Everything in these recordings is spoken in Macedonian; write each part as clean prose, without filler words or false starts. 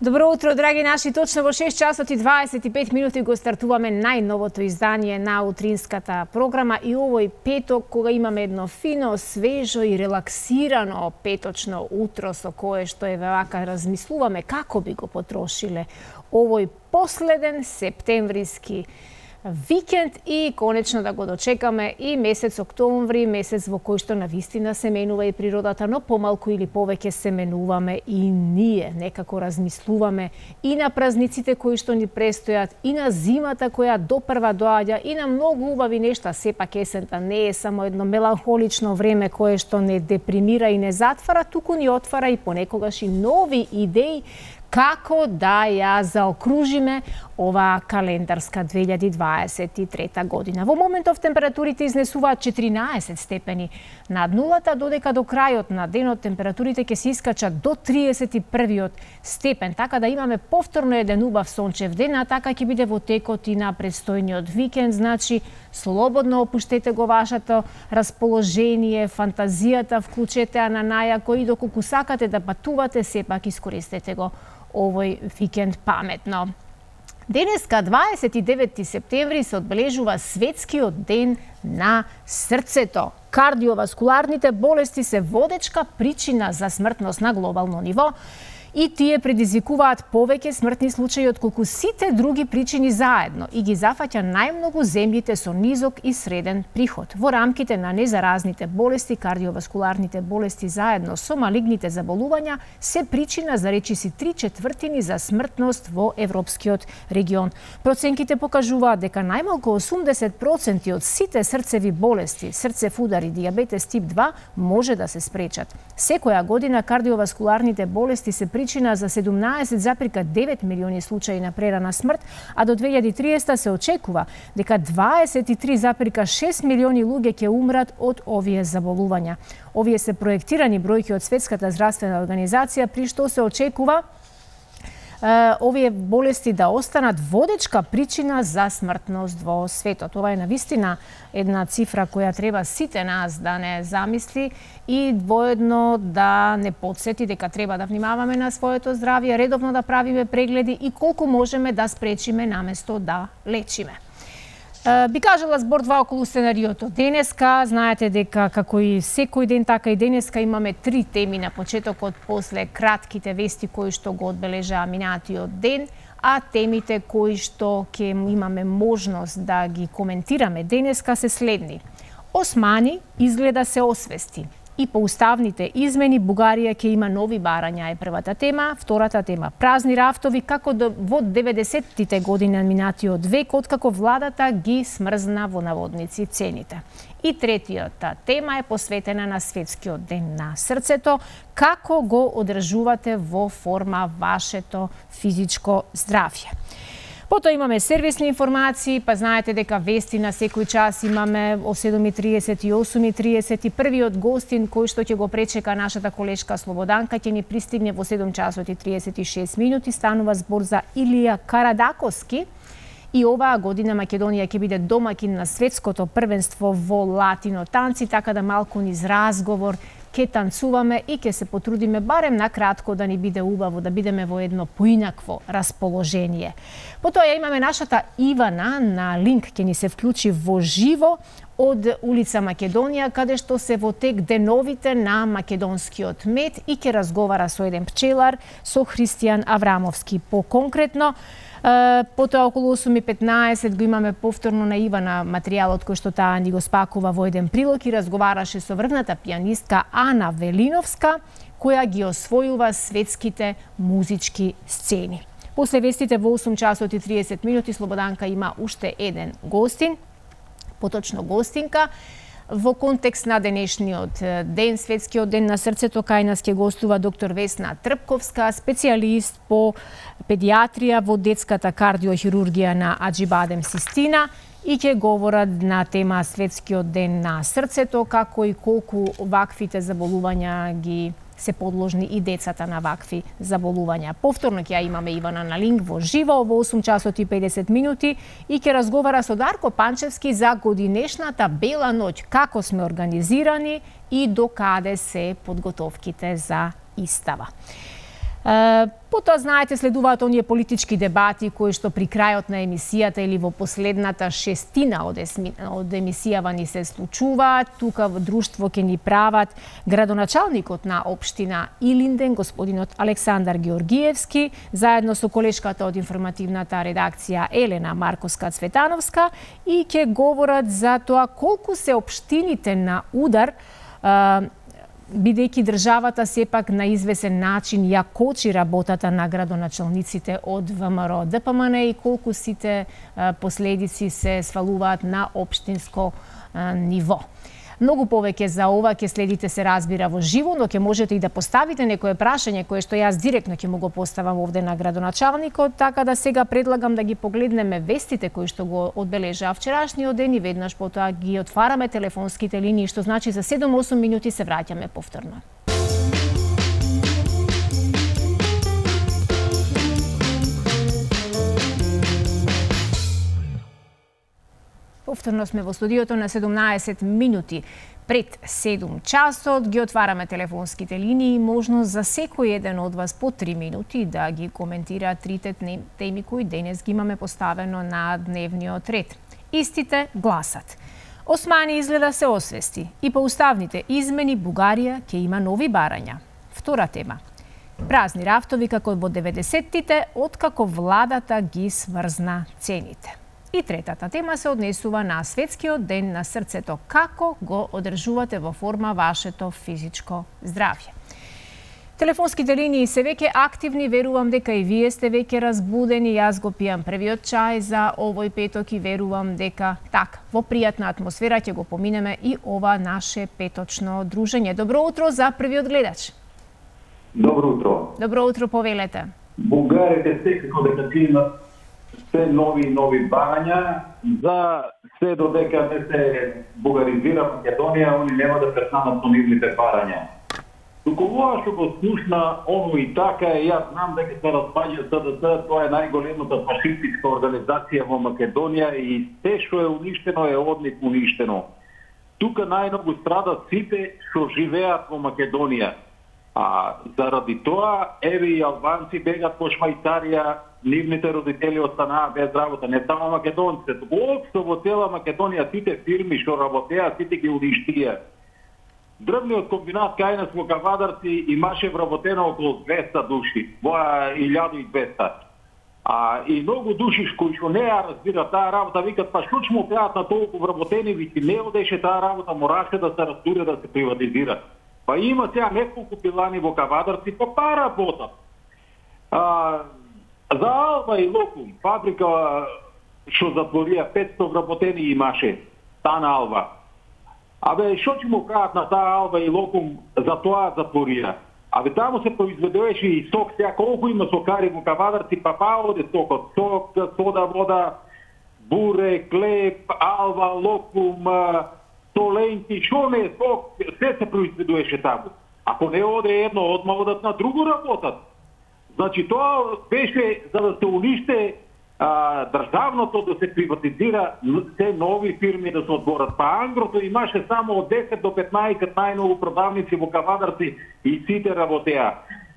Добро утро, драги наши. Точно во 6 часот и 25 минути го стартуваме најновото издание на утринската програма и овој петок, кога имаме едно фино, свежо и релаксирано петочно утро со кое што вака размислуваме како би го потрошиле овој последен септемвриски викенд и конечно да го дочекаме и месец октомври, месец во кој што навистина се менува и природата, но помалку или повеќе се менуваме и ние. Некако размислуваме и на празниците кои што ни престојат, и на зимата која допрва доаѓа, и на многу убави нешта. Сепак есента не е само едно меланхолично време кое што не депримира и не затвара, туку ни отвара и понекогаш и нови идеи како да ја заокружиме оваа календарска 2023 година. Во моментов температурите изнесуваат 14 степени над нулата, додека до крајот на денот температурите ќе се искачат до 31 степен, така да имаме повторно еден убав сончев ден, а така ќе биде во текот и на престојниот викенд. Значи, слободно опуштете го вашето расположение, фантазијата, вклучете ја на најако и доколку сакате да патувате, сепак искористете го овој викенд паметно. Денеска, 29 септември, се одбележува Светскиот ден на срцето. Кардиоваскуларните болести се водечка причина за смртност на глобално ниво и тие предизвикуваат повеќе смртни случаи отколку сите други причини заедно и ги зафаќа најмногу земјите со низок и среден приход. Во рамките на незаразните болести, кардиоваскуларните болести заедно со малигните заболувања се причина за речиси 3/4 за смртност во европскиот регион. Проценките покажуваат дека најмалку 80% од сите срцеви болести, срцев удар и дијабетес тип 2 може да се спречат. Секоја година кардиоваскуларните болести се причина за 17,9 милиони случаи на прерана смрт, а до 2030 се очекува дека 23,6 милиони луѓе ќе умрат од овие заболувања. Овие се проектирани бројки од Светската здравствена организација, при што се очекува овие болести да останат водечка причина за смртност во светот. Ова е навистина една цифра која треба сите нас да не замисли и воедно да не подсети дека треба да внимаваме на своето здравје, редовно да правиме прегледи и колку можеме да спречиме наместо да лечиме. Би кажала збор два околу сценариото. Денеска, знаете дека како и секој ден, така и денеска имаме 3 теми на почетокот, после кратките вести кои што го одбележаа минатиот ден, а темите кои што ќе имаме можност да ги коментираме денеска се следни. Османи изгледа се освести. И по уставните измени Бугарија ќе има нови барања е првата тема. Втората тема празни рафтови како во 90-тите години на минатиот век, откако владата ги смрзна во наводници цените. И третијата тема е посветена на Светскиот ден на срцето, како го одржувате во форма вашето физичко здравје. Потоа имаме сервисни информации, па знаете дека вести на секој час имаме о 7:30 и 8:30 и првиот гостин кој што ќе го пречека нашата колешка Слободанка ќе ни пристигне во 7 часот и 36 минути. Станува збор за Илија Карадаковски и оваа година Македонија ќе биде домакин на светското првенство во латино танци, така да малку низ разговор ќе танцуваме и ќе се потрудиме барем на кратко да ни биде убаво, да бидеме во едно поинакво расположение. Потоа ја имаме нашата Ивана на линк, ќе ни се вклучи во живо од улица Македонија, каде што се во тек деновите на македонскиот мед и ќе разговара со еден пчелар, со Христијан Аврамовски. По-конкретно, потоа околу 8:15 го имаме повторно на Ивана материјалот кој што таа ни го спакува во еден прилог и разговараше со врвната пијанистка Ана Велиновска, која ги освојува светските музички сцени. После вестите во 8 часот и 30 минути Слободанка има уште еден гостин, поточно гостинка. Во контекст на денешниот ден, Светскиот ден на срцето, кај нас ќе гостува доктор Весна Трпковска, специјалист по педиатрија во детската кардиохирургија на Аџибадем Систина и ќе говорат на тема Светскиот ден на срцето, како и колку ваквите заболувања ги се подложни и децата на вакви заболувања. Повторно ќе ја имаме Ивана на линк во живо во 8 часот и 50 минути и ќе разговара со Дарко Панчевски за годинешната Бела ноќ, како сме организирани и до каде се подготовките за истава. Потоа, знаете, следуваат оние политички дебати кои што при крајот на емисијата или во последната шестина од емисијава ни се случуваат. Тука во друштво ќе ни прават градоначалникот на општина Илинден, господинот Александар Георгиевски, заедно со колешката од информативната редакција Елена Марковска-Цветановска, и ќе говорат за тоа колку се општините на удар, бидејќи државата сепак на извесен начин ја кочи работата на градоначалниците од ВМРО ДПМН и колку сите последици се свалуваат на општинско ниво. Многу повеќе за ова ќе следите, се разбира, во живо, но ќе можете и да поставите некое прашање кое што јас директно ќе му го поставам овде на градоначалникот, така да сега предлагам да ги погледнеме вестите кои што го одбележаа вчерашниот ден и веднаш потоа ги отвараме телефонските линии, што значи за 7-8 минути се враќаме повторно. Повторно сме во студиото на 17 минути пред 7 часот. Ги отвараме телефонските линии и можност за секој еден од вас по 3 минути да ги коментира трите теми кои денес ги имаме поставено на дневниот ред. Истите гласат: Османи изгледа се освести и по уставните измени Бугарија ќе има нови барања. Втора тема: празни рафтови како во 90-тите, откако владата ги смрзна цените. И третата тема се однесува на Светскиот ден на срцето. Како го одржувате во форма вашето физичко здравје? Телефонските линии се веќе активни, верувам дека и вие сте веќе разбудени. Јас го пијам првиот чај за овој петок и верувам дека во пријатна атмосфера ќе го поминеме и ова наше петочно дружење. Добро утро за првиот гледач. Добро утро. Добро утро, повелете. Бугарите секако дека ќе имат се нови барања, за се додека не се бугаризира Македонија, они нема да престанат со нивните барања. Туку ова што го слушна оно и така, јас знам дека се распаѓа СДС, тоа е најголемата фашистичка организација во Македонија и се што е уништено е од нив уништено. Тука најмногу страдат сите што живеат во Македонија. А заради тоа, еве и албанци бегат по Швајцарија, нивните родители останаа без работа, не само македонците, туку општо во цела Македонија сите фирми што работеа, сите ги уништија. Дрвниот комбинат кај нас во Кавадарци имаше вработено околу 200 души, во 1200. И многу души кои што не ја разбират таа работа, викат, па што ќе му прават на толку вработени, вики не одеше таа работа, мораше да се растуре, да се приватизира. Па има сега неколку пилани во Кавадарци, па работат. За Алба и Локум, фабрика што затворија 500 вработени имаше, таа на Алба. Што ќе му кажат на таа Алба и Локум, за тоа затворија? Таму се произведуваше и сок, сега колку има сокари во Кавадарци, па оде сокот, сок, сода, вода, буре, клеп, Алба, Локум, толенки, што не е сок, се се произведуваше таму. Ако не оде едно, одма одат на друго работат. Значи тоа беше за да се униште државното, да се приватизира, се нови фирми да се отворат. Па Ангрото имаше само од 10 до 15 најмногу продавници во Кавадарци и сите работеа.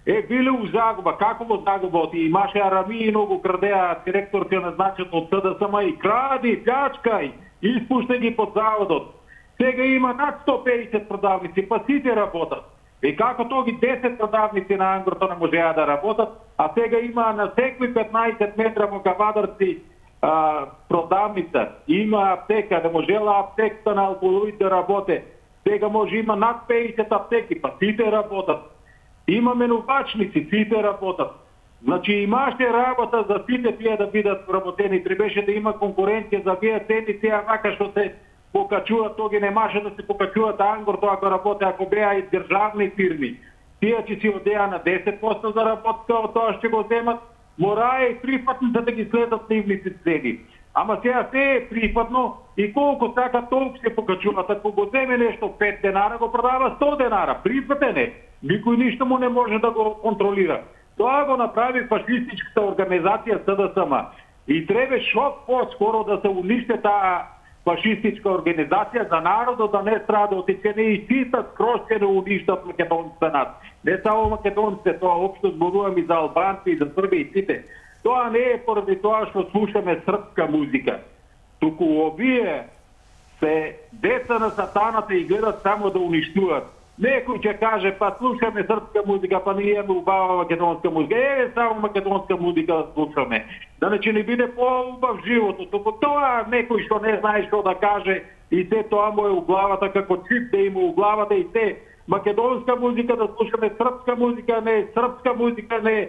Биле у загуба, како во загуба? Имаше арами и многу крадеа, директор ќе назначат од СДСМ и кради, плячкај, испуште ги под заводот. Сега има над 150 продавници, па сите работат. И како тоги 10 продавници на Ангрото не можеа да работат, а сега има на секои 15 метра во Кавадарци продавница. Има аптека, не можела аптеката на алколоид да работе. Сега може има над 50 аптеки, па сите работат. Има менувачници, сите работат. Значи имаше работа за сите тие да бидат работени. Требеше да има конкуренција за вие цени, тие вака што се покачуваат, тоги немаше да се покачуваат Ангрото ако работе, ако беа и државни фирми. Тие ќе си одеа на 10% за работа, од тоа што го земат, морае и прифатно да ги следат нивните цени. Ама сега се е прифатно и колку сака толку се покачуваат. Ако го земе нешто 5 денара, го продава 100 денара. Прифатен е. Никој ништо му не може да го контролира. Тоа го направи фашистичката организација СДСМ. И треба шо по-скоро да се униште таа фашистичка организација за народот да не страда од ќе не изчистат, скросчено уништат македонската нација. Не само македонците, тоа општо зборувам и за албанци и за срби и сите. Тоа не е поради тоа што слушаме српска музика. Туку овие се деца на сатаната и гледат само да уништуваат. Некој ќе каже, па слушаме српска музика, па ние имаме убава македонска музика. Само македонска музика да слушаме. Да не че не биде по-убав животот. Тоа некој што не знае што да каже и се тоа му е у главата, како чип да има у главата и се. Македонска музика да слушаме, српска музика не, српска музика не.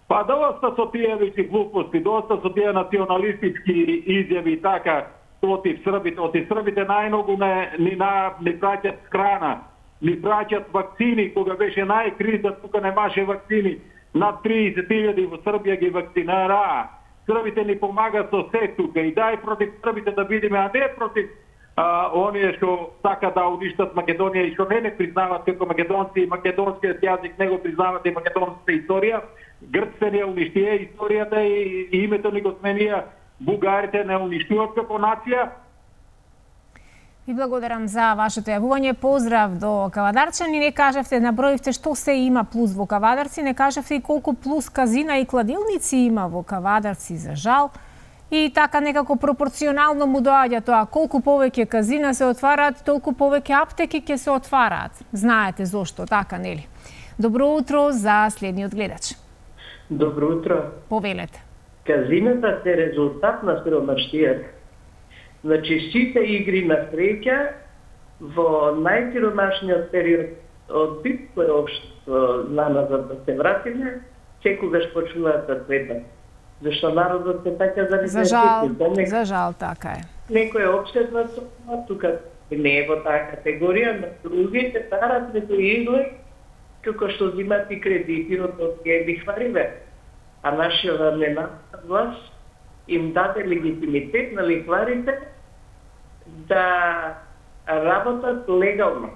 Па доста со тие веќе глупости, доста со тие националистички изјави и така против србите. Оти србите најмногу ни праќат храна, ни праќат вакцини, кога беше најкриза, тука немаше вакцини. Над 30.000 во Србија ги вакцинара. Србите ни помагаат со се тука и дај против србите да бидеме, а не против оние што сака да уништат Македонија и што не признават како македонци и македонскиот јазик не го признават и македонската историја. Грците не уништија историјата и името ни го сменија. Бугарите не уништуваат како нација. Ви благодарам за вашето јавување. Поздрав до Кавадарчани. Не кажавте, наброивте што се има плюс во Кавадарци, не кажавте и колку плюс казина и кладилници има во Кавадарци, за жал. И така некако пропорционално му доаѓа тоа. Колку повеќе казина се отвараат, толку повеќе аптеки ќе се отвараат. Знаете зошто, така нели? Добро утро за следниот гледач. Добро утро. Повелете. Казината се резултат на сиромаштијата. Значи, сите игри на среќа во најсиромашниот период од битко општество наназад да се вратиме, секогаш почнуваат да светат. Зашто народот се така За жал, така е. Некој е обседнат со това, тука не е во таа категорија, но другите тарат некој изглед, како што зимат и кредити од ги лихвариве. А нашата ненавистна власт им даде легитимитет на лихварите да работат легално.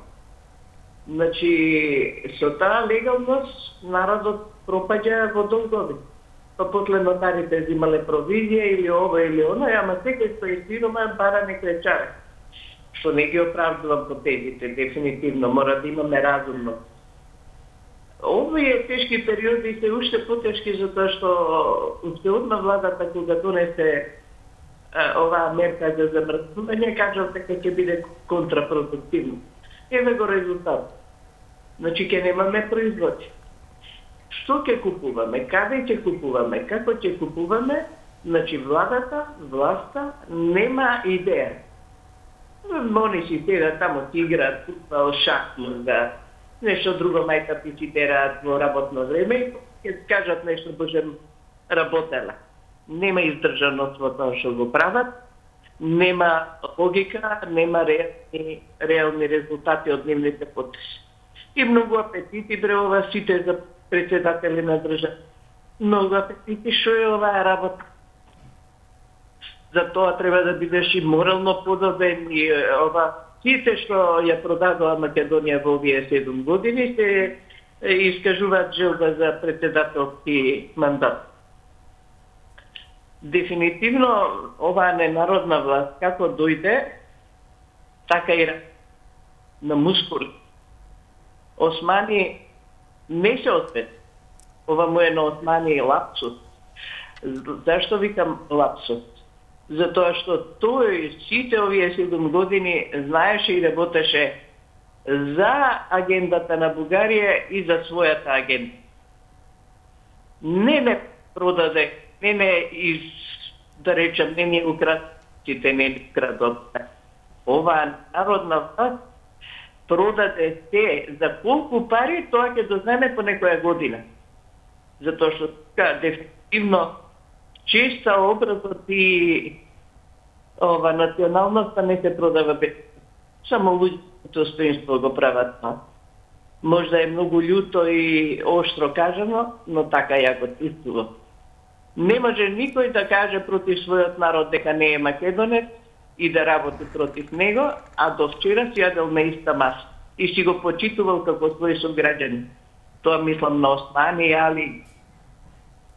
Значи, со таа легалност народот пропаѓа во долгови. Па после нотарите взимале провизија или ова или оно, ама секој што е сирома бара некој чар. Што не ги оправдувам потезите, дефинитивно, мора да имаме разумност. Овие тешки периоди се уште потешки затоа што уште одма владата кога донесе оваа мерка за замрзнување, кажал дека ќе биде контрапродуктивно. Еве го резултат. Значи ќе немаме производство. Што ќе купуваме, каде ќе купуваме, како ќе купуваме, значи власта нема идеја. Они си седат тамо, си играат футбол, шахмат, нешто друго мајкапи си тераат во работно време и ќе кажат нешто божем работела. Нема издржаност во тоа што го прават, нема логика, нема реални резултати од нивните потези. И многу апетити ова сите за председатели на држава. Многу апетити што е оваа работа. За тоа треба да бидеш и морално подобен и ова сите што ја продадува Македонија во овие 7 години се искажуваат желба за председателски мандат. Дефинитивно оваа ненародна власт како дојде, така и на мускули. Османи не се ответ. Ова му е на Османи лапсус. Зашто викам лапсус? Затоа што тој сите овие 7 години знаеше и работеше за агендата на Бугарија и за својата агенда. Не продаде, да речем, не ни украдците, не ни крадот. Оваа народна власт продаде се за колку пари, тоа ќе дознаеме по некоја година. Затоа што дефинитивно честа образот и националноста не се продава без. Само луѓето достоинство го прават. Можда е многу љуто и оштро кажано, но така ја го чувствувам. Не може никој да каже против својот народ дека не е македонец и да работи против него, а до вчера си јадел на иста маса и си го почитувал како свој сограѓанин. Тоа мислам на Османи, Али,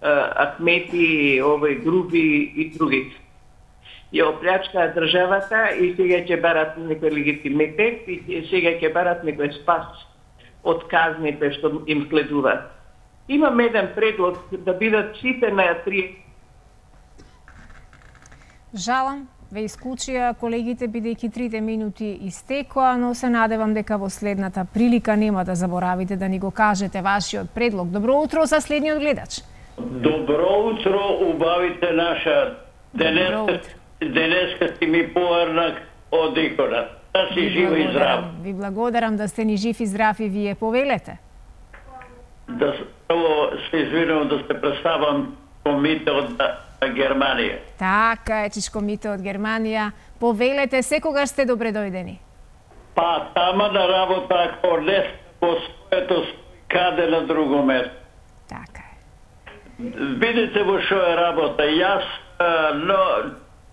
Ахмети, Груби и другите. ја оплячкаа државата и сега ќе барат некој легитимитет и сега ќе барат некој спас од казните што им следуваат. Имам еден предлог да бидат сите на 3. Жалам, ве исклучија колегите бидејќи 3 минути истекоа, но се надевам дека во следната прилика нема да заборавите да ни го кажете вашиот предлог. Добро утро за следниот гледач. Добро утро, убавите наша. Денеска си ми поарнак од икона. Да си жива и здрав. Ви благодарам да сте ни жив и здрав и вие повелете. Да прво се извинувам да се представам комите од Германија. Така е, Чичкомите од Германија. Повелете, секогаш сте добре дојдени. Па, тама на работа, ако не по своето каде на друго место. Така е. Видите во шо е работа. Јас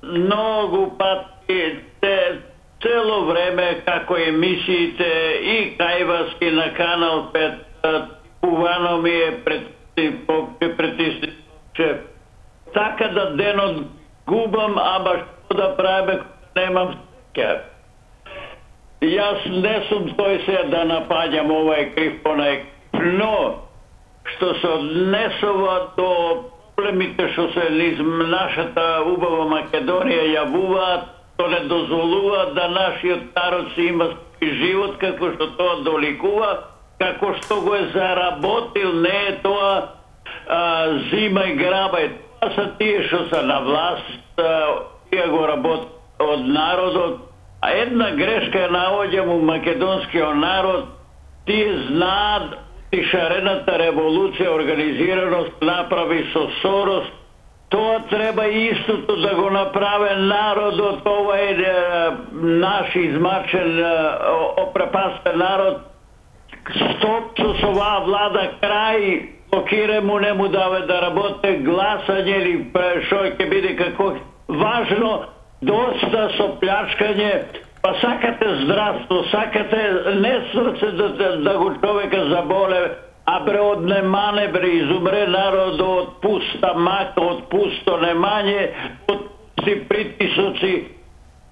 многу пати цело време како емисиите и кај вас и на Канал 5 увано ми е притисниче. Така да денот губам, ама што да правиме кога немам среќа. Јас не сум тој се да напаѓам овај крив понај, но што се однесува до проблемите што се низ нашата убава Македонија јавуваат, што не дозволуваат да нашиот народ си има живот како што тоа доликува, како што го е заработил, не е тоа зима и грабај. Тоа се тие што се на власт, тие го работат од народот, а една грешка ја наоѓам у македонскиот народ, тие знаат и шарената револуција, организираност направи со Сорос, тоа треба истото да го направи народот, ова е наш измачен, опрепастен народ. Стоп со оваа влада, крај, блокире му, не му даве да работи, гласање или шо ќе биде како важно, доста со плячкање, па сакате здравство, сакате не срце да го човека заболе, а бре однемане, бре изумре народо од пуста мака, од пусто немање, од пусти притисоци.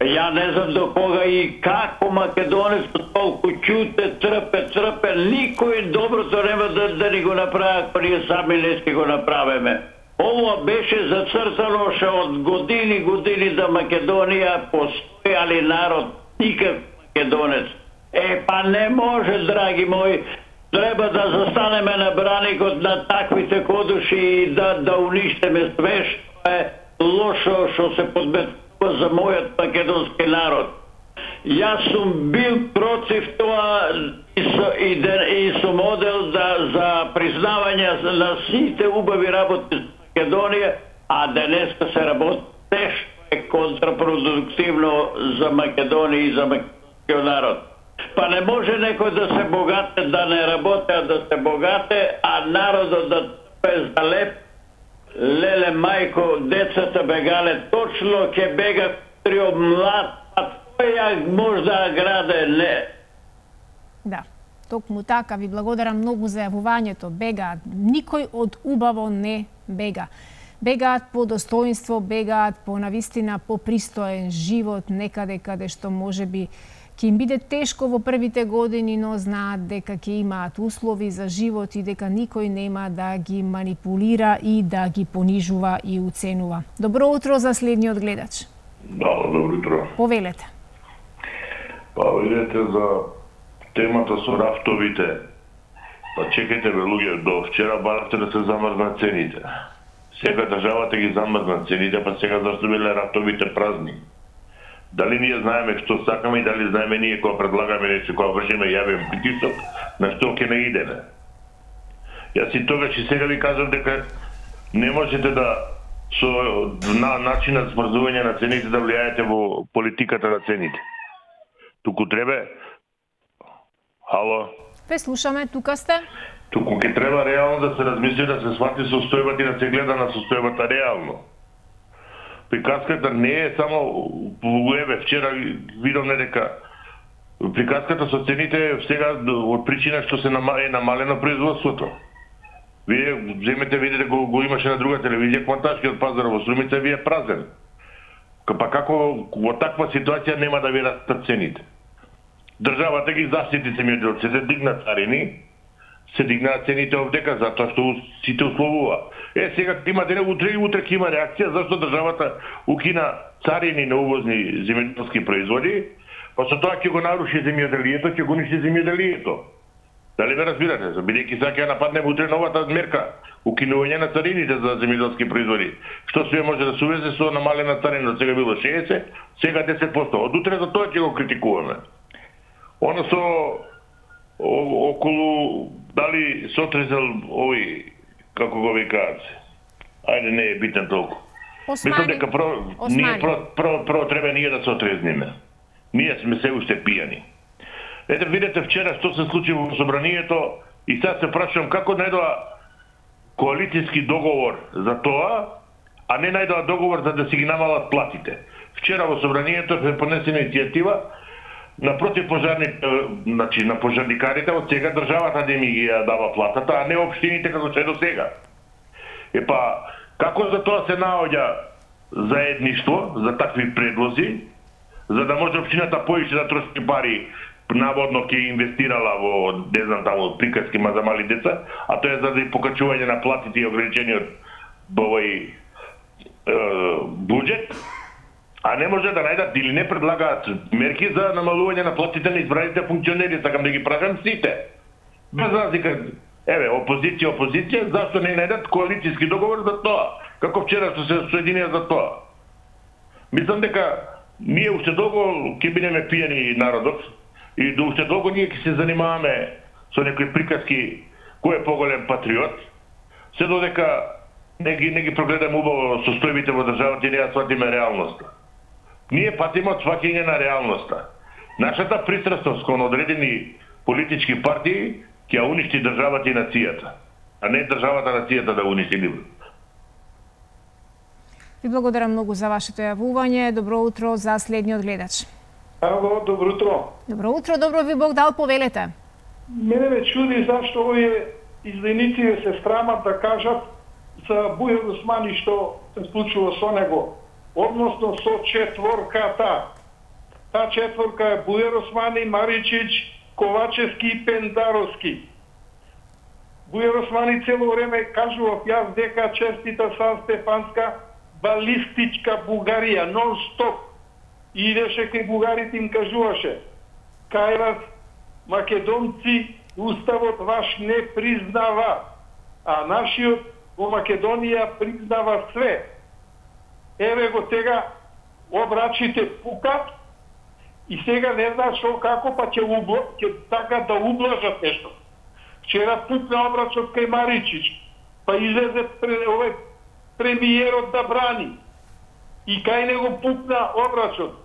Ја не знам до кога и како македонец толку ќуте, трпе, никој доброто нема да ни го направи, ако ние сами не си го направиме. Ово беше зацртано ше од години да Македонија постои, али народ никак македонец. Па не може, драги мои, треба да застанеме на браникот на таквите кодуши и да уништеме све што е лошо што се подметува за мојот македонски народ. Јас сум бил против тоа и сум одел за признавање на сите убави работи за Македонија, а денеска се работи нешто е контрапродуктивно за Македонија и за македонскиот народ. Па не може некој да се богате, да не работи, а да се богате, а народот да трпе за леп. Леле, мајко, децата бегале, точно ќе бега трио млад, а тој ја може да граде, не. Да, токму така, ви благодарам многу за јавувањето. Бегаат, никој од убаво не бега. Бегаат по достоинство, бегаат по навистина по пристоен живот, некаде каде што може би ќе им биде тешко во првите години, но знаат дека ќе имаат услови за живот и дека никој нема да ги манипулира и да ги понижува и уценува. Добро утро за следниот гледач. Да, добро утро. Повелете. Па видете за темата со рафтовите. Па чекайте бе луѓе, до вчера баравте да се замрзнат цените. Сега државата ги замрзнат цените, па сега зашто биле рафтовите празни? Дали ние знаеме што сакаме и дали знаеме ние кога предлагаме нешто, кога вршиме јавен притисок, на што ќе не идеме. Јас и тогаш и сега ви кажам дека не можете да со начинот смрзување на цените да влијаете во политиката на цените. Туку треба... Ало? Ве слушаме, тука сте. Туку ќе треба реално да се размисли, да се свати состојбата и да се гледа на состојбата реално. Приказката не е само еве вчера видовме дека приказката со цените сега од причина што се е намалено производството. Вие земете видите го имаше на друга телевизија, кванташкиот пазар во Струмица ви е празен. Па како во таква ситуација нема да ви растат цените? Државата ги заштити земјоделците, дигна царини, се дигнаат цените овдека затоа што сите условува. Сега има дене утре ќе има реакција зашто државата укина царини на увозни земјоделски производи, па со тоа ќе го наруши земјоделието, ќе го уништи земјоделието. Дали ме разбирате? Бидејќи сега ќе нападнеме утре новата мерка, укинување на царините за земјоделски производи. Што све може да се увезе со намалена царина, сега било 60, сега 10%. Од утре за тоа ќе го критикуваме. Оно со околу дали сотрезал овој, како го викаат, ајде не е битен толку. Мислам дека прво треба ние да се отрезниме. Ние сме се уште пијани. Ете, видете вчера што се случи во собранието и сега се прашувам како најдоа коалицијски договор за тоа, а не најдоа договор за да си ги намалат платите. Вчера во собранието е понесена иницијатива на значи на пожарникарите од сега државата да ми ги дава платата, а не општините како се до сега. Како за тоа се наоѓа заедништво за такви предлози, за да може општината поише да троши пари, наводно ќе инвестирала во, не знам, таму приказки за мали деца, а тоа е за да покачување на платите и ограничениот овој буџет, а не може да најдат или не предлагаат мерки за намалување на платите на избраните функционери, сакам да ги прашам сите. Без разлика, опозиција, зашто не најдат коалицијски договор за тоа? Како вчера што се соединија за тоа? Мислам дека ние уште долго ќе бидеме пијани народот и до уште долго ние ќе се занимаваме со некои приказки кој е поголем патриот, се додека не ги прогледаме убаво состојбите во државата и не ја сватиме реалноста. Ние патиме од сваќање на реалноста. Нашата пристрасност кон одредени политички партии ќе уништи државата и нацијата, а не државата нацијата да уништи нивно. Ви благодарам многу за вашето јавување. Добро утро за следниот гледач. Ало, добро утро. Добро утро, добро ви Бог дал, повелете. Мене ме чуди зашто овие изданици се страмат да кажат за Бујар Османи што се случува со него, односно со четворката. Та четворка е Бујар Османи, Маричич, Ковачевски и Пендаровски. Бујар Османи цело време кажував јас дека честита Сан Стефанска балистичка Бугарија, нон-стоп. Идеше кај бугарите им кажуваше: кај вас, македонци, уставот ваш не признава, а нашиот во Македонија признава све. Еве го сега обрачите пукат и сега не знаат што како, па ќе така да ублажат нешто. Вчера пукна обрачот кај Маричич, па излезе овој премиерот да брани. И кај него пукна обрачот.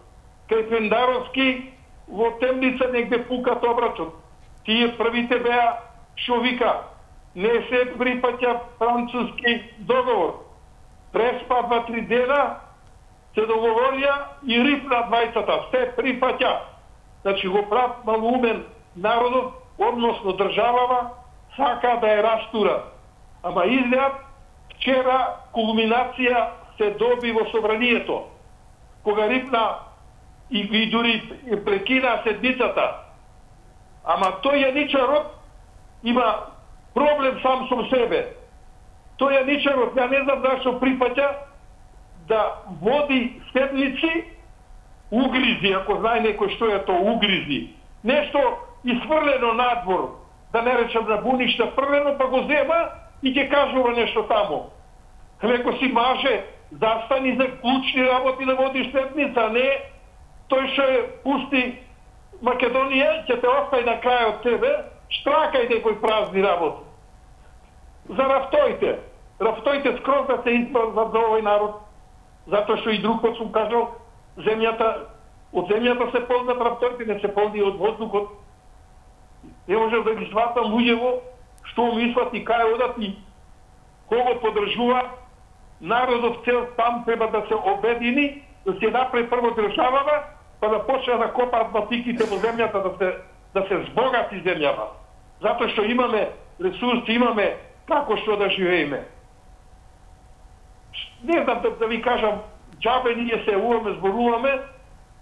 Кај Пендаровски во темница негде пукат обрачот. Тие првите беа што вика: не се припаќа француски договор. Преспа 2-3 дена, се договорија и рипна двајцата. Се припаќа. Значи го прав малумен народот, односно државава, сака да ја растура. Ама изглед, вчера кулминација се доби во собранието. Кога рипна и дури прекина седмицата. Ама тој јаничарот има проблем сам со себе. Тој јаничарот, ја не знам зашто припаќа да води седници угризи, ако знае некој што е тоа угризи. Нешто изфрлено надвор, да не речам на буништа, фрлено, па го зема и ќе кажува нешто таму. Леко си маже, застани за клучни работи да водиш седница, не тој што пусти Македонија, ќе те остави на крај од тебе, штракај некои празни работи. За рафтојте. Рафтојте скроз да се испразнат за овој народ. Затоа што и друг пат сум кажал, од земјата се полнат рафтојте, не се полни од воздухот. Не можем да ги сватам луѓево, што мислат и кај одат и кого подржува. Народот цел там треба да се обедини, да се направи прво државава, па да почне да копаат батиките во земјата, да се збогати земјава. Затоа што имаме ресурси, имаме како што да живееме. Не знам да ви кажам джабе ние се јавуваме, зборуваме,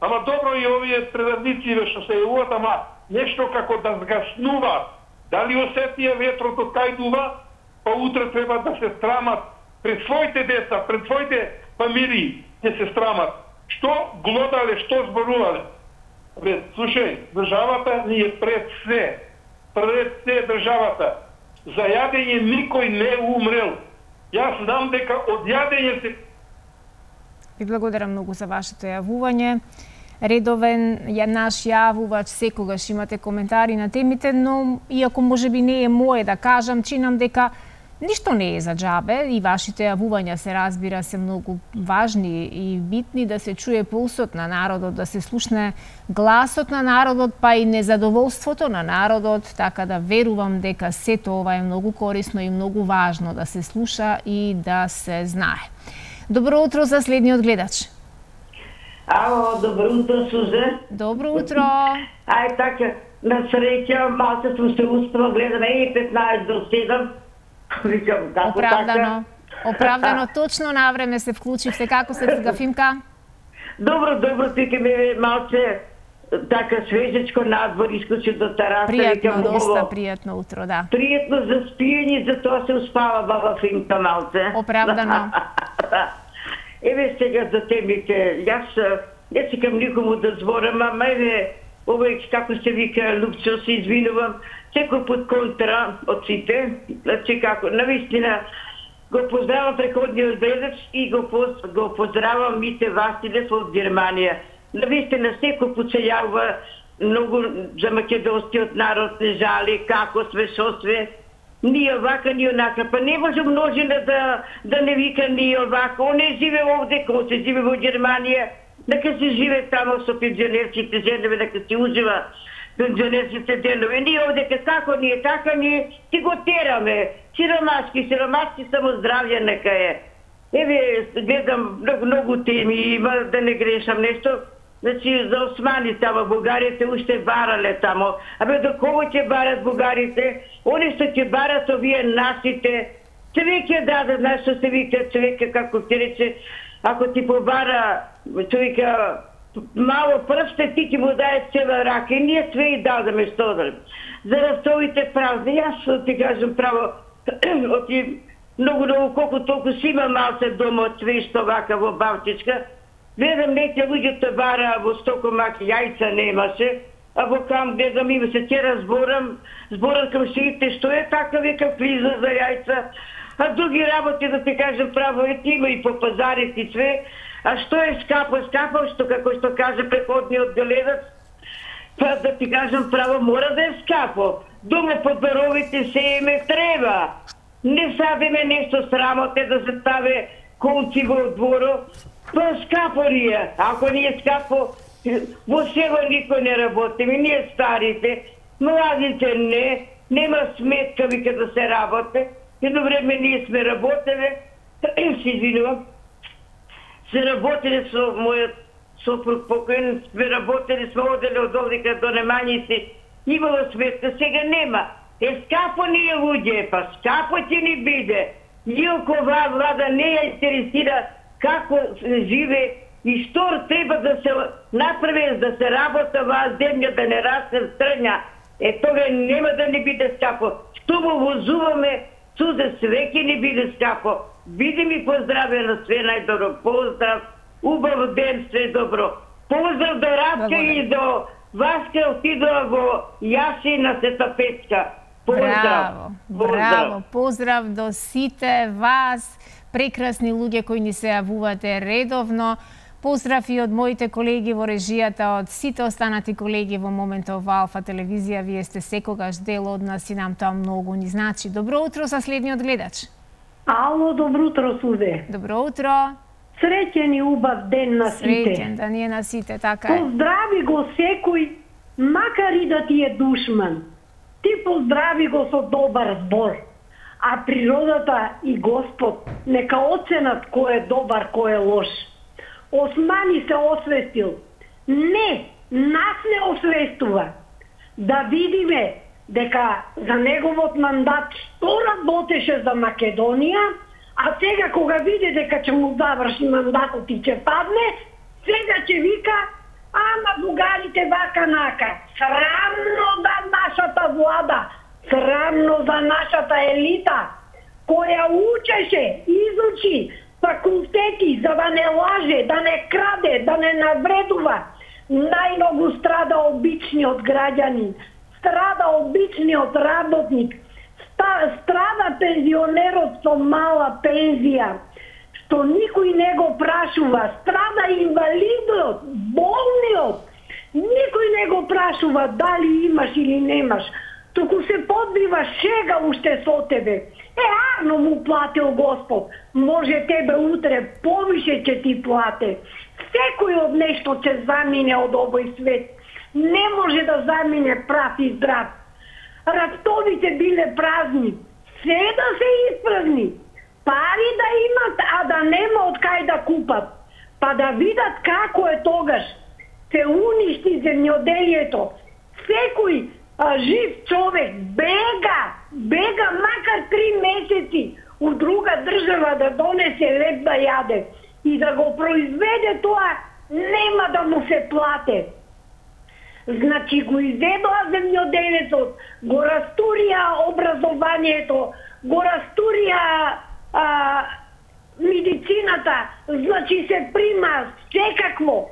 ама добро и овие предавници што се јавуваат, ама нешто како да згаснува. Дали осетија ветрото кај дува, па утре треба да се страмат пред своите деца, пред своите фамилии, ќе се страмат. Што глодале, што зборувале? Бе, слушај, државата ни е пред се државата. За јадење никој не умрел. Јас знам дека од јадење се... Ви благодарам многу за вашето јавување. Редовен наш јавувач, секогаш имате коментари на темите, но иако можеби не е мое да кажам, чинам дека ништо не е за џабе и вашите јавувања се разбира се многу важни и битни да се чуе пулсот на народот, да се слушне гласот на народот, па и незадоволството на народот, така да верувам дека сето ова е многу корисно и многу важно да се слуша и да се знае. Добро утро за следниот гледач. Ало, добро утро, Сузе. Добро утро. Ај така, на среќа, малце сум се успела, гледам 15 до 7. Викам, како оправдано. така? Оправдано, точно на време се вклучивте. Како се Гафимка? Добро, тука ме малце така свежечко надвор, искочи до тераса. Пријатно, доста пријатно утро, да. Пријатно за спиење, за тоа се успава баба Фимка малце. Оправдано. Еве сега за темите. Јас не сакам никому да зборам, ама еве, овој како се вика Лупчо, се извинувам, секој пат контра од сите, значи како, навистина, го поздравам преходниот гледач и го поздравам Мите Василев од Германија. Навистина секој пат се јавува многу за македонскиот народ, не жали, како све, шо све. Ни овака, ни онака, па не може множина да не вика ни овака. Он не живе овде, кој се живе во Германија, нека се живе тамо со пензионерците женеви, нека се ужива пензионерците денови. Ние овде како ние, така ние си го тераме. Сиромашки, само здравје нека е. Еве, гледам многу теми има, да не грешам нешто. Значи, за османи тамо, бугарите уште барале тамо. Абе, до кого ќе барат бугарите? Они што ќе барат овие нашите. Човек ќе даде, знаеш што се вика човека, како ти рече, ако ти побара човека мало пръсте, ти ќе му даде цела рака. И ние све и дадеме што да. За рафтовите празни, јас ти кажам право, оти многу, колку толку си има малце дома од све што вака во Балтичка. Гледам неке луѓето бара во Стокомак, јајца немаше, а во кам гледам има се вчера зборам кам сите, што е така века влиза за јајца, а други работи да ти кажам право има и по пазарите и све, а што е скапо, што како што каже преходниот гледач, па да ти кажам право мора да е скапо. Дома под баровите се име треба. Не садиме нешто срамоте да се ставе конци во дворо, па скапо ни е. Ако не е скапо, во село никој не работи. Ние старите, младите не, нема сметка вика да се работи. Едно време ние сме работеле, се извинувам, се работеле со мојот сопруг покоен, сме работеле, сме оделе од овдека до Немањици. Имало сметка, сега нема. Скапо ни е луѓе, па скапо ќе ни биде. Иако оваа влада не ја интересира како живе и што треба да се направи да се работа оваа земја, да не расне стрња. Тога нема да ни биде скапо. Што го возуваме, Сузе, све ќе ни биде скапо. Биде ми поздраве на све најдобро. Поздрав, убав ден, све добро. Поздрав до Радка и до Васка, отидоа во Јаси на Света Петка. Поздрав. Браво. Поздрав до сите вас, прекрасни луѓе кои ни се јавувате редовно. Поздрав и од моите колеги во режијата, од сите останати колеги во моментов во Алфа телевизија. Вие сте секогаш дел од нас и нам тоа многу ни значи. Добро утро за следниот гледач. Ало, добро утро, Сузе. Добро утро. Среќен и убав ден на сите. Среќен да ни е на сите, така е. Поздрави го секој, макар и да ти е душман. Ти поздрави го со добар збор. А природата и Господ нека оценат кој е добар, кој е лош. Османи се освестил. Не, нас не освестува. Да видиме дека за неговот мандат што работеше за Македонија, А сега кога види дека ќе му заврши мандатот и ќе падне, сега ќе вика, ама бугарите вака-нака. Срамно за нашата влада, срамно за нашата елита, која учеше, изучи факултети за да не лаже, да не краде, да не навредува. Најмногу страда обичниот граѓанин, страда обичниот работник, страда пензионерот со мала пензија, што никој не го прашува, страда инвалидот, болниот, никој не го прашува дали имаш или немаш, туку се подбива шега уште со тебе. Арно му платил Господ, може тебе утре повише ќе ти плате. Секој од нешто ќе замине од овој свет. Не може да замине прав и здрав. Рафтовите биле празни, се да се испразни. Пари да имат, а да нема од кај да купат. Па да видат како е тогаш. Се уништи земјоделието. Секој жив човек бега макар 3 месеци у друга држава да донесе леб да јаде и да го произведе тоа, нема да му се плате. Значи го изедоа земјоделието, го растурија образованието, го растурија медицината, значи се прима секакво.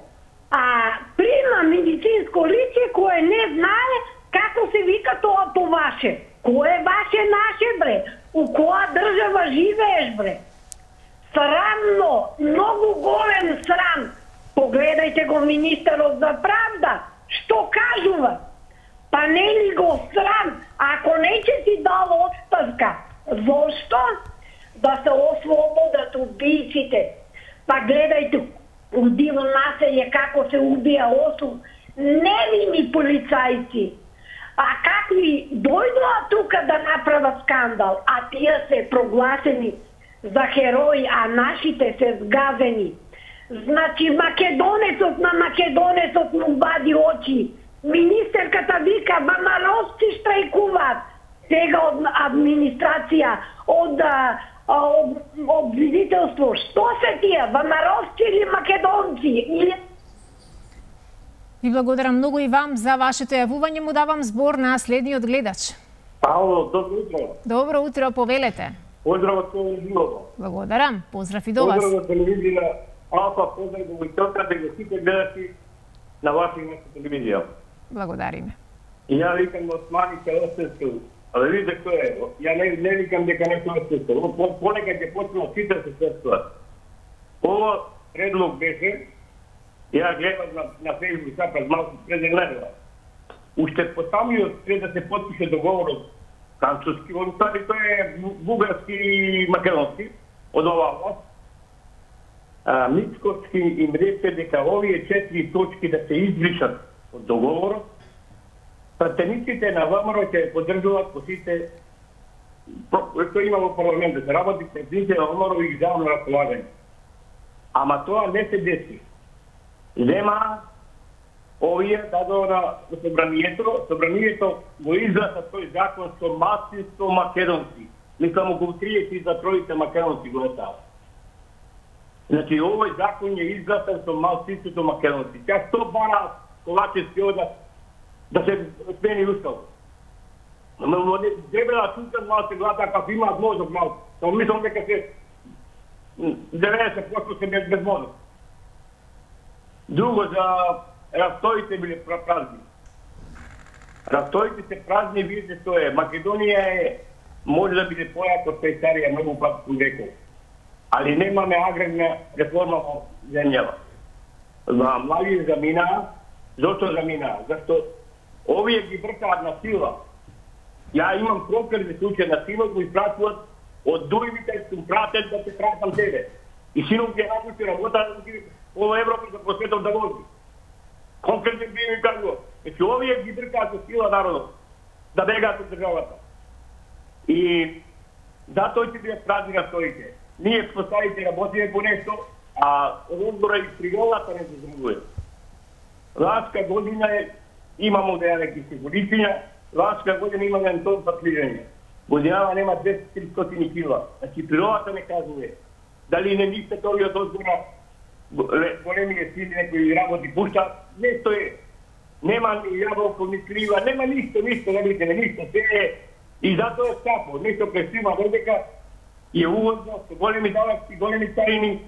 Прима медицинско лице кое не знае како се вика тоа по ваше. Кој е ваше наше, бре? У која држава живееш, бре? Срамно, многу голем срам. Погледајте го министерот за правда. Што кажува? Па не ли го срам? Ако не ќе си дал отставка, зошто? Да се ослободат убийците. Па гледајте у диво населје како се убија 8 невини полицајци. А какви дојдоа тука да направат скандал, а тие се прогласени за херои, а нашите се сгазени. Значи македонецот на македонецот му вади очи. Министерката вика, бамаровци штрајкуваат. Сега од администрација, од обвинителство. Што се тие, бамаровци или македонци? Ви благодарам многу и вам за вашето јавување. Му давам збор на следниот гледач. Ало, добро утро. Добро утро, повелете. Поздрав од телевизијата. Благодарам, поздрав и до вас. Поздрав од телевизија. Алфа, поздрав до војтелка, да го сите гледачи на вашата телевизија. Благодариме. И ја викам Османи Келостевски. Але видите кој е. Ја не викам дека не Келостевски. Понекад ќе почнат сите се сестуваат. Ово предлог беше, ја гледам на Facebook пред малку пред недела. Уште по самиот пред да се потпише договорот француски, односно тој е бугарски и македонски од оваа власт. Мицкоски им рече дека овие 4 точки да се избришат од договорот. Пратениците на ВМРО ќе поддржуваат по сите што има во парламентот, да работи пратениците на ВМРО и ги давам на располагање. Ама тоа не се деси. Нема овие дадо на собранието го изгласа тој закон со масинство македонци. Мислам околу 30 за тројите македонци го става. Значи овој закон е изгласан со масинството македонци. Тя што бара Ковачевски да се смени устав. Треба да чукат малко се гледа како имаат мозок малко. Само мислам дека се 90% се без мозок. Друго, за рафтовите биле празни. Рафтовите се празни, видите што е. Македонија може да биде појака од Швајцарија многу пати веков. Али немаме аграрна реформа во земјава. Млади заминаа. Зошто заминаа? Зашто овие ги бркаат на сила. Ја имам прокрени случај на сила, го испратуват од дујмите, сум пратен да се пратам тебе. И синов ги работи работа во Европа за просветот да вози. Конкретно би ми кажува. Значи овие ги бркаат со сила народот да бегаат од државата. И затоа ќе бидат празни настоите. Ние поставите работиме по нешто, а одбора и приголата не се зрuguje. Ласка година имамо да ја неки сигуриција, ласка година имаме Антон Патлијање. Годинава нема 200-300 кила. Значи природата не кажува дали не мислят овие од озгора големите сили некои работи пуштаат, нешто е. Нема ни јаболко, ни слива, нема ништо, не видите, ништо, се е. И затоа е скапо, нешто пресима додека е увозно, со големи даваци, големи царини,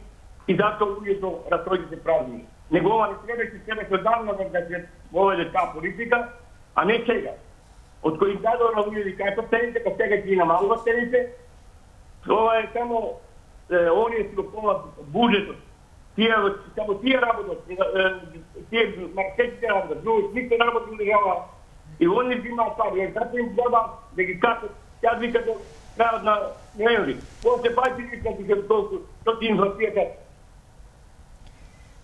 и затоа луѓето расходите празни. Негова не требаше себе одавна да се воведе таа политика, а не сега. Од кои дадоа на луѓето кај со цените, кај сега ги намалува цените, ова е само оние си го помнат буџетот. Само тие работат, тие маркетите работат, други никто не работи не држава. И они имаат пари, затоа им треба да ги качат, јас вика до крајот на ноември. После пајте вика дека толку, што ти инфлацијата.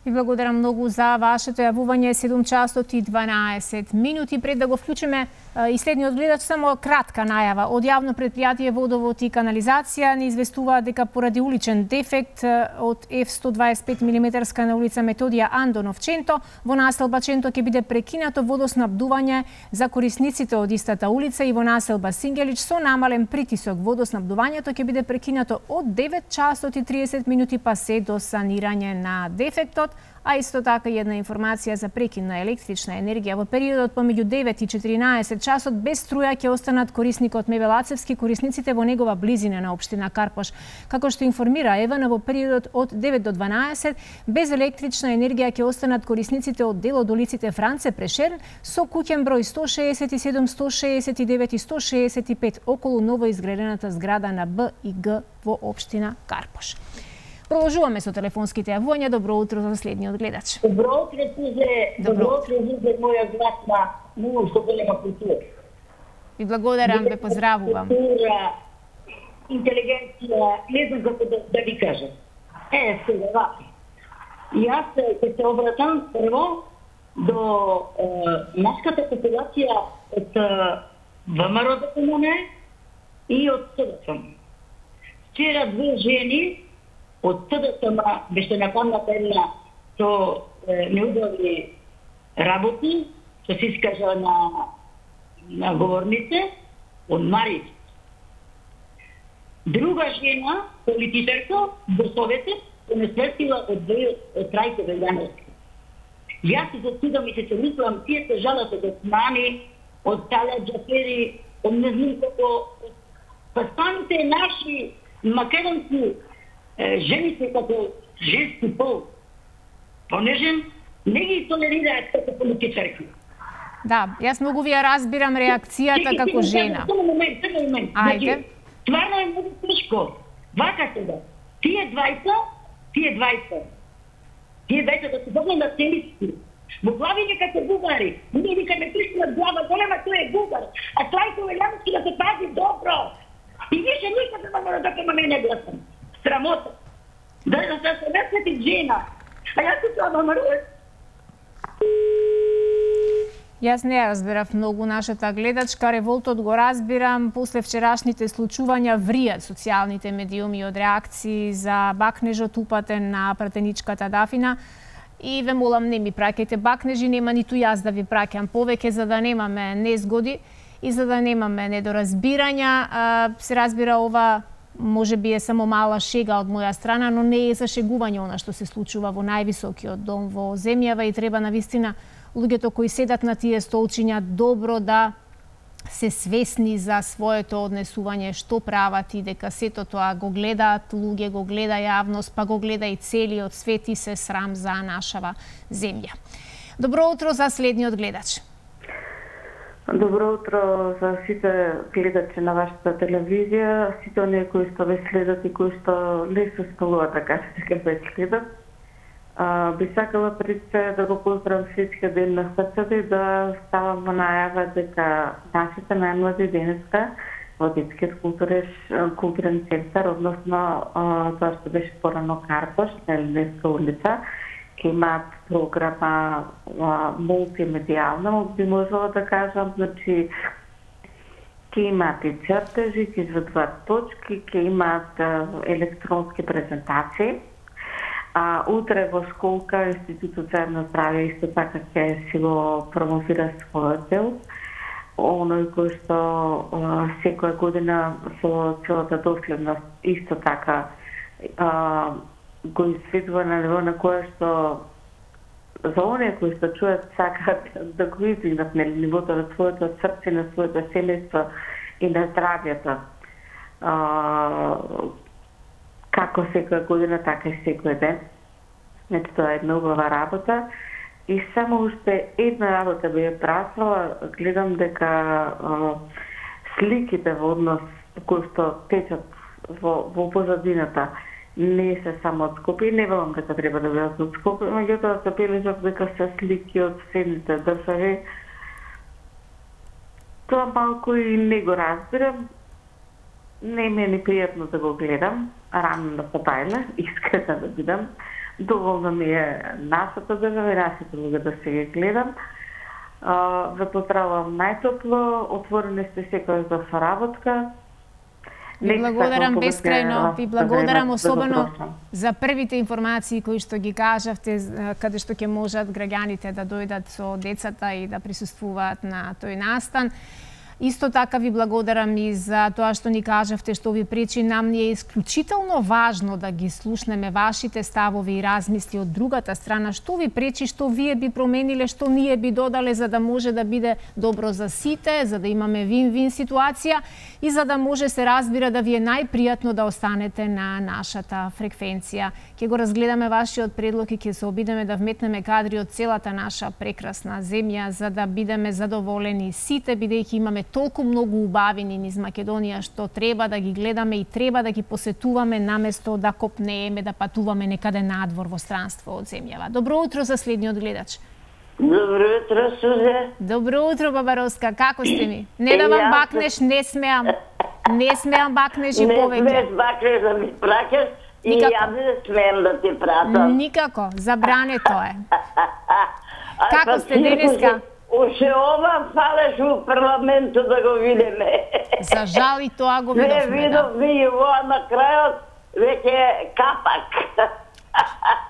Ви благодарам многу за вашето јавување. 7 часот и 12 минути. Пред да го вклучиме и следниот гледач, само кратка најава. Од јавно предпријатие Водовод и канализација ни известува дека поради уличен дефект од F125 мм на улица Методија Андонов Ченто, во населба Ченто ќе биде прекинато водоснабдување за корисниците од истата улица и во населба Сингелич со намален притисок. Водоснабдувањето ќе биде прекинато од 9 часот и 30 минути па се до санирање на дефектот. А исто така една информација за прекин на електрична енергија во периодот помеѓу 9 и 14 часот без струја ќе останат корисникот Меве Лацевски, корисниците во негова близина на општина Карпош. Како што информира ЕВН, во периодот од 9 до 12 без електрична енергија ќе останат корисниците од дел од улиците Франце Прешерн со куќен број 167, 169 и 165 околу новоизградената зграда на Б и Г во општина Карпош. Продолжуваме со телефонските јавувања. Добро утро за следниот гледач. Добро утро, Сузе, моја златна, многу што голема култура. Ви благодарам, ве поздравувам. Култура, интелигенција, не знам како да ви кажам. Сега, ваки. Јас ќе се обратам прво до нашата популација од ВМРО да комуне и од СДСМ. Вчера две жени од СДСМ беше нападната една со неудобни работи, што се искажа на говорнице од Марич. Друга жена, политичарка, во Советот, се не свестила од Трајко Велјановски. Јас се зачудам и се мислам, тие се жалат од Османи, од Талат Џафери, од не знам како... Па станите наши македонски жените како женски пол, понежен, не ги толерираат како политичарки. Да, јас многу ви ја разбирам реакцијата како жена. Само момент. Ајде. Стварно е многу тешко. Вака сега. Тие двајца да се добне на цениски. Во глави нека се бугари. Ние викаме тишна глава, голема тој е бугар. А Трајко Велјановски да се пази добро. И више никаде не мора да ке мене гласам. Срамота. Да се месети жена. А јас се тоа намарувам. Јас не разбирав многу нашата гледачка, револтот го разбирам, после вчерашните случувања вријат социјалните медиуми од реакции за бакнежот упатен на пратеничката Дафина. И ве молам, не ми праќајте бакнежи, нема ниту јас да ви праќам повеќе за да немаме незгоди и за да немаме недоразбирања. Се разбира, ова може би е само мала шега од моја страна, но не е за шегување она што се случува во највисокиот дом во земјава и треба навистина луѓето кои седат на тие столчиња добро да се свесни за своето однесување, што прават и дека сето тоа го гледаат луѓе, го гледа јавност, па го гледа и целиот свет и се срам за нашава земја. Добро утро за следниот гледач. Добро утро за сите гледачи на вашата телевизија, сите оние кои што ве следат и кои што не се спалуваат, да кажете, дека ве следат. Би сакала пред се да го поздравам всички ден на срцето и да ставам во најава дека нашите најмлади денеска во детскиот културен центар, односно тоа што беше порано Карпош, на Елинска улица, ќе имаат програма мултимедијална, би можела да кажам, значи ќе имаат и чертежи, ќе изведуваат точки, ќе имаат електронски презентации. Утре во школка Институтот за јавно здравје исто така ќе си го промовира својот дел. оној кој што секоја година со целата доследност исто така го изведува на ниво на кое што за оние кои што чуат сакаат да го издигнат на нивото на своето срце, на своето семејство и на здравјето. Како секоја година, така и секој ден. Значи, тоа е една убава работа. И само уште една работа би ја прашала, гледам дека сликите во однос кои што течат во позадината не се само од Скопје, не велам дека треба да бидат од Скопје, меѓутоа се бележат дека се слики од соседните држави. Тоа малку и не го разбирам. Не ми е ни пријатно да го гледам, рано да потајме, искрена да бидам. Доволно ми е нашата држава и нашите луѓе да се ги гледам. Ве поздравувам најтопло, отворени сте секој за соработка. Ви благодарам бескрајно, ви благодарам особено за првите информации кои што ги кажавте, каде што ќе можат граѓаните да дојдат со децата и да присуствуваат на тој настан. Исто така ви благодарам и за тоа што ни кажавте, што ви пречи. Нам ни е исклучително важно да ги слушнеме вашите ставови и размисли од другата страна. Што ви пречи, што вие би промениле, што ние би додале за да може да биде добро за сите, за да имаме вин-вин ситуација и за да може се разбира да ви е најпријатно да останете на нашата фреквенција. Ќе го разгледаме вашиот предлог и ќе се обидеме да вметнеме кадри од целата наша прекрасна земја за да бидеме задоволени сите, бидејќи имаме толку многу убавини низ Македонија што треба да ги гледаме и треба да ги посетуваме наместо да копнееме, да патуваме некаде надвор во странство од земјава. Добро утро за следниот гледач. Добро утро, Сузе. Добро утро, Бабаровска. Како сте ми? Не да вам бакнеш, не смеам. Не смеам бакнеш и повеќе. Не смееш бакнеш да ми пракеш и ја не смеам да ти пратам. Никако, забрането е. Како сте денеска? Уште ова фалеш у парламенту да го видиме. За жал и тоа го видовме. Не видовме и ова на крајот веќе капак.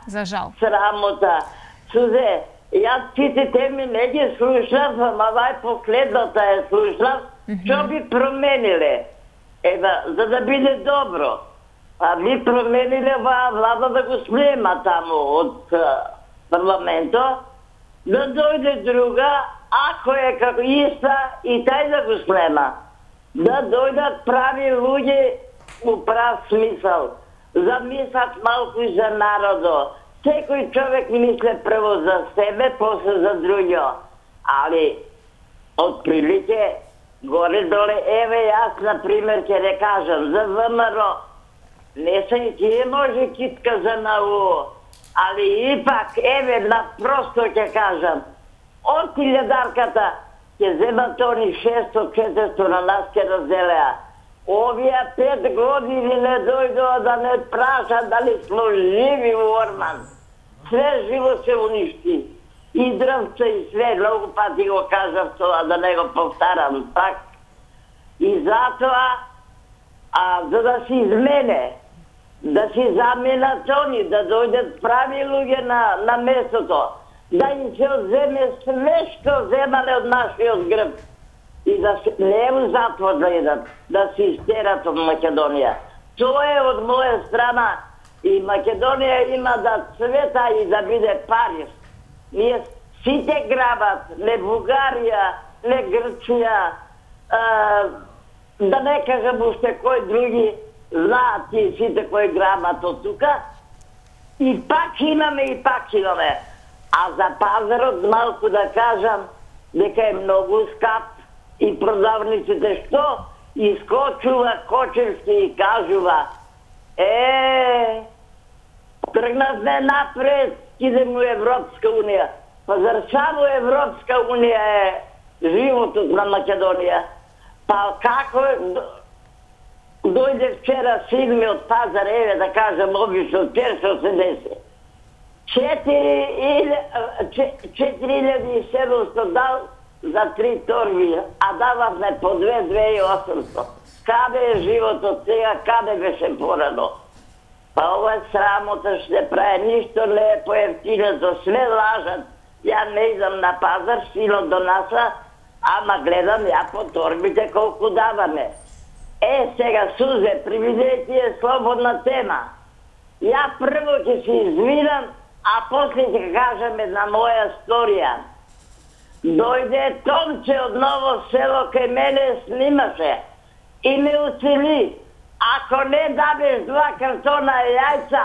За жал. Срамота. Сузе, јас сите теми не ги слушав, ама вај последната е слушав, што би промениле? За да биде добро. А би промениле оваа влада да го снема таму од парламентот, да дојде друга, ако е како иста, и тај да го снема. Да дојдат прави луѓе у прав смисъл. Замислат малку и за народо. Секој човек мисле прво за себе, после за друго. Али, од прилike, горе-доле, еве јас, например, ќе не кажам, за ВМРО, не се и тие може китка за НАУ. Али ипак, еве, просто ќе кажам, од илјадарката ќе земат они 600-400 на нас ќе разделеа. Овие 5 години не дојдоа да не прашат дали смо живи у Орман. Све живо се уништи. И дрвца и све, многу пати го кажав тоа, да не го повтарам пак. И затоа, за да се измене, да се заменат они, да дојдат прави луѓе на местото, да им се одземе све што земале од нашиот грб и да се не у затвор да идат, да се истерат од Македонија. Тоа е од моја страна и Македонија има да цвета и да биде Париж. Ние сите грабат, не Бугарија, не Грција, да не кажам уште кој други, знаат и сите кои грабат од тука. И пак имаме. А за пазарот малку да кажам дека е многу скап и продавниците што искочува Кочевски и кажува тргнавме напред, идем у Европска унија. Па зар само Европска унија е животот на Македонија? Па како дојде вчера син ми од пазар, еве да кажам обично, першо се деси. 4700 дал за 3 торби, а дававме по 2800. Каде е животот сега, каде беше порано? Па ова е срамота што се прави, ништо не е поевтинето, све лажат. Ја не идам на пазар, синот донаса ама гледам ја по торбите колку даваме. Сега, Сузе, привидејте е слободна тема. Ја прво ќе се извинам, а после ќе кажам една моја сторија. Дојде Томче од Ново село кај мене снимаше и ме уцели. Ако не дадеш 2 картона јајца,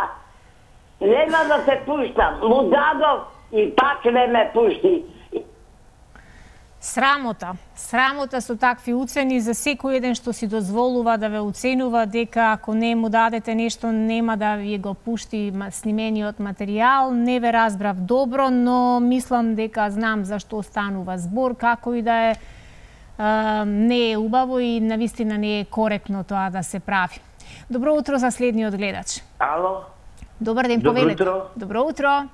нема да те пуштам. Му дадов и пак не ме пушти. Срамота со такви уцени за секој еден што си дозволува да ве уценува дека ако не му дадете нешто нема да ви го пушти снимениот материјал. Не ве разбрав добро, но мислам дека знам за што станува збор, како и да е. Не е убаво и навистина не е коректно тоа да се прави. Добро утро за следниот гледач. Ало. Добар ден, повелете. Добро утро.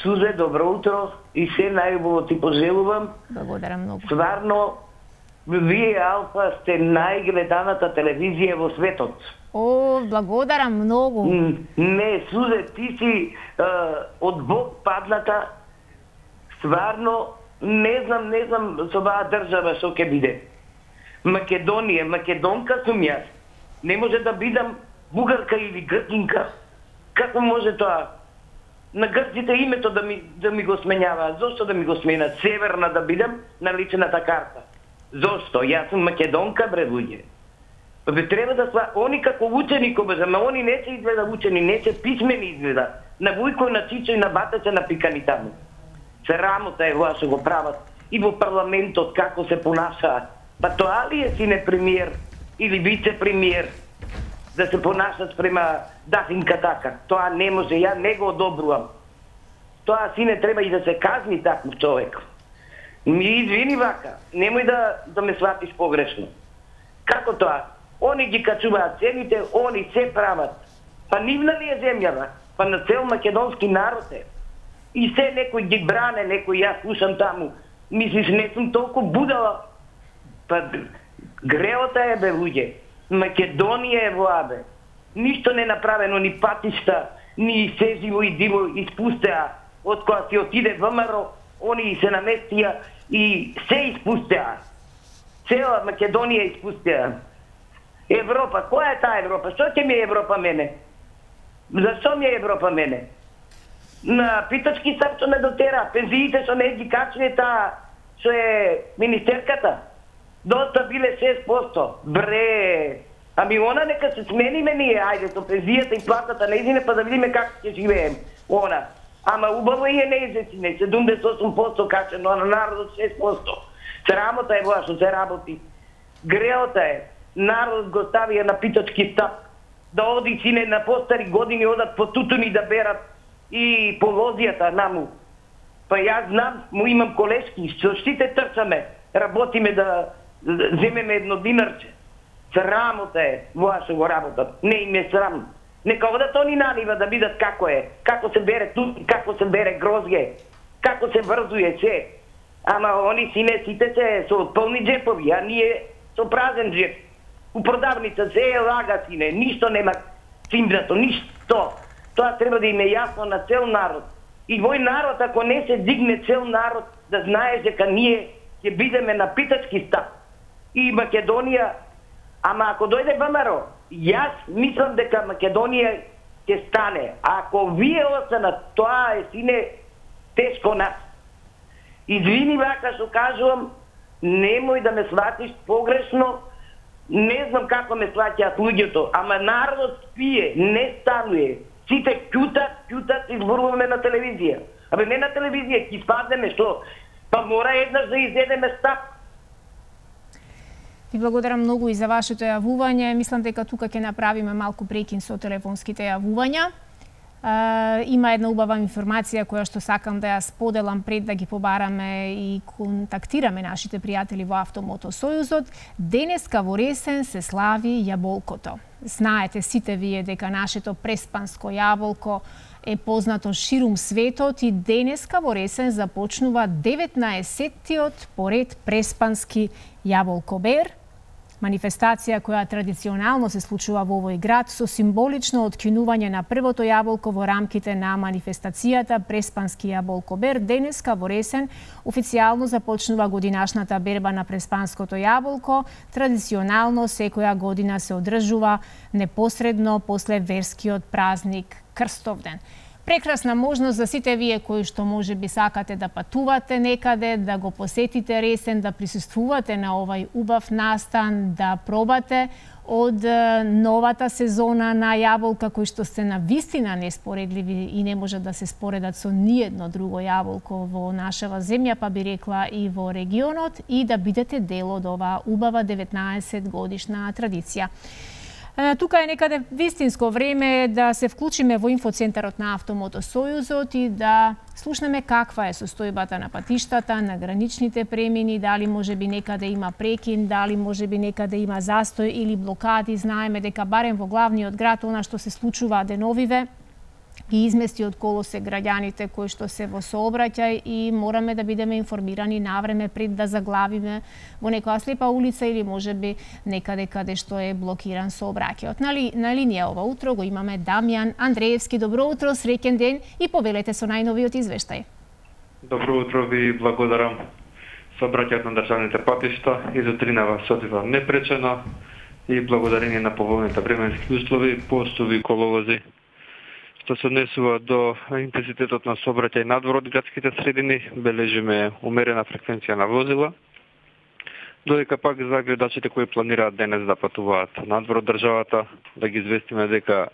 Сузе, добро утро и се најубаво ти пожелувам. Благодарам многу. Стварно, вие Алфа сте најгледаната телевизија во светот. О, благодарам многу. Не, Сузе, ти си од Бог падната. Стварно, не знам со оваа држава што ќе биде. Македонија, македонка сум јас. Не може да бидам бугарка или грчинка. Како може тоа? На грците името да ми го сменјава. Зошто да ми го сменат? Северна да бидам на личната карта. Зошто? Јас сум македонка, бре луѓе. Бе треба да сва они како учени ама они не се изгледа учени, не се писмени изгледа. На Вујко, на Чичо и на Бата се напикани таму. Срамота е тоа што го прават и во парламентот како се понашаат. Па тоа ли е сине премиер или вице-премиер да се понашат према Дафинка така? Тоа не може, ја не го одобрувам. Тоа сине треба и да се казни таков човек. Ми извини вака, немој да ме сватиш погрешно. Како тоа? Они ги качуваат цените, они се прават. Па нивна ли е земјава? Па на цел македонски народ е. И се некој ги бране, некој јас слушам таму. Мислиш, не сум толку будала. Па греота е, бе, луѓе. Македонија е воа, бе. Ништо не направено, ни патишта, ни се живо и диво испустеа. Од која си отиде ВМРО, они се наместија и се испустеа. Цела Македонија испустеа. Европа, која е таа Европа? Што ќе ми е Европа мене? Зашто ми е Европа мене? На питачки сам што не дотера, пензиите што не ги качне таа, што е министерката. Доста биле 6%. Бре, ами она нека се смениме ние, ајде, со пензијата и платата неизине, па да видиме како ќе живеем. Она. Ама убаво и е неизесине, 78% качено, а на народот 6%. Срамота е воа што се работи. Греота е. Народот го ставија на питачки стап. Да оди сине на постари години, одат по тутуни да берат и по лозијата наму. Па јас знам, му имам колешки, што штите трчаме, работиме да земеме едно динарче. Срамота е, воа што го работат. Не им е срам. Нека одат они нанива да видат како е, како се бере тути, како се бере грозје, како се врзуе се. Ама они сине сите се со полни джепови, а ние со празен джеп. У продавница се е лага сине, ништо нема цимбрато, ништо. Тоа треба да им е јасно на цел народ. И вој народ, ако не се дигне цел народ, да знаеш дека ние ќе бидеме на питачки стап. И Македонија, ама ако дојде ВМРО, јас мислам дека Македонија ќе стане. А ако вие останат, тоа е сине тешко нас. Извини вака што кажувам, немој да ме сватиш погрешно, не знам како ме сваќаат луѓето, ама народот спие, не стануе. Сите кјутат, изборуваме на телевизија. Абе не на телевизија, ќе спаднеме, што? Па мора еднаш да изедеме стап. Ви благодарам многу и за вашето јавување. Мислам дека тука ќе направиме малку прекин со телефонските јавувања. Има една убава информација која што сакам да ја споделам пред да ги побараме и контактираме нашите пријатели во Автомото Сојузот. Денеска во Ресен се слави јаболкото. Знаете сите вие дека нашето преспанско јаболко е познато ширум светот и денеска во Ресен започнува 19-тиот поред преспански јаболкобер. Манифестација која традиционално се случува во овој град со символично откинување на првото јаболко во рамките на манифестацијата Преспански јаболкобер, денеска во Ресен официјално започнува годинашната берба на Преспанското јаболко. Традиционално секоја година се одржува непосредно после верскиот празник Крстовден. Прекрасна можност за сите вие кои што можеби сакате да патувате некаде, да го посетите Ресен, да присуствувате на овај убав настан, да пробате од новата сезона на јаболка кои што се на вистина неспоредливи и не можат да се споредат со ниедно друго јаболко во нашава земја, па би рекла и во регионот, и да бидете дел од оваа убава 19 годишна традиција. Тука е некаде вистинско време да се вклучиме во инфоцентарот на Автомото Сојузот и да слушнеме каква е состојбата на патиштата, на граничните премини, дали можеби некаде има прекин, дали можеби некаде има застој или блокади. Знаеме дека барем во главниот град она што се случува деновиве ги измести од колосе граѓаните кои што се во сообраќај и мораме да бидеме информирани навреме пред да заглавиме во некоја слепа улица или можеби некаде каде што е блокиран сообраќајот. На линија ова утро го имаме Дамјан Андреевски. Добро утро, среќен ден и повелете со најновиот извештај. Добро утро, ви благодарам. Сообраќајот на државните патишта изутринава се одвива непречено и благодарение на поволните временски услови постови коловози. Што се однесува до интензитетот на сообраќај надвор од градските средини, бележиме умерена фреквенција на возила, додека пак за гледачите кои планираат денес да патуваат надвор од државата, да ги известиме дека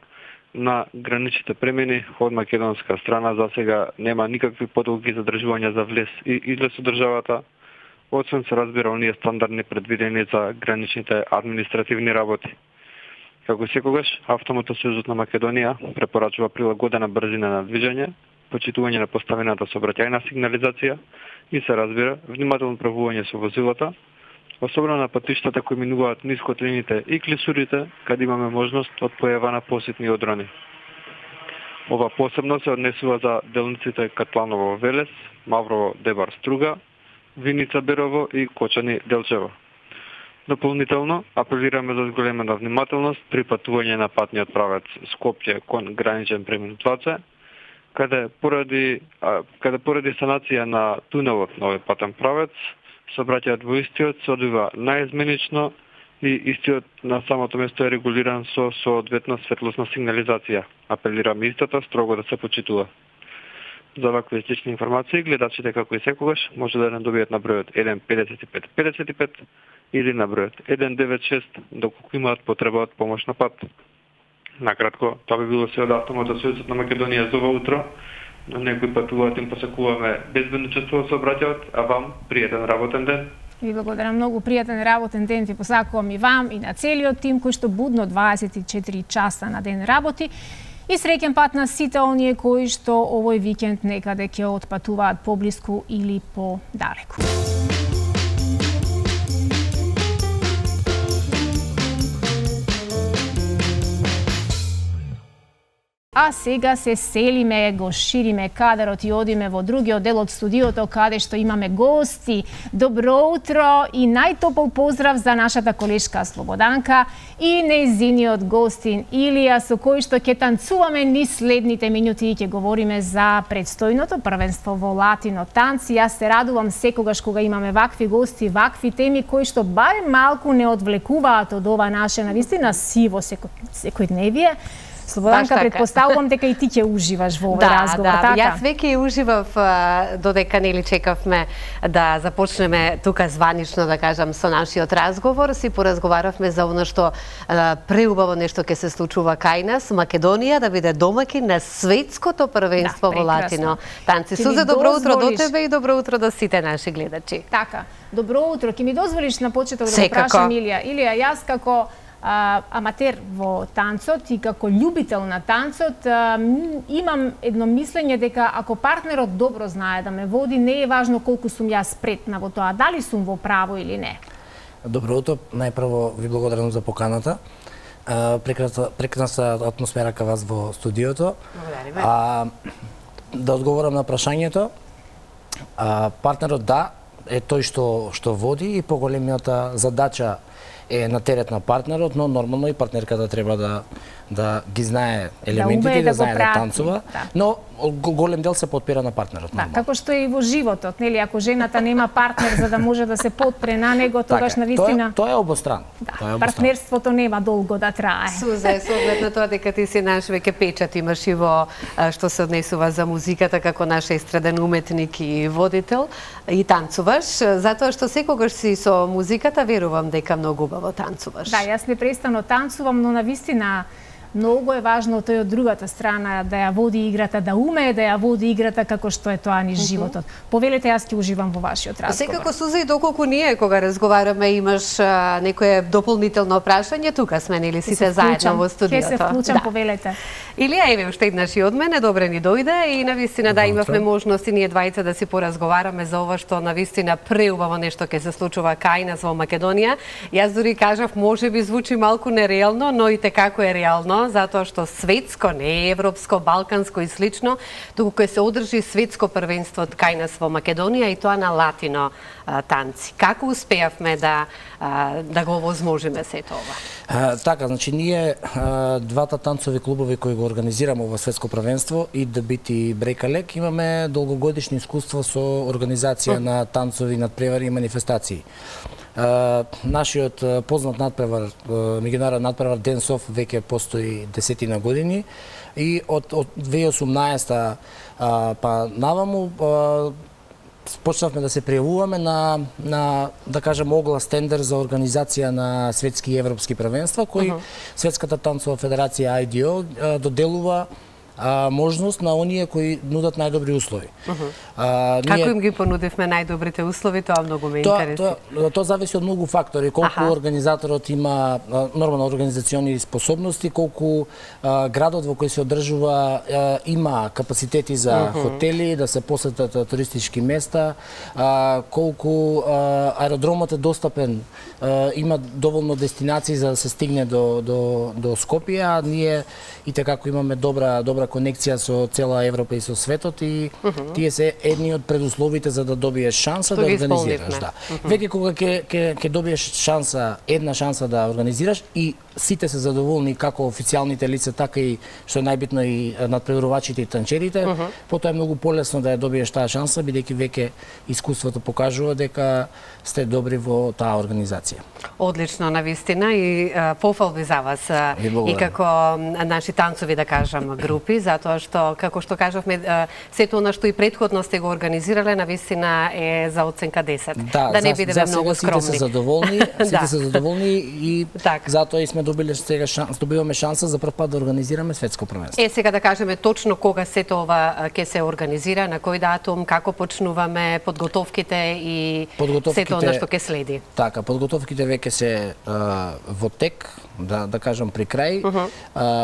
на граничните премини од македонска страна за сега нема никакви подолги задржувања за влез и излез од државата, освен се разбира оние стандардни предвидени за граничните административни работи. Како секогаш, Автомото Сојузот на Македонија препорачува прилагодена брзина на движење, почитување на поставената сообраќајна сигнализација и се разбира внимателно правување со возилата, особено на патиштата кои минуваат низ котлините и клисурите, каде имаме можност од појава на посетни одрони. Ова посебно се однесува за делниците Катланово Велес, Маврово Дебар Струга, Виница Берово и Кочани Делчево. Дополнително, апелираме за зголемена внимателност при патување на патниот правец Скопје кон граничен премин Тлаце, каде поради санација на тунелот на овој патен правец, сообраќајот во истиот се одвива наизменично и истиот на самото место е регулиран со соодветна светлосна сигнализација. Апелираме истата строго да се почитува. За вакви и слични информации, гледачите како и секогаш може да не добијат на бројот 15555 или на бројот 196 доколку имаат потреба од помош на пат. Накратко, тоа би било се од Автомото Сојузот на Македонија за ова утро. На некои патуваат им посакуваме безбедно чувство со обраќајот, а вам пријатен работен ден. Ви благодарам многу, пријатен работен ден ви посакувам и вам и на целиот тим кој што будно 24 часа на ден работи. И среќен пат на сите оние кои што овој викенд некаде ќе отпатуваат поблиску или подалеку. А сега се селиме, го шириме кадарот и одиме во другиот дел од студиото каде што имаме гости. Добро утро и најтопол поздрав за нашата колешка Слободанка и нејзиниот гостин Илија, со кој што ќе танцуваме низ следните минути и ќе говориме за предстојното првенство во латино танци. Јас се радувам секогаш кога имаме вакви гости, вакви теми кои што барем малку не одвлекуваат од ова наше навистина сиво секојдневие. Слободанка, предпоставувам дека и ти ќе уживаш во овој разговор, така? Јас веќе уживав додека нели чекавме да започнеме тука званично, да кажам, со нашиот разговор. Си поразговаравме за оно што преубаво нешто ќе се случува кај нас, Македонија да биде домаќин на светското првенство во латино танци. Сузе, добро утро до тебе и добро утро до сите наши гледачи. Така, добро утро. Ќе ми дозволиш на почеток да го прашам Илија. Илија, јас како аматер во танцот и како љубител на танцот, имам едно мислење дека ако партнерот добро знае да ме води, не е важно колку сум јас спретна во тоа, дали сум во право или не. Добро утро, најпрво ви благодарам за поканата. Прекрасна атмосфера кај вас во студиото. Да одговорам на прашањето. Партнерот да, е тој што води и поголемината задача е на терет на партнерот, но нормално и партнерката треба да ги знае елементите и да знае да танцува, но голем дел се потпира на партнерот. Да, како што е и во животот, нели, ако жената нема партнер за да може да се потпре на него, тогаш навистина тоа е обострано. Партнерството нема долго да трае. Сузе, со оглед на тоа дека ти си наш веќе печат имаш и во што се однесува за музиката како наш естраден уметник и водител и танцуваш, затоа што секогаш си со музиката, верувам дека многу убаво танцуваш. Да, јас непрестано танцувам, но навистина многу е важно тој од другата страна да ја води играта, да умее да ја води играта како што е тоа низ животот. Повелете, јас ќе уживам во вашиот разговор. Секако, Суза, и доколку ние кога разговараме имаш некое дополнително прашање, тука сме нели сите заедно во студиото. Ќе се вклучам, повелете. Илија, еве уште еднаш и од мене, добре ни дојде и навистина да имавме можност и ние двајца да си поразговараме за ова што навистина преубаво нешто ќе се случува кај нас во Македонија. Јас дури кажав, можеби звучи малку нереално, но и како е реално, затоа што светско, не европско, балканско и слично, туку кој се одржи светско првенство кај нас во Македонија и тоа на латино танци. Како успеавме да го овозможиме сето ова? Така, значи ние двата танцови клубови кои го организираме во светско првенство и ДБТ и Брекалек имаме долгогодишни искуство со организација на танцови, надпревари и манифестации. Нашиот познат надпревар, меѓународен надпревар Денсов веќе постои 10 години и од 2018 па наваму почнавме да се пријавуваме на да кажем оглас тендер за организација на светски и европски првенства кои Светската танцова федерација IDO доделува можност на оние кои нудат најдобри услови. Како им ги понудивме најдобрите услови, тоа многу ме интересира. Тоа зависи од многу фактори, колку организаторот има нормално организациони способности, колку градот во кој се одржува има капацитети за хотели, да се посетат туристички места, колку аеродромот е достапен, има доволно дестинации за да се стигне до Скопје, а ние и како имаме добра конекција со цела Европа и со светот и тие се едни од предусловите за да добиеш шанса да организираш. Веќе кога ќе добиеш една шанса да организираш и сите се задоволни како официјалните лица, така и што е најбитно и надпреварувачите и танчерите, потоа е многу полесно да ја добиеш таа шанса, бидејќи веќе искуството покажува дека сте добри во таа организација. Одлично, навистина, и пофалби за вас и како наши танцови, да кажам, групи, затоа што, како што кажавме, сето она што и претходно сте го организирале, навистина е за оценка 10. Да не бидеме многу скромни. Сите се задоволни и затоа и сме добиваме шанса за прв пат да организираме светско првенство. Сега да кажеме точно кога сето ова ќе се организира, на кој датум, како почнуваме подготовките и сето она што ќе следи. Така, подготовките веќе се во тек, да кажам при крај,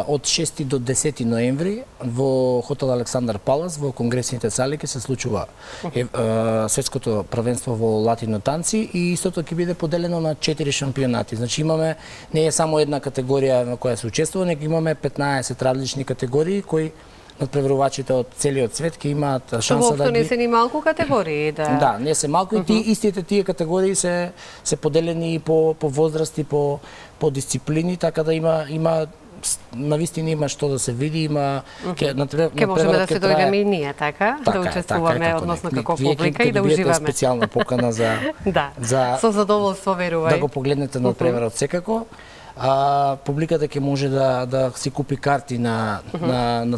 од 6 до 10 ноември во хотел Александар Палас во конгресните сали ќе се случува светското првенство во латино танци и истото ќе биде поделено на 4 шампионати. Значи имаме не е само една категорија на која се учествува, него имаме 15 различни категории кои надпреварувачите од целиот свет ќе имаат шанса да ги... не се ни малку категории, да. Да, не се малку и истите тие категории се поделени и по возрасти, по дисциплини, така да има навистина има што да се види, има ќе можеме да се дојдеме и ние, така, да учествуваме односно како публика и да уживаме. Специјална покана за со задоволство, верувај. Да го погледнете надпреварот секако. Публиката ќе може да си купи карти на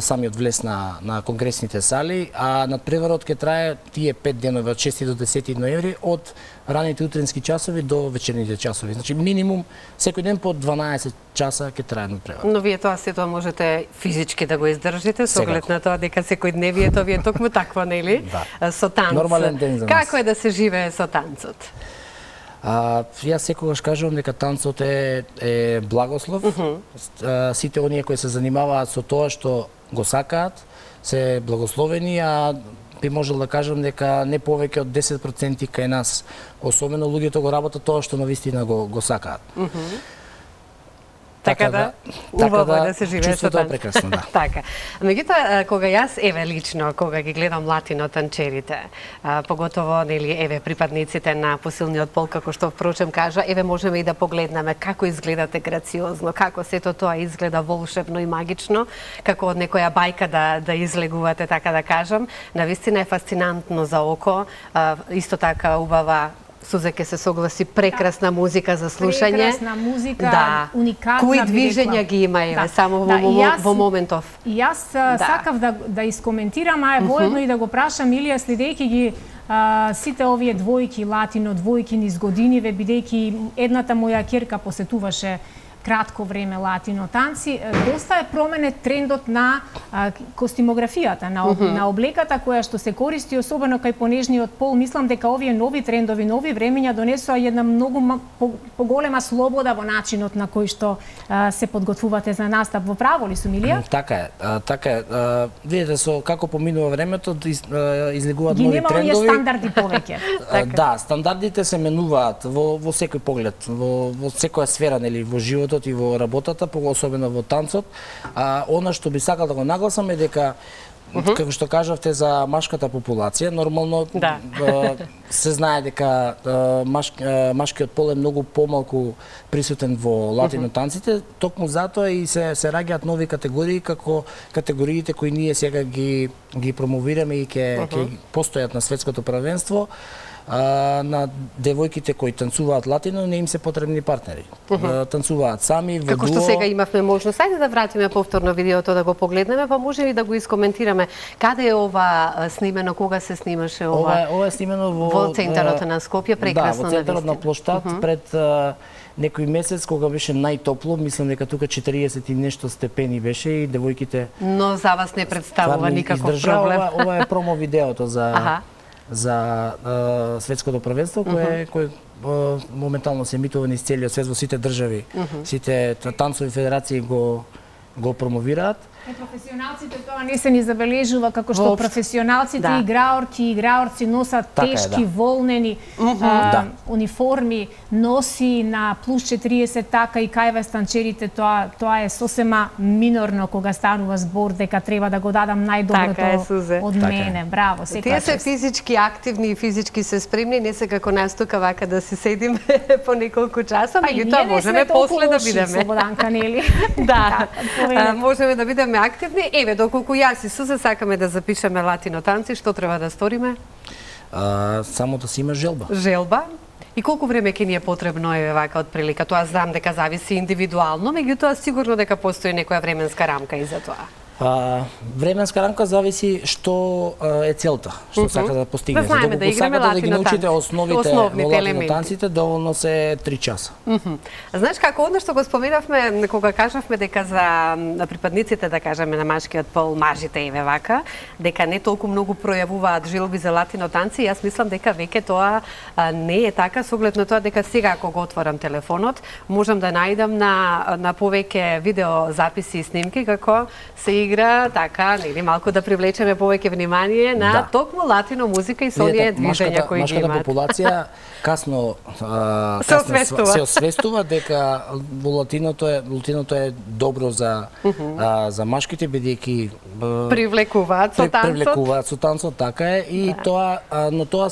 самиот влез на конгресните сали, а надпреварот ќе трае тие 5 денови од 6 до 10 ноември од раните утрински часови до вечерните часови. Значи минимум секој ден по 12 часа ќе трае надпреварот. Но вие тоа сето можете физички да го издржите со оглед на тоа дека секојдневието ви е токму такво, нели? Со танц. Нормален ден за нас. Како е да се живее со танцот? Јас секогаш кажувам дека танцот е благослов. Сите оние кои се занимаваат со тоа што го сакаат се благословени, а би можел да кажам дека не повеќе од 10% кај нас, особено луѓето го работат тоа што навистина го сакаат. Така да, убаво да се живее со танци. Чувството е прекрасно, да. Така. Меѓутоа, кога јас, еве лично, кога ги гледам латино танчерите, поготово, нели, еве припадниците на посилниот пол, како што впрочем кажа, еве можеме и да погледнеме како изгледате грациозно, како сето тоа изгледа волшебно и магично, како од некоја бајка да излегувате, така да кажам. Навистина е фасцинантно за око, исто така убава. Сузе ке се согласи, прекрасна музика за слушање. Прекрасна музика, уникатна. Кои движења ги има, еве, само во моментов. И јас сакав да искоментирам, а воедно и да го прашам Илија, следејќи ги сите овие двојки, латино двојки низ годиниве, бидејќи едната моја ќерка посетуваше кратко време латино танци, доста е променет трендот на костимографијата, на облеката која што се користи, особено кај понежниот пол. Мислам дека овие нови трендови, нови времења донесоа една многу поголема слобода во начинот на кој што се подготвувате за настап. Во право ли сум, Илија? Така е. Видите со како поминува времето, излегуваат нови трендови. Ги нема оние стандарди повеќе. Да, стандардите се менуваат во секој поглед, во секоја сфера, нели, во животот и во работата, особено во танцот. Она што би сакал да го нагласам е дека, како што кажавте за машката популација, нормално се знае дека машкиот пол е многу помалку присутен во латино танците, токму затоа и се раѓаат нови категории, како категориите кои ние сега ги промовираме и ќе постојат на светското првенство. На девојките кои танцуваат латино не им се потребни партнери. Танцуваат сами, во дуо. Како што сега имавме можност, ајде да вратиме повторно видеото да го погледнеме, па може и да го искоментираме. Каде е ова снимено, кога се снимаше ова? Ова е снимено во центарот на Скопје, прекрасно. Да, во центарот на плоштад, пред некој месец кога беше најтопло, мислам дека тука 40 и нешто степени беше и девојките. Но за вас не представува никаков проблем. Ова е промо видеото за светското првенство кој моментално се емитува низ целиот свет во сите држави. Сите танцови федерации го промовираат. Професионалците тоа не се ни забележува, како што професионалците играорки и играорци носат тешки волнени униформи, носи на плюс 40, така и кај танчерите тоа е сосема минорно кога станува збор дека треба да го дадам најдоброто од мене. Браво, тие се физички активни и физички се спремни, не се како нас тука вака да се седиме по неколку часа, меѓутоа можеме после да бидеме. Слободанка, нели? Да, можеме да бидеме активни. Еве, доколку јас и Сузе сакаме да запишеме латино танци, што треба да сториме? Само да си има желба. Желба? И колку време ќе ни е потребно, еве вака, од прилика? Тоа знам дека зависи индивидуално, меѓутоа сигурно дека постои некоја временска рамка и за тоа. Временска рамка зависи што е целта, што сака да постигне. Знаеме да играме латино танци. Да ги научите основните латино танците, доволно се 3 часа. Знаеш како, одно што го споменавме, кога кажавме дека за припадниците, да кажеме, на машкиот пол, мажите еве вака, дека не толку многу пројавуваат желби за латино танци, јас мислам дека веќе тоа не е така, со оглед на тоа дека сега ако го отворам телефонот, можам да најдам на повеќе видео записи и снимки како се игра, така, нели, малку да привлечеме повеќе внимание на токму латино музика и со оние движења кои ги имаат. Машката популација касно се освестува дека во латиното е добро за машките, бидејќи привлекуваат со танцот, така е, и тоа, но тоа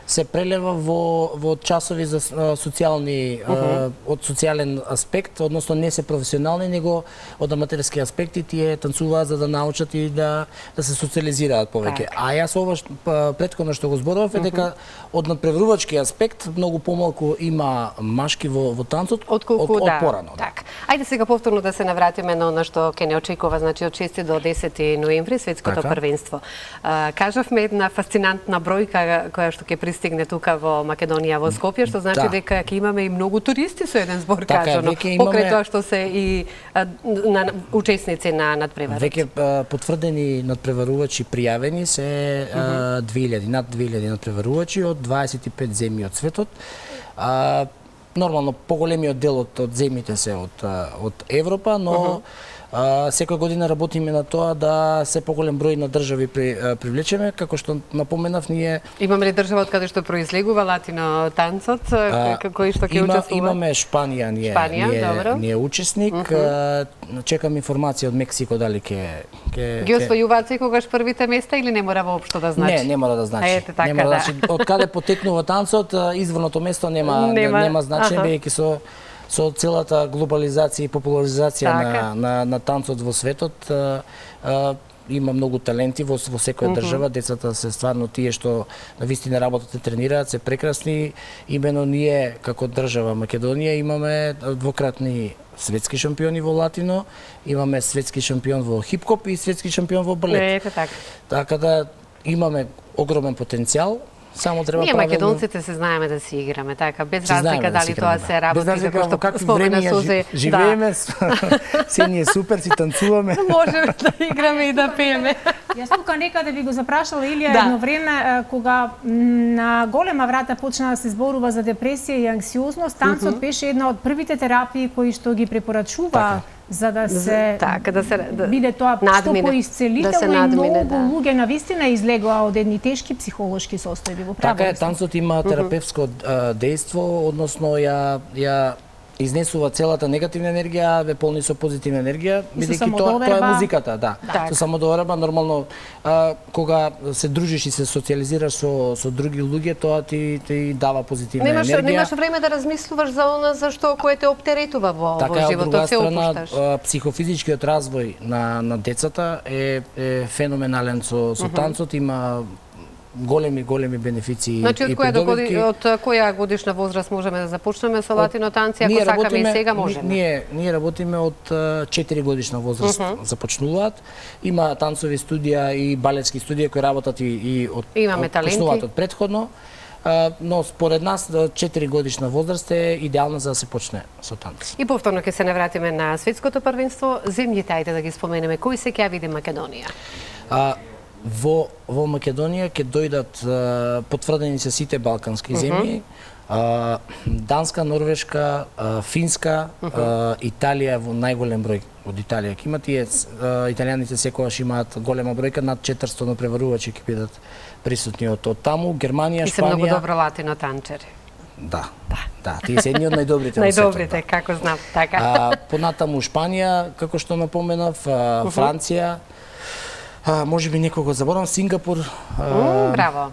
се прелева во часови за социјални, од социјален аспект, односно не се професионални, него од аматерски аспекти, тие танцуваат за да научат и да се социализираат повеќе. А јас ова претходно што го зборував е дека од надпреварувачки аспект многу помалку има машки во танцот од порано. Так. Ајде сега повторно да се навратиме на она што ќе не очекува, значи од 6 до 10 ноември светското првенство. Кажавме една фасцинантна бројка која што ќе пристигне тука во Македонија, во Скопје, што значи дека ќе имаме и многу туристи со еден збор кажано, покрај тоа што се и учесници на надпреварот. Веќе потврдени надпреварувачи пријавени се 2000, над 2000 надпреварувачи од 25 земји од светот. Нормално поголемиот дел од земјите се од Европа, но Секоја година работиме на тоа да се поголем број на држави привлечеме, како што напоменав, ние имаме ли држава од каде што произлегува латино танцот, кој што ќе учествува? Имаме Шпанија, ние учесник. Чекам информација од Мексико дали ќе ги освојуваат секогаш првите места или не мора воопшто да значи? Не мора да значи. Од каде потекнува танцот, изворното место нема значење, бидејќи со целата глобализација и популаризација на танцот во светот, има многу таленти во секоја држава, децата се стварно тие што навистина работат и тренираат, се прекрасни. Имено ние како држава Македонија имаме двократни светски шампиони во латино, имаме светски шампион во хип-хоп и светски шампион во балет. Така да имаме огромен потенцијал. Само треба ние македонците се знаеме да си играме, така, без разлика дали тоа се работи, како што спомена Сузе. Живееме, се ние супер, си танцуваме. Можеме да играме и да пееме. Јас тука некаде би го запрашала Илија едно време, кога на голема врата почна да се зборува за депресија и анксиозност, танцот беше една од првите терапии кои што ги препорачува за да се биде тоа што поисцелително и многу луѓе навистина излегоа од едни тешки психолошки состојби во правото. Така е, танцот има терапевско дејство, односно ја изнесува целата негативна енергија, ве полни со позитивна енергија, бидејќи тоа е музиката, Со самодоверба нормално кога се дружиш и се социализираш со други луѓе, тоа ти дава позитивна енергија. Немаш време да размислуваш за она за што кое те оптеретува во животот, се опушташ. Психофизичкиот развој на децата е феноменален со танцот, има големи бенефиции и придобивки. Од која годишна возраст можеме да започнеме со латино танци, ако сакаме и сега можеме? Ние работиме од 4 годишна возраст започнуваат. Има танцови студија и балетски студија кои работат и почнуваат од предходно. Но според нас 4 годишна возраст е идеална за да се почне со танц. И повторно ќе се навратиме на светското првенство. Земјите, ајде да ги споменеме, кои се ќе види Македонија? Во Македонија ќе дојдат потврдени се сите балкански земји, Данска, Норвешка, Финска, Италија во најголем број од Италија ќе имат. Италијаните секогаш имаат голема бројка, над 400 напреварувачи ќе бидат присутни од таму. Германија, Шпанија. И се многу добро латино танчери. Да, тие се едни од најдобрите на светот. Најдобрите, како знам, така. Понатаму Шпанија, како што напоменав, Франција, може би некого заборам, Сингапур. Браво.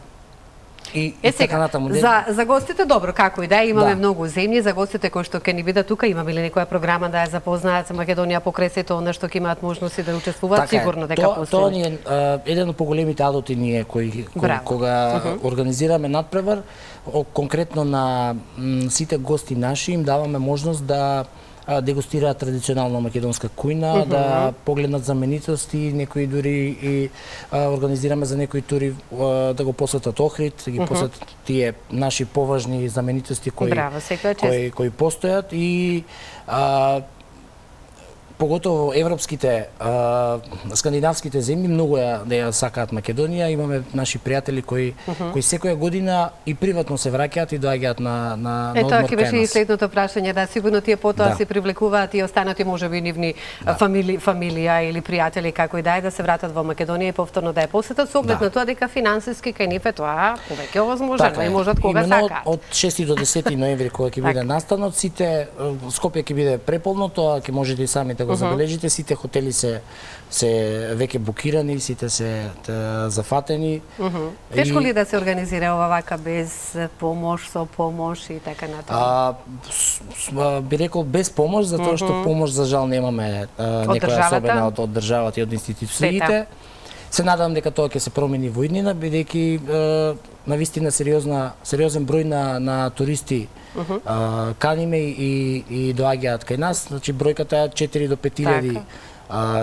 И така натаму. За гостите добро, како и да имаме многу земји, за гостите кои што ќе ни бидат тука, имаме ли некоја програма да ја запознаат за Македонија покрај сето она што ќе имаат можности да учествуваат, сигурно дека после. Тоа ни е еден од поголемите адути ние кога организираме надпревар, конкретно на сите гости наши им даваме можност да дегустираат традиционална македонска кујна, да погледнат знаменитости, некои дури и организираме за некои тури да го посетат Охрид, да ги посетат тие наши поважни знаменитости кои постојат и поготово европските, скандинавските земји многу ја сакаат Македонија. Имаме наши пријатели кои секоја година и приватно се враќаат и доаѓаат на одмор кај нас. Тоа ќе беше и следното прашање, да сигурно тие потоа се привлекуваат и останати можеби нивни фамилија или пријатели како и да се вратат во Македонија и повторно да ја посетат со оглед на тоа дека финансиски кај нив е тоа повеќе овозможено и можат кога сакаат. Од 6 до 10 ноември кога ќе биде настанот, сите Скопје ќе биде преполно, тоа ќе можете и самите го забележите, сите хотели се веќе букирани, сите се зафатени. Тешко ли да се организира вака без помош, со помош и така натаму? Би рекол без помош, затоа што помош за жал немаме некоја особена од државата и од институциите. Се надам дека тоа ќе се промени во иднина, бидејќи навистина сериозен број на туристи каниме и доаѓаат кај нас. Значи бројката е 4 до 5 илјади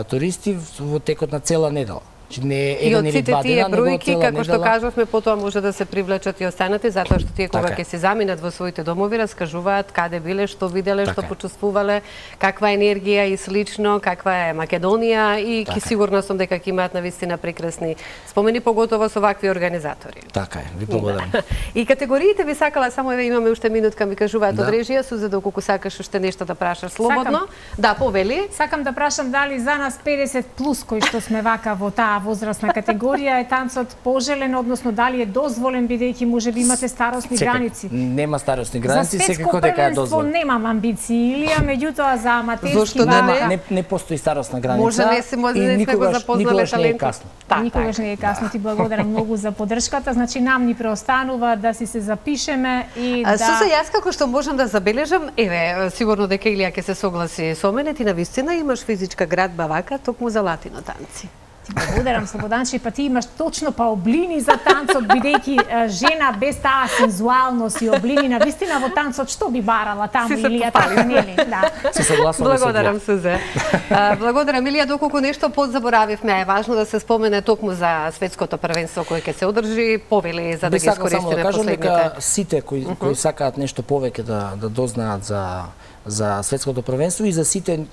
туристи во текот на цела недела. Не еден или два дена, него бројки, како што кажавме, потоа може да се привлечат и останати, затоа што тие кога ќе се заминат во своите домови, раскажуваат каде биле, што виделе, што почувствувале, каква енергија и слично, каква е Македонија и ќе сигурна сум дека ќе имаат навистина прекрасни спомени, поготово со вакви организатори. Така е, ви благодарам. И категориите ви сакала, само еве имаме уште минутка, ми кажуваат од режија, Суза, доколку сакаш уште нешто да прашаш слободно. Да, повели. Сакам да прашам дали за нас 50 плюс кои што сме вака во таа возрастна категорија е танцот пожелен, односно дали е дозволен, бидејќи можеби имате старосни граници. Нема старосни граници, секако дека е дозволен. Немам амбиции, Илија, меѓутоа за аматерски не постои старосна граница. Може не сме го запознале талентот. Никогаш не е касно. Ти благодарам многу за поддршката. Значи нам ни преостанува да си се запишеме и да Суза, јас како што можам да забележам, еве, сигурно дека Илија ќе се согласи со мене, ти навистина имаш физичка градба вака токму за латино танци. Ти благодарам, Слободанче, па ти имаш точно облини за танцот, бидејќи жена без таа сензуалност и облини, навистина во танцот што би барала таму Илија, така нели? Да. Се согласувам. Благодарам, Сузе. Благодарам, Илија, доколку нешто подзаборавивме, е важно да се спомене токму за светското првенство кое ќе се одржи, повели за да ги искористиме последните. Дека сите кои сакаат нешто повеќе да дознаат за светското првенство и за сите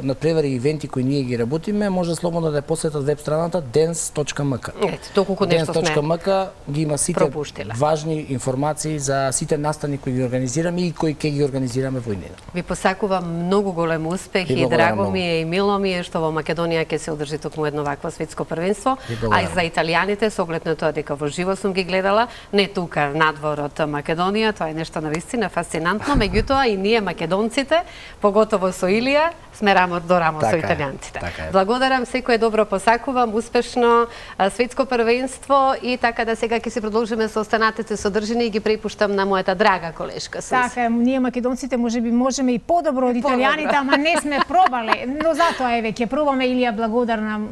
надпревари и ивенти кои ние ги работиме, може слободно да ја посетат веб страната dance.mk. Доколку нешто сме dance.mk ги има сите важни информации за сите настани кои ги организираме и кои ќе ги организираме во иднина. Ви посакувам многу голем успех и драго ми е и мило ми е што во Македонија ќе се одржи токму едно вакво светско првенство, а и за италијаните со оглед на тоа дека во живо сум ги гледала, не тука надвор од Македонија, тоа е нешто навистина фасцинантно, меѓутоа и ние македонците, поготово со Илија, сме рамо до рамо со италијанците. Благодарам, секое добро посакувам, успешно светско првенство и така да сега ќе се продолжиме со останатите содржини и ги препуштам на мојата драга колешка. Така, ние македонците можеби можеме и подобро од италијаните, ама не сме пробале. Но затоа еве ќе пробаме. Илија,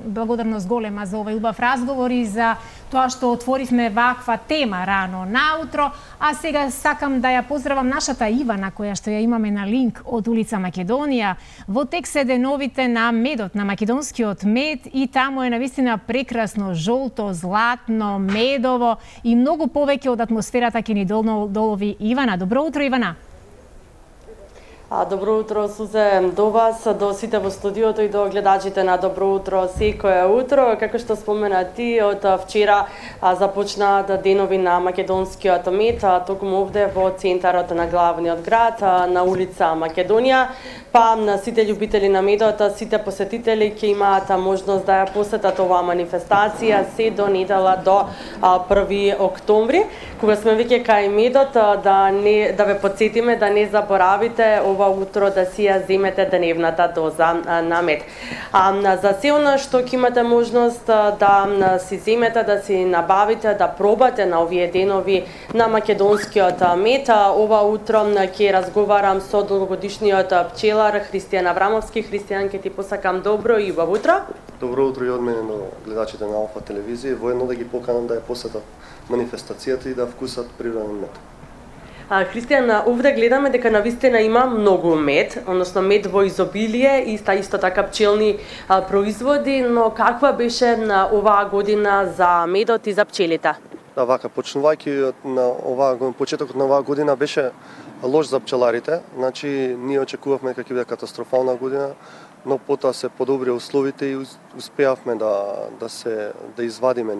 благодарност голема за овој убав разговор и за тоа што отворивме ваква тема рано наутро, а сега сакам да ја поздравам нашата Ивана која што ја имаме на линк од улица Македонија. Во тек се деновите на медот, на македонскиот мед и таму е навистина прекрасно жолто, златно, медово и многу повеќе од атмосферата ќе ни долови Ивана. Добро утро, Ивана. Добро утро, Сузе, до вас, до сите во студиото и до гледачите на Добро утро секое утро. Како што спомена ти, од вчера започнаат денови на македонскиот мед, токму овде во центарот на главниот град, на улица Македонија. Па на сите љубители на медот, сите посетители ќе имаат можност да ја посетат оваа манифестација се до недела до 1 октомври. Кога сме веќе кај медот, да ве потсетиме да не заборавите ова утро да си ја земете дневната доза на мед. За се она што ќе имате можност да си земете, да си набавите, да пробате на овие денови на македонскиот мед, ова утро ќе разговарам со долгогодишниот пчелар Христијан Аврамовски. Христијан, ќе ти посакам добро и убаво утро. Добро утро и од мене до гледачите на Алфа телевизија. Воедно да ги поканам да ја посетат манифестацијата и да вкусат природен мед. Христијан, овде гледаме дека навистина има многу мед, односно мед во изобилие и исто така пчелни производи, но каква беше оваа година за медот и за пчелите? Да, вака, почнувајќи на почетокот на оваа година беше лош за пчеларите, значи ние очекувавме дека ќе биде катастрофална година, но потоа се подобри условите и успеавме да извадиме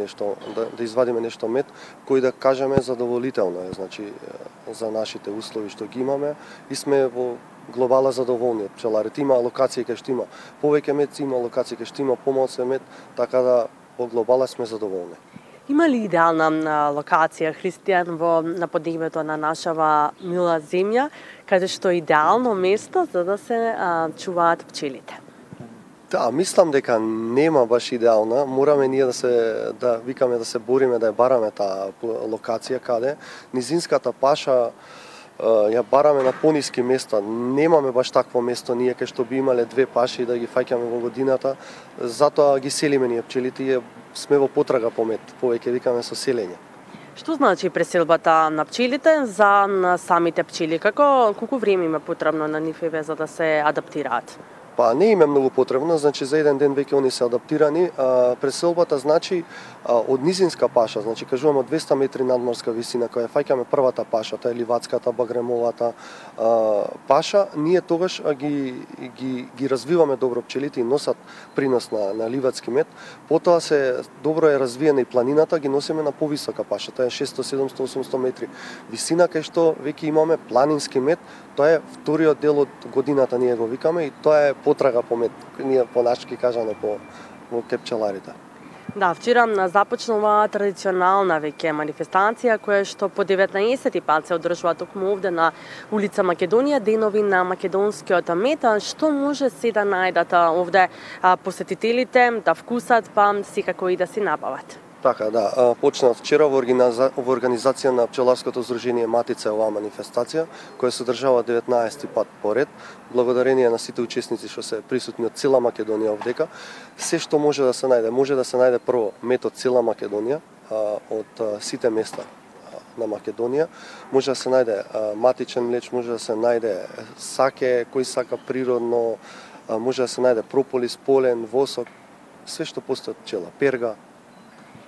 нешто мед кој да кажеме задоволително е, значи за нашите услови што ги имаме и сме во глобала задоволни од пчеларите. Има локации кај што има повеќе мед, има локации кај што има помалку мед, така да во глобала сме задоволни. Има ли идеална локација, Христијан, на поднебето на нашава мила земја, каде што е идеално место за да се чуваат пчелите? Да, мислам дека нема баш идеална. Мораме ние да викаме да се бориме да ја бараме таа локација каде низинската паша ја бараме на пониски места. Немаме баш такво место ние кај што би имале две паши да ги фаќаме во годината. Затоа ги селиме ние пчелите и сме во потрага по мед, повеќе викаме со селење. Што значи преселбата на пчелите за самите пчели? Колку време има потребно на нив за да се адаптираат? Па не им е многу потребно, значи за еден ден веќе они се адаптирани. Преселбата значи од низинска паша, значи кажуваме од 200 метри надморска висина, која фаќаме првата паша, тоа е ливацката, багремовата паша, ние тогаш ги развиваме добро пчелите и носат принос на ливацки мед. Потоа се добро е развиена и планината, ги носиме на повисока паша, тоа е 600, 700, 800 метри висина, кај што веќе имаме планински мед. Тоа е вториот дел од годината, ние го викаме, и тоа е потрага по мед, ние по нашки кажано по пчеларите. Да, вчера започнува традиционална веќе манифестација која што по 19 пат се одржува токму овде на улица Македонија, денови на македонскиот мед. Што може се да најдат овде посетителите, да вкусат, па секако и да си набават? Така, да. Почна вчера во организација на Пчеларското здружение Матица оваа манифестација, која се одржава 19 пат поред. Благодарение на сите учесници што се присутни од цела Македонија овдека. Се што може да се најде прво мед од цела Македонија, од сите места на Македонија. Може да се најде матичен млеч, може да се најде саке, кој сака природно, може да се најде прополис, полен, восок, све што постои од пчела, перга.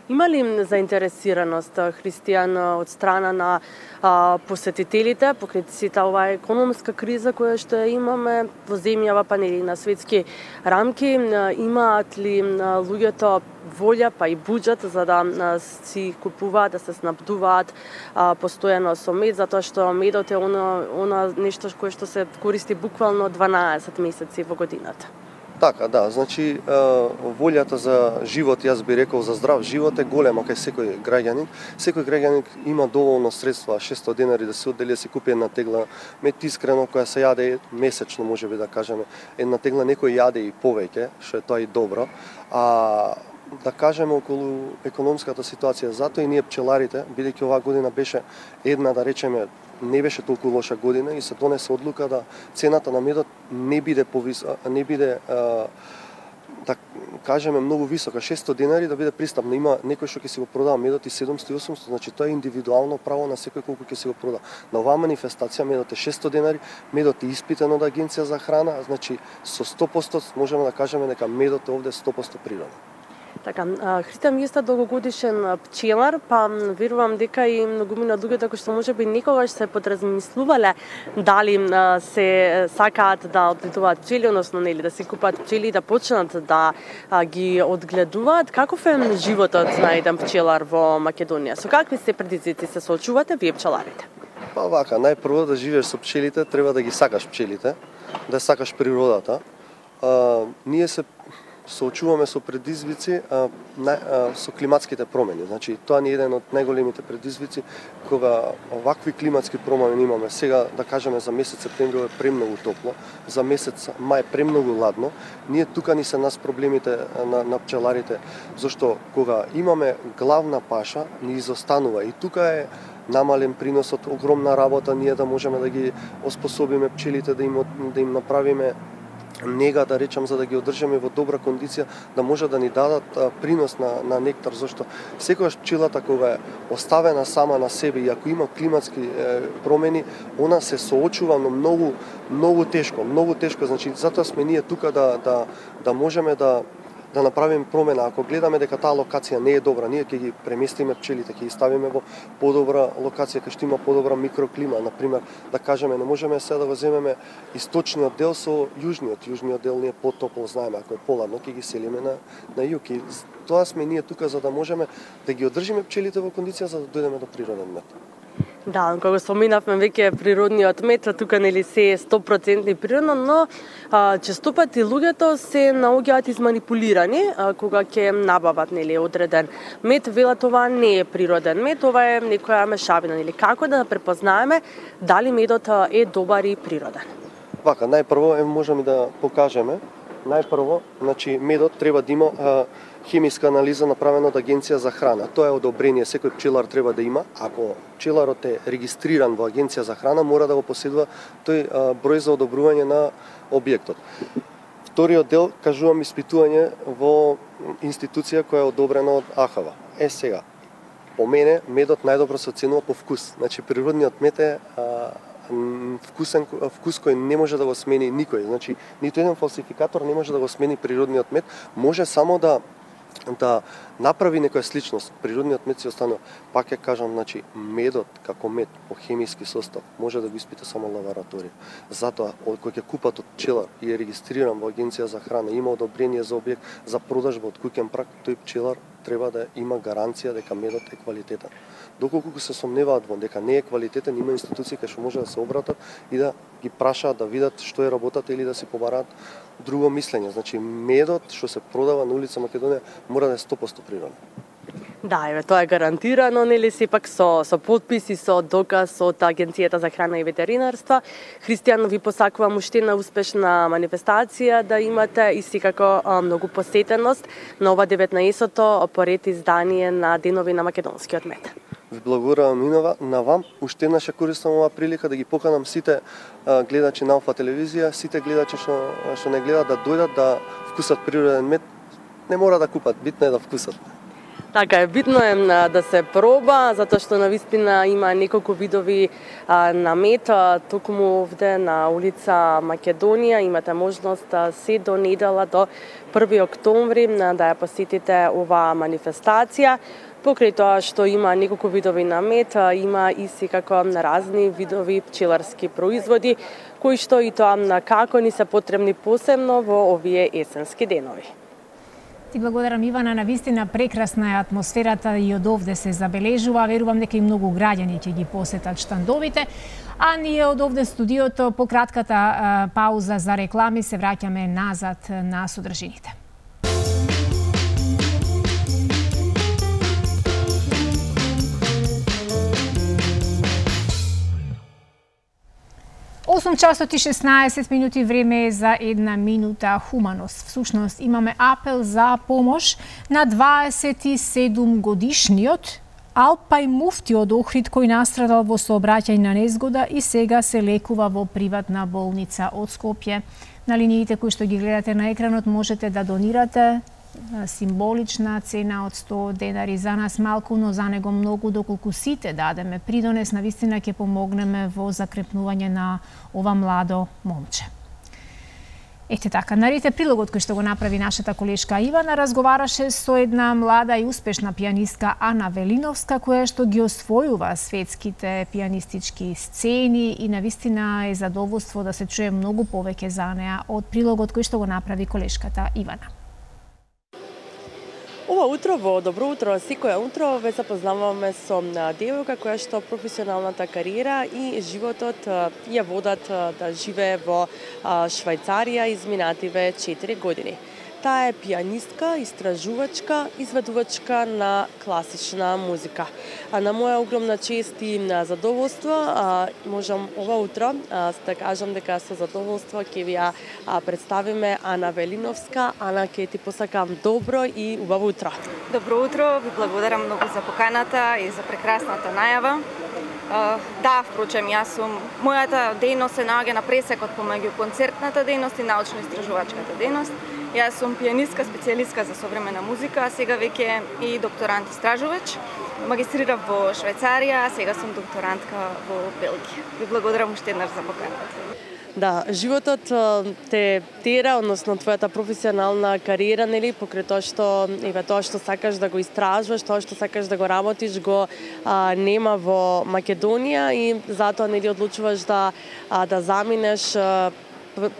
Има ли заинтересираност, Христијан, од страна на посетителите покрај сета оваа економска криза која што имаме во земјава, па нели на светски рамки? Имаат ли луѓето волја па и буџет за да си купуваат, да се снабдуваат постојано со мед, затоа што медот е она нешто кое што се користи буквално 12 месеци во годината? Така, да, значи волјата за живот, јас би рекол за здрав живот е голема кај секој граѓанин. Секој граѓанин има доволно средства, 600 денари да се оддели да си купи една тегла мед, искрено, која се јаде месечно, можеби да кажеме. Една тегла некој јаде и повеќе, што е тоа и добро. Да кажеме околу економската ситуација, затоа и ние пчеларите, бидејќи оваа година беше една, да речеме, не беше толку лоша година и се донесе одлука да цената на медот не биде да кажеме многу висока, 600 денари да биде пристапно. Има некој што ќе си го продава медот и 700 и 800, значи тоа е индивидуално право на секој колку ќе си го продава. На оваа манифестација медот е 600 денари, медот е испитен од Агенција за храна, значи со 100% можеме да кажеме дека медот е овде 100% природен. Така, Христијан, вие сте долгогодишен пчелар, па верувам дека и многумина луѓето кои што можеби никогаш се подразмислувале дали се сакаат да одгледуваат пчели, односно нели да си купат пчели и да почнат да ги одгледуваат. Каков е животот на еден пчелар во Македонија? Со какви се предизвици се соочувате вие пчеларите? Па вака, најпрво да живееш со пчелите, треба да ги сакаш пчелите, да сакаш природата. Ние се соочуваме со предизвици со климатските промени. Значи, тоа ни е еден од најголемите предизвици кога овакви климатски промени имаме. Сега, да кажеме, за месец септември е премногу топло, за месец мај премногу ладно. Ние тука ни се нас проблемите на пчеларите, зашто кога имаме главна паша, ни изостанува и тука е намален приносот, огромна работа ние да можеме да ги оспособиме пчелите, да им направиме нега, да речам, за да ги одржиме во добра кондиција, да може да ни дадат принос на нектар, зашто секогаш пчелата кога е оставена сама на себе и ако има климатски промени, она се соочува но многу тешко, значи затоа сме ние тука да можеме да направиме промена. Ако гледаме дека таа локација не е добра, ние ќе ги преместиме пчелите, ќе ги ставиме во подобра локација кај што има подобра микроклима. Например, да кажеме, не можеме сега да го земеме источниот дел со јужниот. Јужниот дел не е потопло, знаеме, ако е поладно, ќе ги селиме на југ. И тоа сме ние тука за да можеме да ги одржиме пчелите во кондиција за да дојдеме до природен мед. Да, кога споминавме веќе природниот мед, тука нели се е 100% природно, но често пати луѓето се наоѓаат изманипулирани кога ќе набават нели одреден мед, велат ова не е природен мед, ова е некоја мешавина, нели како да препознаеме дали медот е добар и природен? Вака, најпрво можеме да покажеме. Најпрво, значи медот треба да има хемиска анализа направена од Агенција за храна. Тоа е одобрение, секој пчелар треба да има. Ако пчеларот е регистриран во Агенција за храна, мора да го поседува тој број за одобрување на објектот. Вториот дел, кажувам, испитување во институција која е одобрена од АХВ. Сега, по мене, медот најдобро се оценува по вкус. Значи, природниот мед е вкус кој не може да го смени никој. Значи, ниту еден фалсификатор не може да го смени природниот мед, може само да направи некоја сличност. Природниот мед си останува. Пак ќе кажам, значи, медот како мед по хемиски состав може да го испита само лабораторија. Затоа, кој ќе купат од пчелар и е регистриран во Агенција за храна, има одобрение за објект за продажба од куќен праг, тој пчелар треба да има гаранција дека медот е квалитетен. Доколку се сомневаат во дека не е квалитетен, има институции кај што може да се обратат и да ги прашаат да видат што е работата или да си побараат друго мислење. Значи, медот што се продава на улица Македонија мора да е 100% природен. Да, еве, тоа е гарантирано, нели, сепак со подписи, со доказ од Агенцијата за храна и ветеринарство. Христијан, ви посакувам уште една успешна манифестација да имате и секако многу посетеност на ова 19-то поред издание на Денови на македонскиот мед. Ви благодарам и на вам. Уште еднаш користам оваа прилика да ги поканам сите гледачи на Алфа телевизија, сите гледачи што не гледат да дојдат да вкусат природен мед. Не мора да купат, битно е да вкусат. Така е, битно е да се проба, затоа што навистина има неколку видови на мед. Токму овде на улица Македонија имате можност се до недела до 1 октомври да ја посетите оваа манифестација. Покрај тоа што има неколку видови на мед, има и секако разни видови пчеларски производи, кои што и тоа како ни се потребни посебно во овие есенски денови. Ти благодарам, Ивана, навистина прекрасна е атмосферата и од овде се забележува. Верувам дека и многу граѓани ќе ги посетат штандовите. А ние од овде студиото по кратката пауза за реклами се враќаме назад на содржините. 8 часот и 16 минути, време е за една минута хуманост. Всушност имаме апел за помош на 27 годишниот Алпај Муфти од Охрид, кој настрадал во сообраќајна незгода и сега се лекува во приватна болница од Скопје. На линиите кои што ги гледате на екранот можете да донирате символична цена од 100 денари. За нас малку, но за него многу, доколку сите дадеме придонес, навистина ќе помогнеме во закрепнување на ова младо момче. Ете така, нарите прилогот кој што го направи нашата колешка Ивана разговараше со една млада и успешна пианистка Ана Велиновска, која што ги освојува светските пианистички сцени и навистина е задоволство да се чуе многу повеќе за неа од прилогот кој што го направи колешката Ивана. Ова утро во Добро утро, секоја утро ве запознаваме со девојка која што професионалната кариера и животот ја водат да живее во Швајцарија изминативе 4 години. Таа е пианистка, истражувачка, изведувачка на класична музика. На моја огромна чест и задоволство можам ова утро да кажам дека со задоволство ќе ви ја представиме Ана Велиновска. Ана, ќе ти посакам добро и убаво утро. Добро утро, ви благодарам многу за поканата и за прекрасната најава. Да, впрочем, мојата дејност се наоѓа на пресекот помеѓу концертната дејност и научно-истражувачката дејност. Јас сум пианистка, специјалистка за современа музика, а сега веќе и докторант истражувач. Магистрирав во Швајцарија, а сега сум докторантка во Белгија. Ви благодарам уште еднаш за поканата. Да, животот те тера, односно твојата професионална кариера, нели, покрај тоа што сакаш да го истражуваш, тоа што сакаш да го работиш, го нема во Македонија и затоа нели одлучуваш да заминеш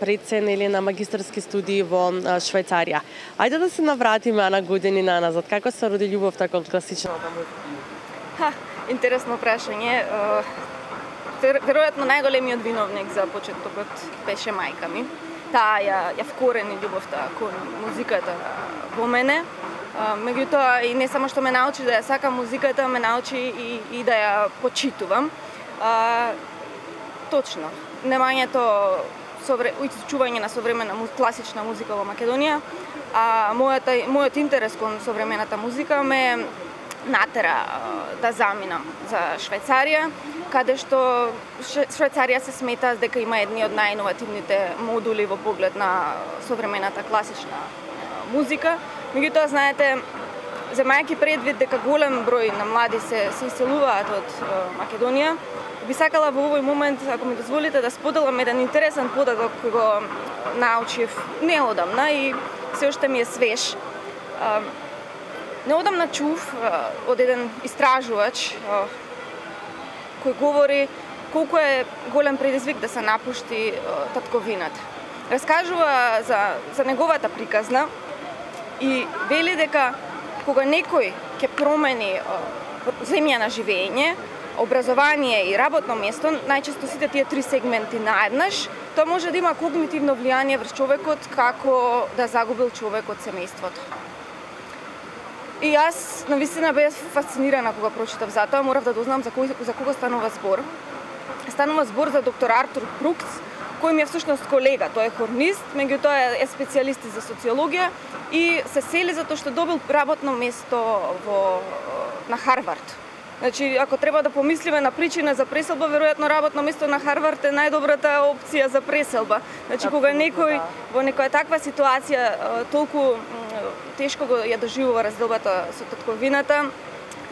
пред се нели на магистарски студии во Швајцарија. Ајде да се навратиме на години назад. Како се роди љубовта кон класичната музика? Интересно прашање. Веројатно најголемиот виновник за почетокот беше мајка ми. Таа ја вкорени љубовта кон музиката во мене. Меѓутоа и не само што ме научи да ја сакам музиката, ме научи и да ја почитувам. Точно. Немањето изучување на современа класична музика во Македонија, а мојот интерес кон современата музика ме натера да заминам за Швајцарија, каде што Швајцарија се смета дека има едни од најиновативните модули во поглед на современата класична музика. Меѓутоа, знаете, земајќи предвид дека голем број на млади се иселуваат од Македонија, би сакала во овој момент, ако ми дозволите, да споделам еден интересен податок кој го научив неодамна и се уште ми е свеж. Неодамна чув од еден истражувач кој говори колку е голем предизвик да се напушти татковината. Раскажува за неговата приказна и вели дека кога некој ќе промени земја на живење, образование и работно место, најчесто сите тие три сегменти наеднаш, тоа може да има когнитивно влијание врз човекот како да загубил човек од семејството. И јас навистина бев фасцинирана кога прочитав за тоа, морав да дознам за кого станува збор. Станува збор за доктор Артур Брукс, кој ми е всушност колега, тој е хорнист, меѓутоа е специјалист за социологија и се сели затоа што добил работно место на Харвард. Значи, ако треба да помислиме на причина за преселба, веројатно работно место на Харвард е најдобрата опција за преселба. Значи, кога некој во некоја таква ситуација толку тешко ја доживува разделбата со татковината,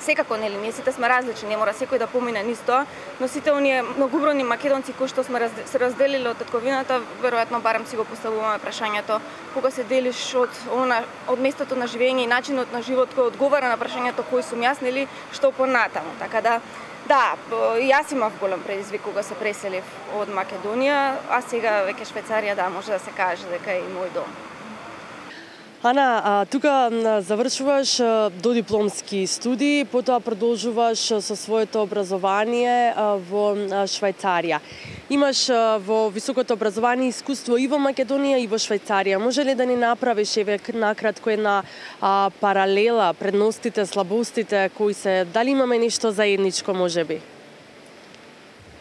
секако, нели, ние сите сме различни, не мора секој да помине низ тоа, но сите оние многобројни македонци кои што сме се разделиле од татковината, веројатно барем си го поставуваме прашањето кога се делиш од местото на живење и начинот на живот кој одговара на прашањето кој сум јас, нели, што понатаму. Така да, јас имав голем предизвик кога се преселив од Македонија, а сега веќе Швајцарија, да, може да се каже дека е и мој дом. Ана, тука завршуваш додипломски студии, потоа продолжуваш со своето образование во Швајцарија. Имаш во високото образование искуство и во Македонија и во Швајцарија. Може ли да ни направиш еве накратко една паралела, предностите, слабостите кои се, дали имаме нешто заедничко можеби?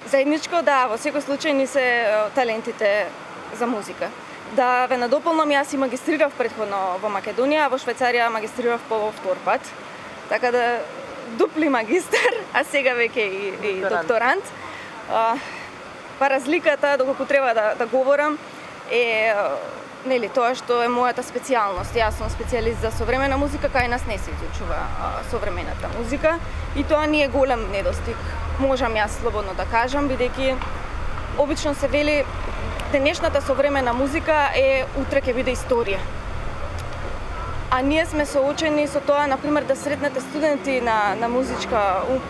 Заедничко, да, во секој случај ни се талентите за музика. Да ве надополнам, јас и магистрирав претходно во Македонија, а во Швајцарија магистрирав по втор пат. Така да дупли магистар, а сега веќе и докторант. Па разликата, доколку треба да говорам, е нели тоа што е мојата специјалност. Јас сум специјалист за современа музика, кај нас не се изучува современата музика и тоа ни е голем недостиг. Можам јас слободно да кажам, бидејќи обично се вели денешната современа музика е утре ќе биде историја. А ние сме соочени со тоа, например, да сретнете студенти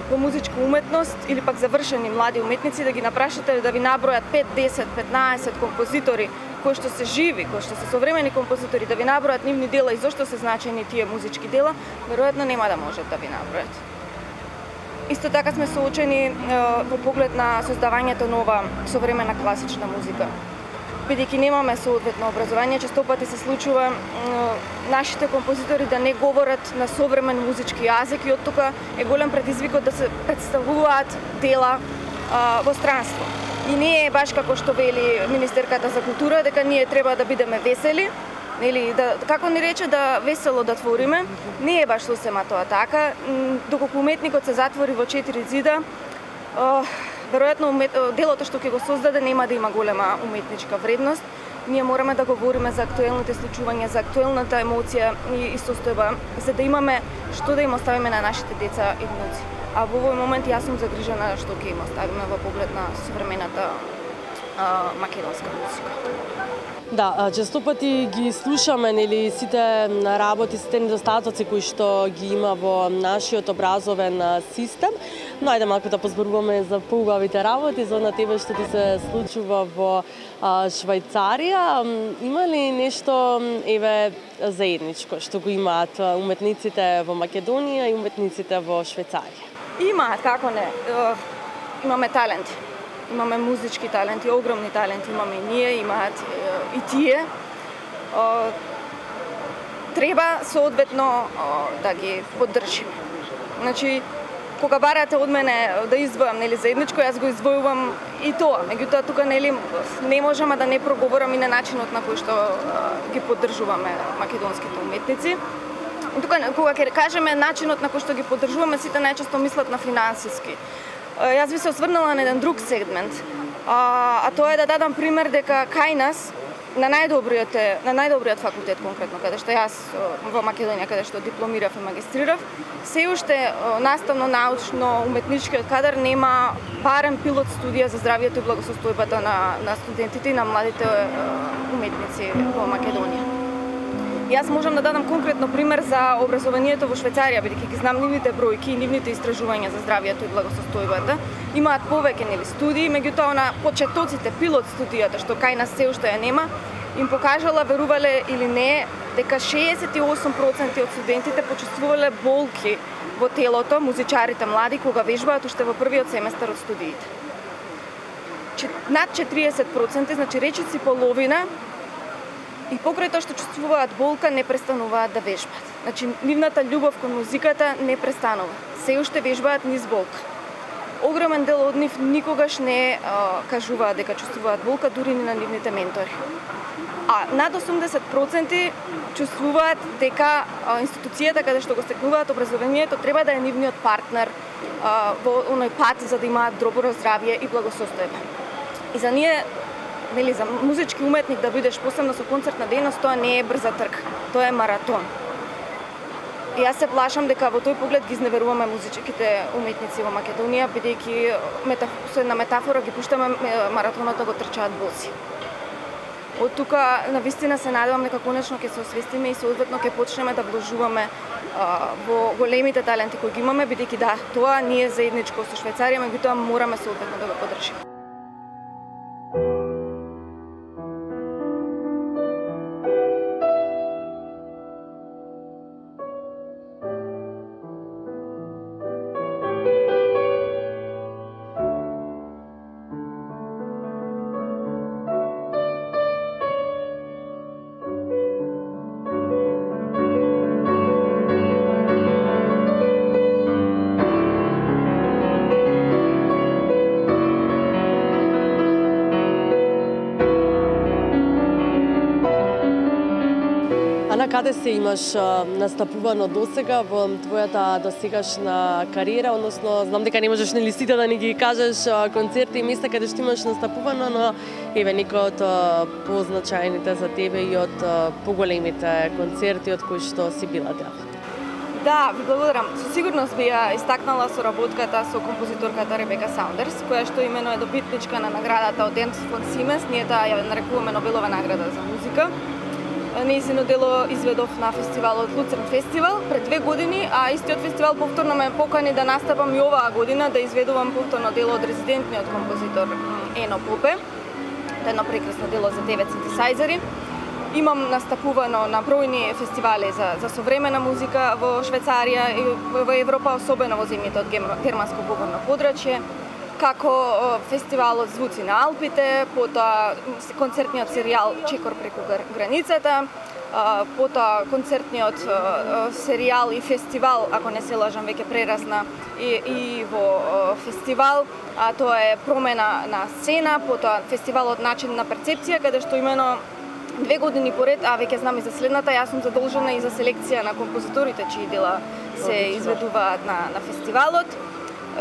по музичка уметност или пак завршени млади уметници, да ги напрашате да ви набројат 5, 10, 15 композитори кои што се живи, кои што се современи композитори, да ви набројат нивни дела и зошто се значени тие музички дела, веројатно нема да можат да ви набројат. Исто така сме соочени во поглед на создавањето нова современа класична музика. Бидејќи немаме соодветно образование, често пати се случува нашите композитори да не говорат на современ музички јазик и од тука е голем предизвикот да се представуваат дела во странство. И не е баш како што вели министерката за култура дека ние треба да бидеме весели, нели, како ни рече, да весело да твориме, не е баш сосема тоа така. Доколку уметникот се затвори во 4 зида, веројатно делото што ќе го создаде нема да има голема уметничка вредност. Ние мораме да говориме за актуелните случувања, за актуелната емоција и состојба, за да имаме што да им оставиме на нашите деца и внуци. А во овој момент јас сум загрижена што ќе им оставиме во поглед на современата македонска музика. Да, често пати ги слушаме, нели, сите работи, сите недостатоци кои што ги има во нашиот образовен систем, но ајде малку да позборуваме за поубавите работи, за на тебе што ти се случува во Швајцарија. Има ли нешто еве заедничко што го имаат уметниците во Македонија и уметниците во Швајцарија? Имаат, како не. Имаме таленти. Имаме музички таленти, огромни таленти имаме и ние, имаат и тие. Треба соодветно да ги поддржиме. Значи, кога барате од мене да издвојам, нели, заедничко, јас го издвојувам и тоа. Меѓутоа, тука, нели, не можеме да не проговорам и на начинот на кој што ги поддржуваме македонските уметници. Тука, кога ќе кажеме начинот на кој што ги поддржуваме, сите најчесто мислат на финансиски. Јас би се осврнала на еден друг сегмент, а тоа е да дадам пример дека кај нас на најдобриот факултет конкретно, каде што јас во Македонија, каде што дипломирав и магистрирав, се уште наставно-научно уметничкиот кадар нема барем пилот студија за здравието и благосостојбата на студентите и на младите уметници во Македонија. Јас можам да дадам конкретно пример за образованието во Швајцарија, бидејќи ги знам нивните бројки и нивните истражувања за здравието и благосостојбата. Имаат повеќе студии, меѓутоа на почетоците пилот студијата што кај нас се уште ја нема, им покажала, верувале или не, дека 68% од студентите почувствувале болки во телото, музичарите млади, кога вежбаат уште во првиот семестар од студиите. Над 40%, значи речиси половина, и покрај тоа што чувствуваат болка, не престануваат да вежбаат. Значи, нивната љубов кон музиката не престанува. Се уште вежбаат низ болка. Огромен дел од нив никогаш не кажуваат дека чувствуваат болка, дури ни на нивните ментори. А над 80% чувствуваат дека институцијата каде што го стекнуваат образованието треба да е нивниот партнер во оној пат за да имаат добро здравје и благосостојба. И за ние, за музички уметник да бидеш посебно со концертна дејност, тоа не е брза трка, тоа е маратон. И јас се плашам дека во тој поглед ги изневеруваме музичките уметници во Македонија, бидејќи со една метафора ги пуштаме маратонот да го трчаат боси. Од тука навистина се надевам дека конечно ќе се освестиме и соодветно ќе почнеме да вложуваме во големите таленти кои ги имаме, бидејќи да, тоа ние заедничко со Швајцарија, меѓутоа мораме соодветно да го поддржиме. Каде се имаш настапувано досега во твојата досегашна кариера, односно знам дека не можеш нели сите да ни ги кажеш концерти и места каде што имаш настапувано, но еве некои од позначајните за тебе и од поголемите концерти од кои што си била дел. Да, ви благодарам. Со сигурност би ја истакнала соработката со композиторката Ребека Саундерс, која што имено е добитничка на наградата од Ernst von Siemens, ние таа ја нарекуваме Нобелова награда за музика. Нејзино дело изведов на фестивалот Луцерн фестивал пред 2 години, а истиот фестивал повторно ме покани да настапам и оваа година да изведувам повторно дело од резидентниот композитор Ено Попе. Тоа е едно прекрасно дело за 9 синтесајзери. Имам настапувано на бројни фестивали за современа музика во Швајцарија и во Европа, особено во земјите од германско говорно подрачје, како фестивалот Звуци на Алпите, потоа концертниот серијал Чекор преку границата, потоа концертниот серијал и фестивал, ако не се лажам, веќе прерасна и во фестивал, а тоа е Промена на сцена, потоа фестивалот Начин на перцепција, каде што имено 2 години поред, а веќе знам и за следната, јас сум задолжена и за селекција на композиторите чии дела се изведуваат на фестивалот.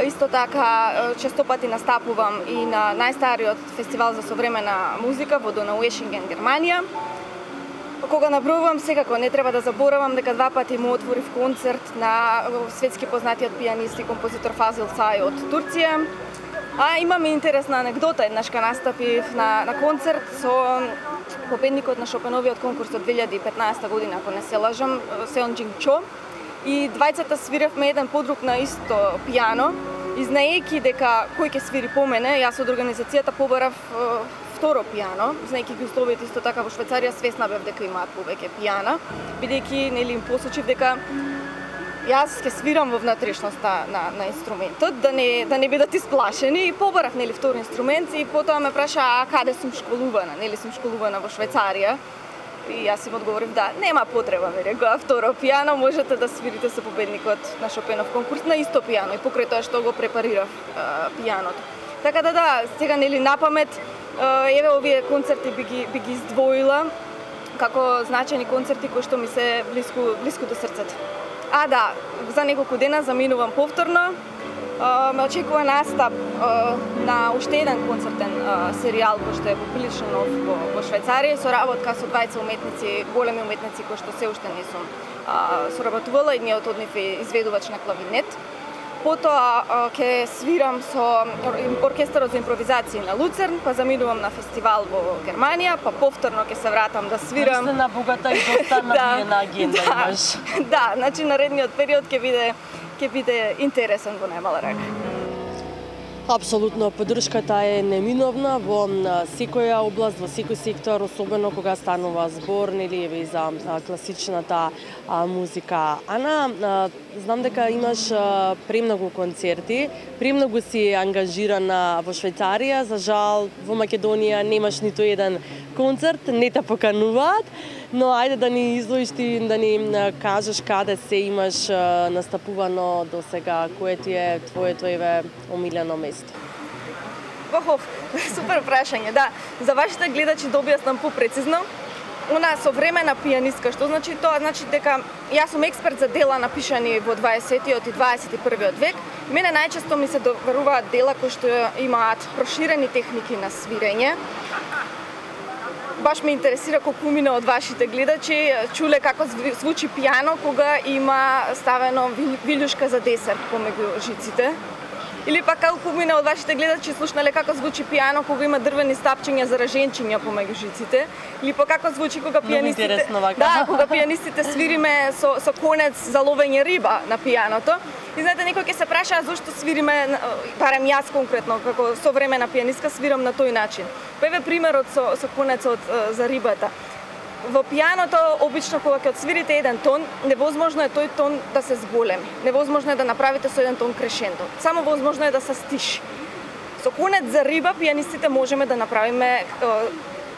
Исто така, честопати настапувам и на најстариот фестивал за современа музика во Донауешинген, Германија. Кога набројувам, секако не треба да заборавам дека 2 пати му отворив концерт на светски познатиот пианист и композитор Фазил Сај од Турција. А имам интересна анегдота, еднашка настапив на концерт со победникот на Шопеновиот конкурс од 2015 година, ако не се лажам, Сеон Джинг Чо. И двајцата свиравме еден подруг на исто пијано, и знаејќи дека кој ќе свири по мене, јас од организацијата побарав второ пијано, знаејќи ги условите исто така во Швајцарија, свесна бев дека имаат повеќе пијана, бидејќи нели им посочив дека јас ќе свирам во внатрешноста на инструментот, да не бидат исплашени, и побарав нели втор инструмент и потоа ме праша а каде сум школувана, нели сум школувана во Швајцарија. И јас им одговорив да, нема потреба, ми рекоа, второ пијано можете да свирите со победникот на Шопенов конкурс на исто пијано и покрај тоа што го препарирав пијаното. Така да, сега нели напамет, еве овие концерти би ги издвоила како значајни концерти кои што ми се блиску до срцето. А да, за неколку дена заминувам повторно ме очекува настап на уште еден концертен серијал кој што е поприлично нов во Швајцарија, со работка со двајца уметници, големи уметници кои што се уште не сум соработувала, едниот од нив е изведувач на клавинет. Потоа ќе свирам со оркестарот за импровизација на Луцерн, па заминувам на фестивал во Германија, па повторно ќе се вратам да свирам. Се на богата и доста набиена агенда имаш. Да, значи наредниот период ќе биде интересен во најмала рака. Апсолутно, поддршката е неминовна во секоја област, во секој сектор, особено кога станува збор, нели, еве за класичната музика. Ана, знам дека имаш премногу концерти, премногу си ангажирана во Швајцарија, за жал во Македонија немаш ниту еден концерт, не те покануваат, но ајде да ни изложиш ти, да ни кажеш каде се имаш настапувано до сега, кое ти е твоето еве омилено место? Супер прашање, да. За вашите гледачи да објаснам попрецизно. Она современа пианистка, што значи тоа? Значи дека јас сум експерт за дела напишани во 20-тиот и 21-виот век. Мене најчесто ми се доверуваат дела кои што имаат проширени техники на свирење. Баш ме интересира колку мина од вашите гледачи чуле како звучи пијано кога има ставено вилјушка за десерт помеѓу жиците. Или пак колку мина од вашите гледачи слушнале како звучи пијано кога има дрвени стапчиња за раженчиња помеѓу жиците. Или пак како звучи кога пијанистите кога пијанистите свириме со конец за ловење риба на пијаното. И знаете, некој ќе се праша зошто свириме, барем јас конкретно, како современа пијанистка свирам на тој начин. Па еве примерот со конецот за рибата. Во пијаното, обично кога ќе отсвирите еден тон, невозможно е тој тон да се зголеми. Невозможно е да направите со еден тон крешендо. Само возможно е да се стиши. Со конец за риба, пијанистите можеме да направиме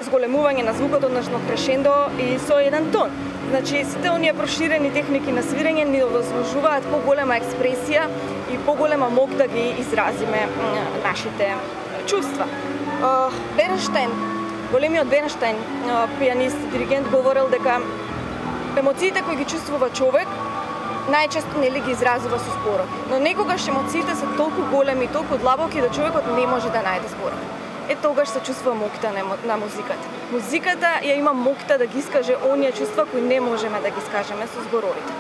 зголемување на звукот, односно крешендо и со еден тон. Значи, сите оние проширени техники на свирење ни овозможуваат поголема експресија и поголема мок да ги изразиме нашите чувства. Бернштайн, големиот Бернштайн, пианист, диригент, говорел дека емоциите кои ги чувствува човек најчесто нели ги изразува со зборот. Но некогаш емоциите се толку големи, толку длабоки да човекот не може да најде зборот. Тогаш се чувствува мокта на музиката. Музиката ја има мокта да ги искаже оние чувства кои не можеме да ги скажеме со зборовите.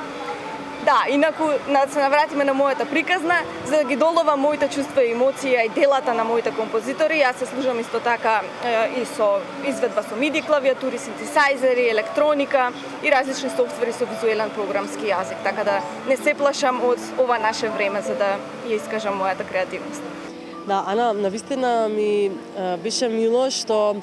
Да, инаку се навратиме на мојата приказна, за да ги долова моите чувства и емоции и делата на моите композитори, јас се служам исто така и со изведба со MIDI клавиатури, синтесајзери, електроника и различни софтвери со визуелен програмски јазик, така да не се плашам од ова наше време за да ја искажам мојата креативност. Да, Ана, навистина ми беше мило што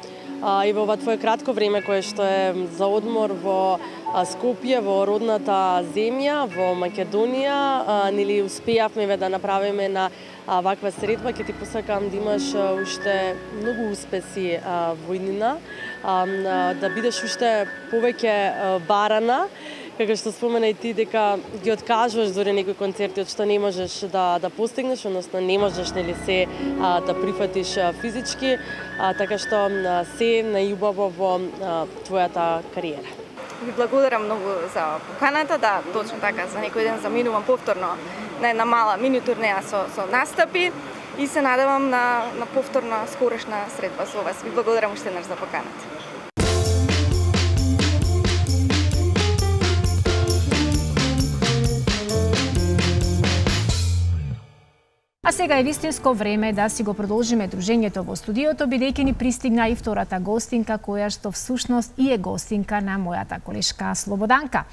и во ова твое кратко време кое што е за одмор во Скопје, во родната земја, во Македонија, нели успеавме да направиме на ваква средба. Ќе ти посакам да имаш уште многу успеси во иднина, да бидеш уште повеќе барана, како што спомена и ти дека ги откажуваш дори некои концерти од што не можеш да постигнеш, односно не можеш нели се да прифатиш физички, така што се најубаво во твојата кариера. Ви благодарам многу за поканата, да, точно така, за некој ден заминувам повторно на една мала мини турнеја со настапи и се надевам на повторна скорешна средба со вас. Ви благодарам уште еднаш за поканата. А сега е вистинско време да си го продолжиме дружењето во студиото, бидејќи ни пристигна и втората гостинка, која што всушност и е гостинка на мојата колешка Слободанка.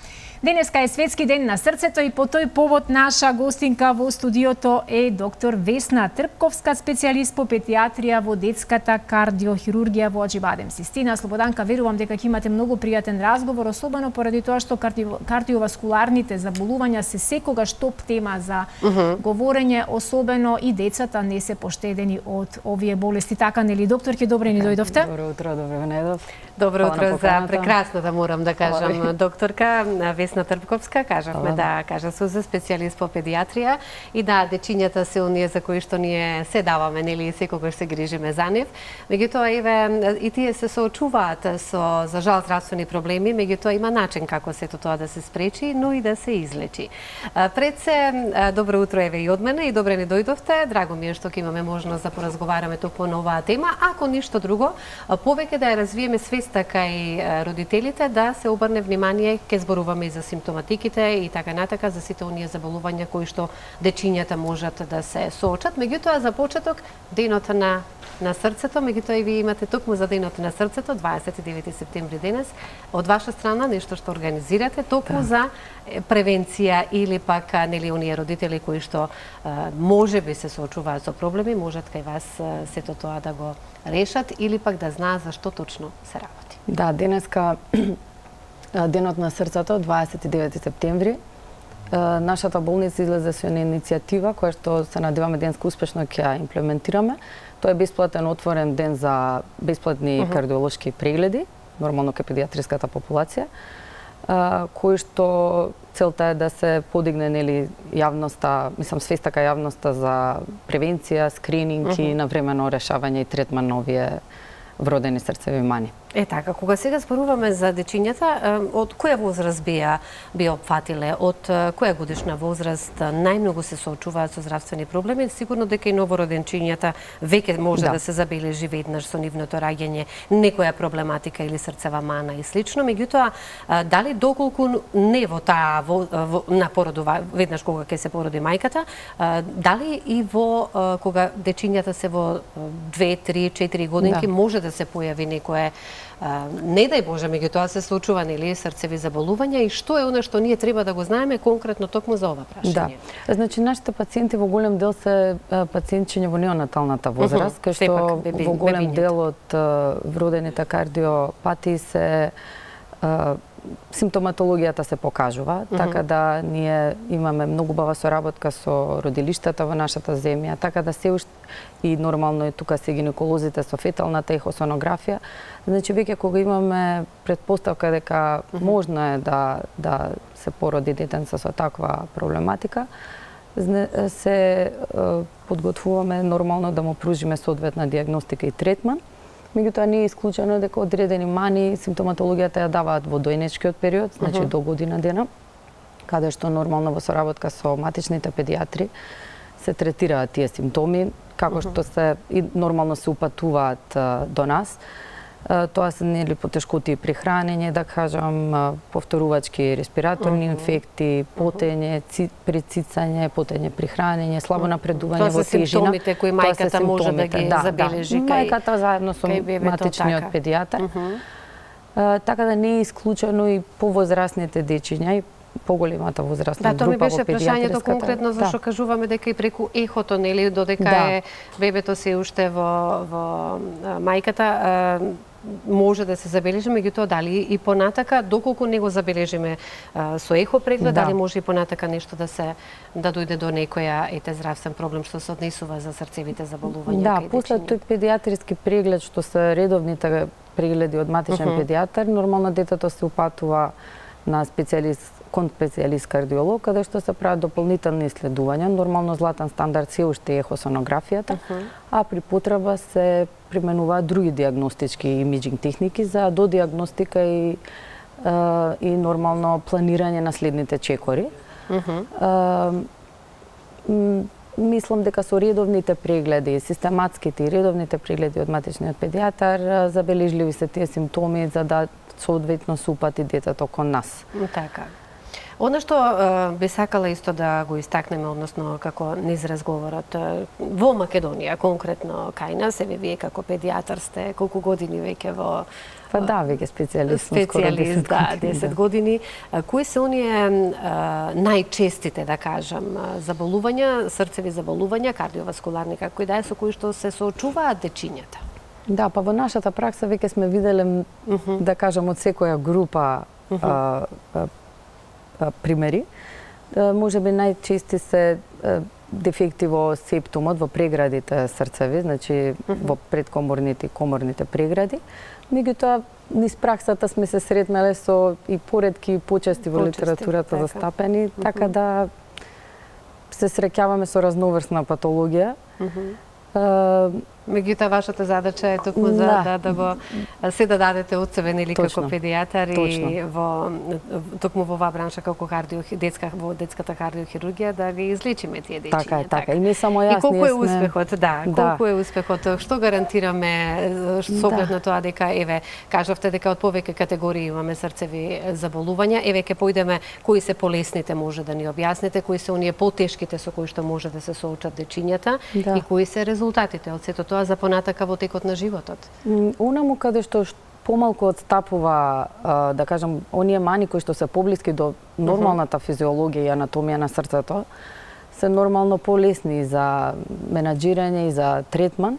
Денеска е Светски ден на срцето и по тој повод наша гостинка во студиото е доктор Весна Трпковска, специјалист по педиатрија во детската кардиохирургија во Аџибадем. Систина Слободанка, верувам дека ќе имате многу пријатен разговор, особено поради тоа што кардиоваскуларните заболувања се секогаш топ тема за говорење, особено и децата не се поштедени од овие болести. Така нели, докторке, добре ни дојдовте? Добро утро, добро најдов. Добро утро за прекрасната, морам да кажам, докторка Весна Трпковска. Кажавме да кажа Суза, специјалист по педиатрија. И да, дечињата се оние за кои што ние се даваме, нели, секогаш се грижиме за нив. Меѓутоа, еве, и тие се соочуваат со, за жал, здравствени проблеми, меѓутоа има начин како сето тоа да се спречи, но и да се излечи. Пред се, добро утро, еве и од мене, и добре не дојдовте. Драго ми е што ќе имаме можност да поразговараме токму на оваа тема. Ако ништо друго, повеќе да ја развиеме свеста кај родителите, да се обрне внимание, ке зборуваме и за симптоматиките и така натака, за сите оние заболувања кои што дечињата можат да се соочат. Меѓутоа, за почеток, денот на срцето, меѓутоа и вие имате токму за денот на срцето, 29 септември денес, од ваша страна нешто што организирате токму за превенција или пак нели оние родители кои што можеби се соочуваат со проблеми, можат кај вас сето тоа да го решат или пак да знаат за што точно се работи. Да, денеска денот на срцето, 29 септември, нашата болница излезе со една иницијатива која што се надеваме денеска успешно ќе ја имплементираме. Тоа е бесплатен отворен ден за бесплатни кардиолошки прегледи, нормално кај педиатриската популација, кој што целта е да се подигне нели јавноста, мислам свеста кај јавноста за превенција, скрининг и навремено решавање и третман на овие вродени срцеви мани. Е така, кога сега зборуваме за дечињата, од која возраст би опфатиле, од која годишна возраст најмногу се соочуваат со здравствени проблеми? Сигурно дека и новороденчињата веќе може да се забележи веднаш со нивното раѓање некоја проблематика или срцева мана и слично, меѓутоа дали доколку не во таа на породува веднаш кога ќе се породи мајката, дали и во кога дечињата се во 2, 3, 4 годинки може да се појави некое не дај Боже, меѓутоа се случува нели срцеви заболувања и што е она што ние треба да го знаеме конкретно токму за ова прашање? Да. Значи нашите пациенти во голем дел се пациентчиња во неонаталната возраст, кај што во голем дел од вродените кардиопатии се симптоматологијата се покажува, така да ние имаме многу бава соработка со родилиштата во нашата земја, така да се уште и нормално е тука се гинеколозите со феталната ехосонографија. Значи веќе кога имаме претпоставка дека можно е да се породи детенце со таква проблематика, се подготвуваме нормално да му пружиме соодветна дијагностика и третман. Меѓутоа не е исклучено дека одредени мани симптоматологијата ја даваат во дојнечкиот период, значи до година дена, каде што нормално во соработка со матичните педиатри се третираат тие симптоми, како што се и нормално се упатуваат до нас. Тоа се нели потешкоти при хранење, да кажам, повторувачки респираторни инфекти, потење при цицање, потење при хранење, слабо напредување во тежина. Тоа се симптомите кои мајката може да ги забележи кај мајката заедно со матичниот педијатар. Така да не е исклучено и повозрастните дечиња и поголемата возрастна група во педиатриската. Да, тоа ми беше прашањето конкретно зашто кажуваме дека и преку ехото, нели, додека е бебето се уште во мајката, може да се забележи, меѓутоа дали и понатака, доколку не го забележиме со ехо преглед, дали може и понатака нешто да дојде до некоја здравствен проблем што се однесува за срцевите заболувања? Да, после тој педиатриски преглед што се редовните прегледи од матичен педијатар, нормално детето се упатува на кон специјалист кардиолог, каде што се прават дополнителни исследувања. Нормално златен стандард се уште е ехосонографијата, а при потреба се применуваат други дијагностички имиџинг техники за додијагностика и нормално планирање на следните чекори. Мислам дека со редовните прегледи, систематските и редовните прегледи од матичниот педијатар, забележливи се тие симптоми за да соодветно се упати детето кон нас. Така. Оно што би сакала исто да го истакнеме, односно како низ разговорот, во Македонија, конкретно кај нас, вие како педијатар сте колку години веќе во... Па да, веќе специјалист, да, 10 години. Кои се оние најчестите, да кажам, заболувања, срцеви заболувања, кардиоваскуларни, како и да е, со кои што се соочуваат дечињата? Да, па во нашата пракса веќе сме виделе, да кажам, од секоја група примери. Може би најчести се дефекти во септумот, во преградите срцеви, значи во предкоморните и коморните прегради. Меѓутоа, низ праксата сме се сретнале со и поретки и почести во литературата застапени, така да се среќаваме со разноврсна патологија. Меѓутоа, вашата задача е токму да го се да дадете од себе, нели, како педијатар и токму во оваа бранша како во детската кардиохирургија да ги излечиме тие дечиња. Така. И не само јас, и колку е успехот, колку е успехот, што гарантираме со оглед на тоа дека, еве, кажавте дека од повеќе категории имаме срцеви заболувања, еве ќе појдеме кои се полесните, може да ни објасните, кои се оние потешките со кои што може да се соочат дечињата и кои се резултатите од сето тоа за понатака во текот на животот? Онаму каде што помалку одстапува, да кажам, оние мани кои што се поблиски до нормалната физиологија и анатомија на срцето, се нормално полесни за менаџирање и за третман.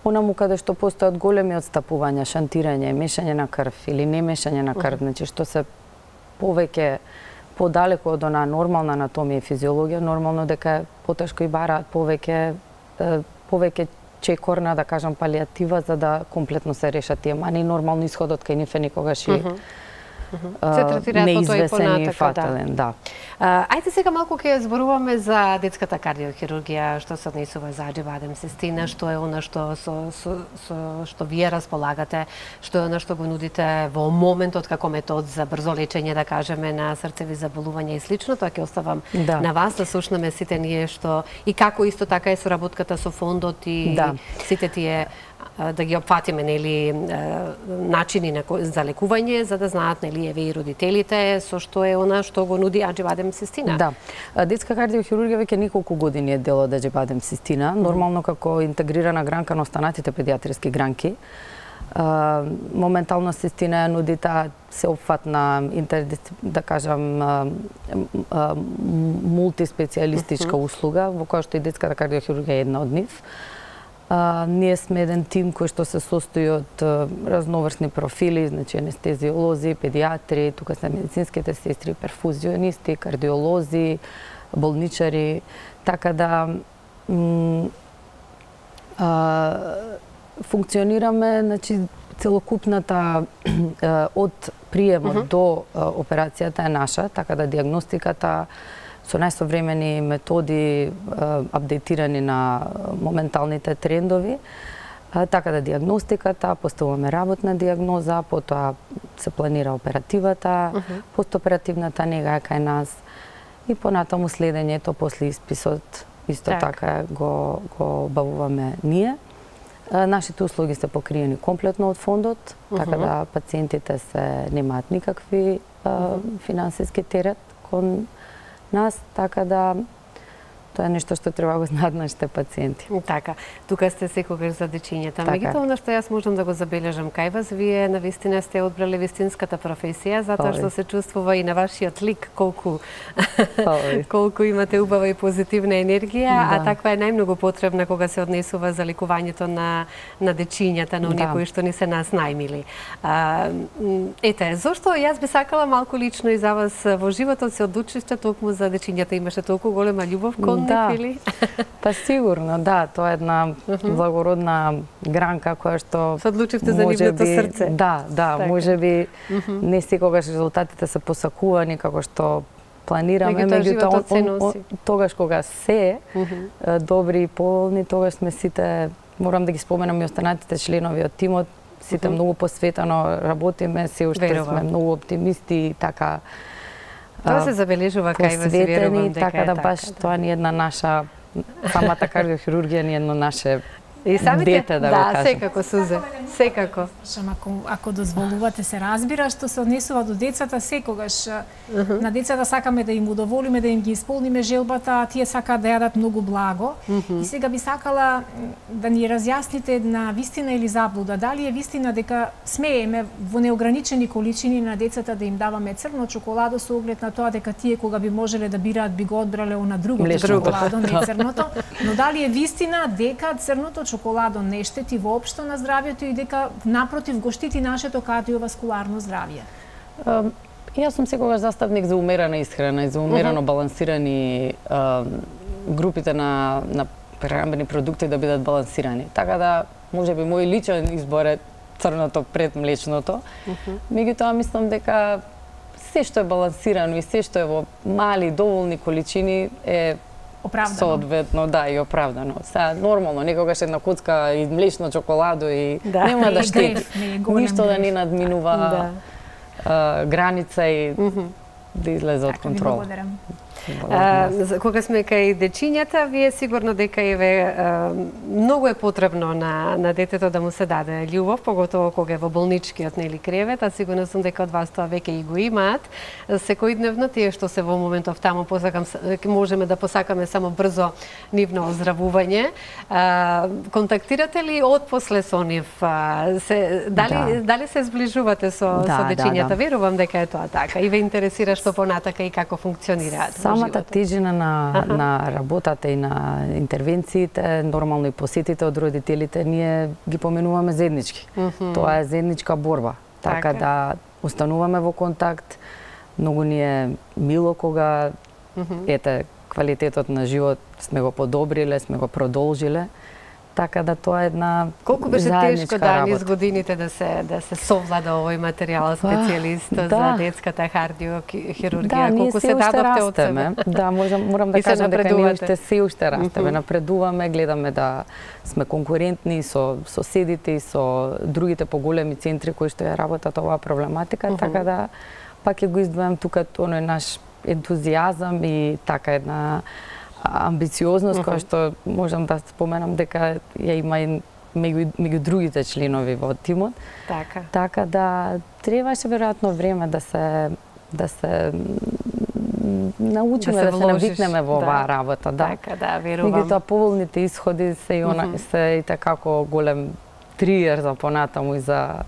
Онаму каде што постојат големи одстапувања, шантирање, мешање на крв или не мешање на крв, значи што се повеќе подалеку од онаа нормална анатомија и физиологија, нормално дека потешко и бараат повеќе чекорна, да кажам, палијатива за да комплетно се решат тие мани. Нормално исходот кај нив е никогаш и неизвесен и фатален. Ајде сега малку ќе зборуваме за детската кардиохирургија, што се однесува за аџивадем цистина, што е она што вие располагате, што е она што го нудите во моментот како метод за брзо лечење, да кажеме, на срцеви заболувања и слично. Тоа ќе оставам на вас да слушнеме сите ние што и како исто така е соработката со фондот и сите тие да ги опфатиме, нели, начини за лекување, за да знаат, нели, еве и родителите со што е она што го нуди аџивадем цистина. Детска кардиохирургија веќе неколку години е дел од аџивадем цистина, нормално како интегрирана гранка на останатите педијатриски гранки. Моментално цистина ја нуди таа сеопфатна, да кажам, мултиспецијалистичка услуга, во која што и детската кардиохирургија е една од нив. Ние сме еден тим кој што се состои од разноврсни профили, значи анестезиолози, педијатри, тука се медицинските сестри, перфузионисти, кардиолози, болничари, така да функционираме, значи целокупната од приемот до операцијата е наша, така да диагностиката со најсовремени методи, апдейтирани на моменталните трендови, така да диагностиката, поставуваме работна диагноза, потоа се планира оперативата, постоперативната нега е кај нас и понатаму следењето после исписот исто така го бавуваме ние. Нашите услуги се покриени комплетно од фондот, така да пациентите немаат никакви финансиски терет кон нас, така да тоа е нешто што треба го знаат нашите пациенти. Така, тука сте секогаш за дечињата. Меѓутоа, она што јас можам да го забележам кај вас, вие навистина сте одбрале вистинската професија, затоа што се чувствува и на вашиот лик колку имате убава и позитивна енергија, а таква е најмногу потребна кога се однесува за лекувањето на дечињата, на оние кои што ни се нас најмили. Ете, зошто јас би сакала малку лично и за вас во животот се одлучивте токму за дечињата, имаше толку голема љубов кон Па сигурно, тоа е една благородна гранка која што се одлучивте за нивното срце. Можеби не секогаш резултатите се посакувани како што планираме, меѓутоа тогаш кога се добри и полни, тогаш сме сите, морам да ги споменам и останатите членови од тимот, сите многу посветено работиме, се уште сме многу оптимисти и така. Тоа се забележува кај вас, верувам дека така да баш тоа ни една наша, самата кардиохирургија ни едно наше дете, да го кажам. Секако, Сузе, секако. Ако дозволувате, се разбира, што се однесува до децата, секогаш на децата сакаме да им удоволиме, да им ги исполниме желбата, а тие сакаат да јадат многу благо. И сега би сакала да ни разјасните на вистина или заблуда, дали е вистина дека смееме во неограничени количини на децата да им даваме црно чоколадо со оглед на тоа дека тие кога би можеле да бираат би го одбрале она другото чоколадо, не црното, но дали е вистина дека црното чоколадо не штети воопшто на здравјето и дека напротив го штити нашето кардиоваскуларно здравје? Јас сум секогаш заставник за умерена исхрана и за умерено балансирани групите на прехранбени продукти да бидат балансирани. Така да, можеби мој личен избор е црното пред млечното. Меѓутоа мислам дека се што е балансирано и се што е во мали доволни количини е оправдано. Соодветно, да, и оправдано. Сега нормално, некогаш една коцка и млечно чоколадо и нема да штети. Ништо да не надминува граница и да излезе од контрол. Благодарам. Кога сме кај дечињата, вие сигурно дека многу е потребно на детето да му се даде љубов, поготово кога е во болничкиот кревет, а сигурно сум дека од вас тоа веќе и го имаат. Секојдневно тие што се во моментов таму можеме да посакаме само брзо нивно оздравување. Контактирате ли отпосле со нив? Дали се зближувате со дечињата? Верувам дека е тоа така. И ве интересира што понатака и како функционираат. Самата тежина на работата и на интервенциите, нормално и посетите од родителите, ние ги поменуваме заеднички. Тоа е заедничка борба. Така да остануваме во контакт. Многу ни е мило кога квалитетот на живот сме го подобриле, сме го продолжиле. Така да тоа е една колку беше тешко низ годините да се совлада овој материјал, специјалист за детската кардиохирургија, колку се дадовте од себе. Да, морам да кажам дека ние се уште растеме, напредуваме, гледаме да сме конкурентни со соседите и со другите поголеми центри кои што ја работат оваа проблематика, така да пак ќе го издвојам тука оној наш ентузијазам и така една амбициозност, која што можам да споменам дека ја има и меѓу другите членови во тимот. Така да требаше веројатно време да се научиме, да се навикнеме во оваа работа. Така, да, верувам. Меѓутоа поволните исходи се и такако голем триер за понатаму и за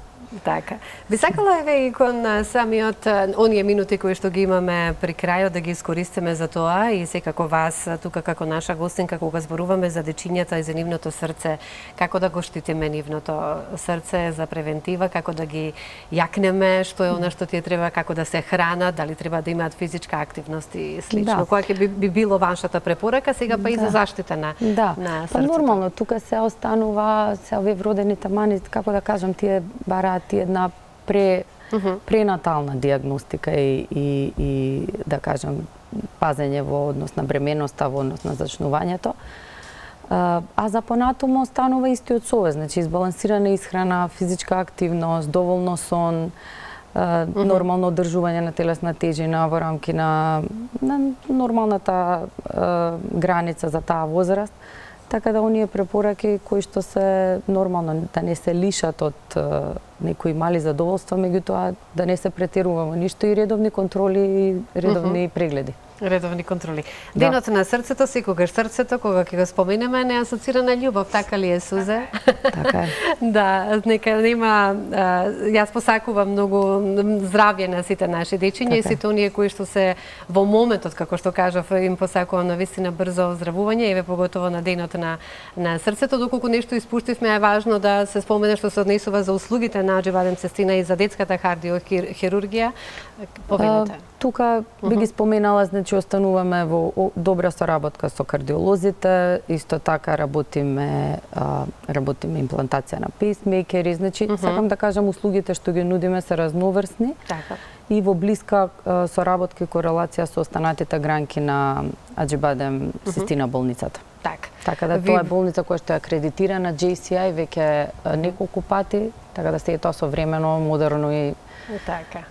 Така. Би сакала и кон самиот оние минути кои што ги имаме при крајот да ги искористиме за тоа и секако вас тука како наша гостинка кога зборуваме за дечињата и за нивното срце, како да го штитиме нивното срце за превентива, како да ги јакнеме, што е она што тие треба, како да се хранат, дали треба да имаат физичка активност и слично. Која ќе би било вашата препорака сега па и за заштита на срцето? Па нормално, тука се останува се овие вродените мани, како да кажам, тие бараат една пренатална диагностика и да кажам пазење во однос на бременоста, во однос на зачнувањето. А за понатаму останува истиот совет, значи избалансирана исхрана, физичка активност, доволно сон, нормално одржување на телесна тежина во рамки на нормалната граница за таа возраст. Така да оние препораки кои што се нормално да не се лишат од некои мали задоволства, меѓутоа да не се претерува во ништо и редовни контроли и редовни прегледи. Редовни контроли. Денот на срцето, секогаш срцето, кога ќе го споменеме, не асоцира на љубов, така ли е, Сузе? Така е. Да, нека нема, јас посакувам многу здравје на сите наши дечиња и сите оние кои што се во моментот, како што кажав, им посакувам на вистина брзо оздравување, еве поготово на денот на срцето, доколку нешто испуштивме е важно да се спомене што се однесува за услугите на Аџи Сестина и за детската кардиохирургија. Повелете. Тука би ги споменала, значи остануваме во добра соработка со кардиолозите, исто така работиме имплантација на пейсмейкери, значи сакам да кажам услугите што ги нудиме се разноврсни. И во блиска соработка и корелација со останатите гранки на Аџи Сестина болницата. Така да тоа е болница која што е акредитирана JCI веќе неколку пати, така да се тоа современо, модерно и така.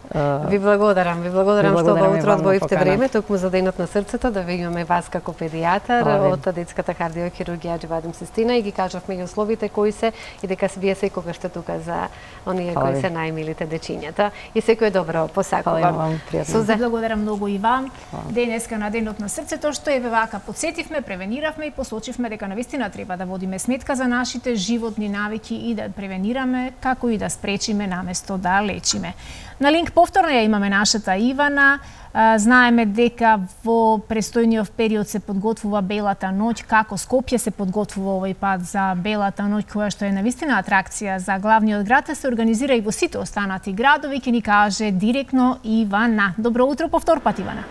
Ви благодарам што во утро одвоивте време токму за денот на срцето да ви имаме вас како педијатар од детската кардиохирургија Аџи Сестина и ги кажавме и условите кои се и дека вие секогаш сте тука за оние кои се најмилите дечињата и секој добро посакувам. Сузе, благодарам многу и вам. Денеска на денот на срцето што еве вака подсетивме, превениравме и посочивме дека навистина треба да водиме сметка за нашите животни навики и да превенираме како и да спречиме наместо да лечиме. На линк повторно ја имаме нашата Ивана. Знаеме дека во престојниот период се подготвува Белата ноќ. Како Скопје се подготвува овој пат за Белата ноќ, која што е навистина атракција за главниот град, се организира и во сите останати градови, ќе ни каже директно Ивана. Добро утро повтор пат, Ивана.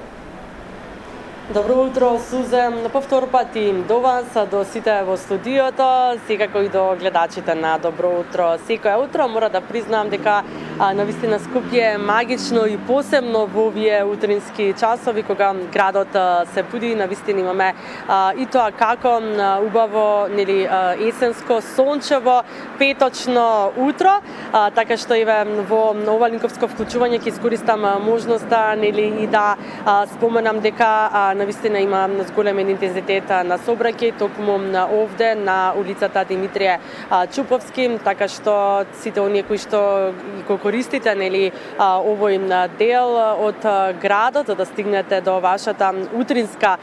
Добро утро, Сузе. На повтор пат и до вас, до сите во студиото, секако и до гледачите на Добро утро. Секоја утро мора да признам дека навистина Скопје е магично и посебно во овие утрински часови кога градот се буди, навистина имаме и тоа како убаво, нели, есенско, сончево, петочно утро, така што еве во ова линковско вклучување ќе искористам можноста, нели, и да споменам дека навистина има зголем интензитет на сообраќај токму овде на улицата Димитрije Чуповски, така што сите оние кои што го користите, нели, овој дел од градот за да стигнете до вашата утринска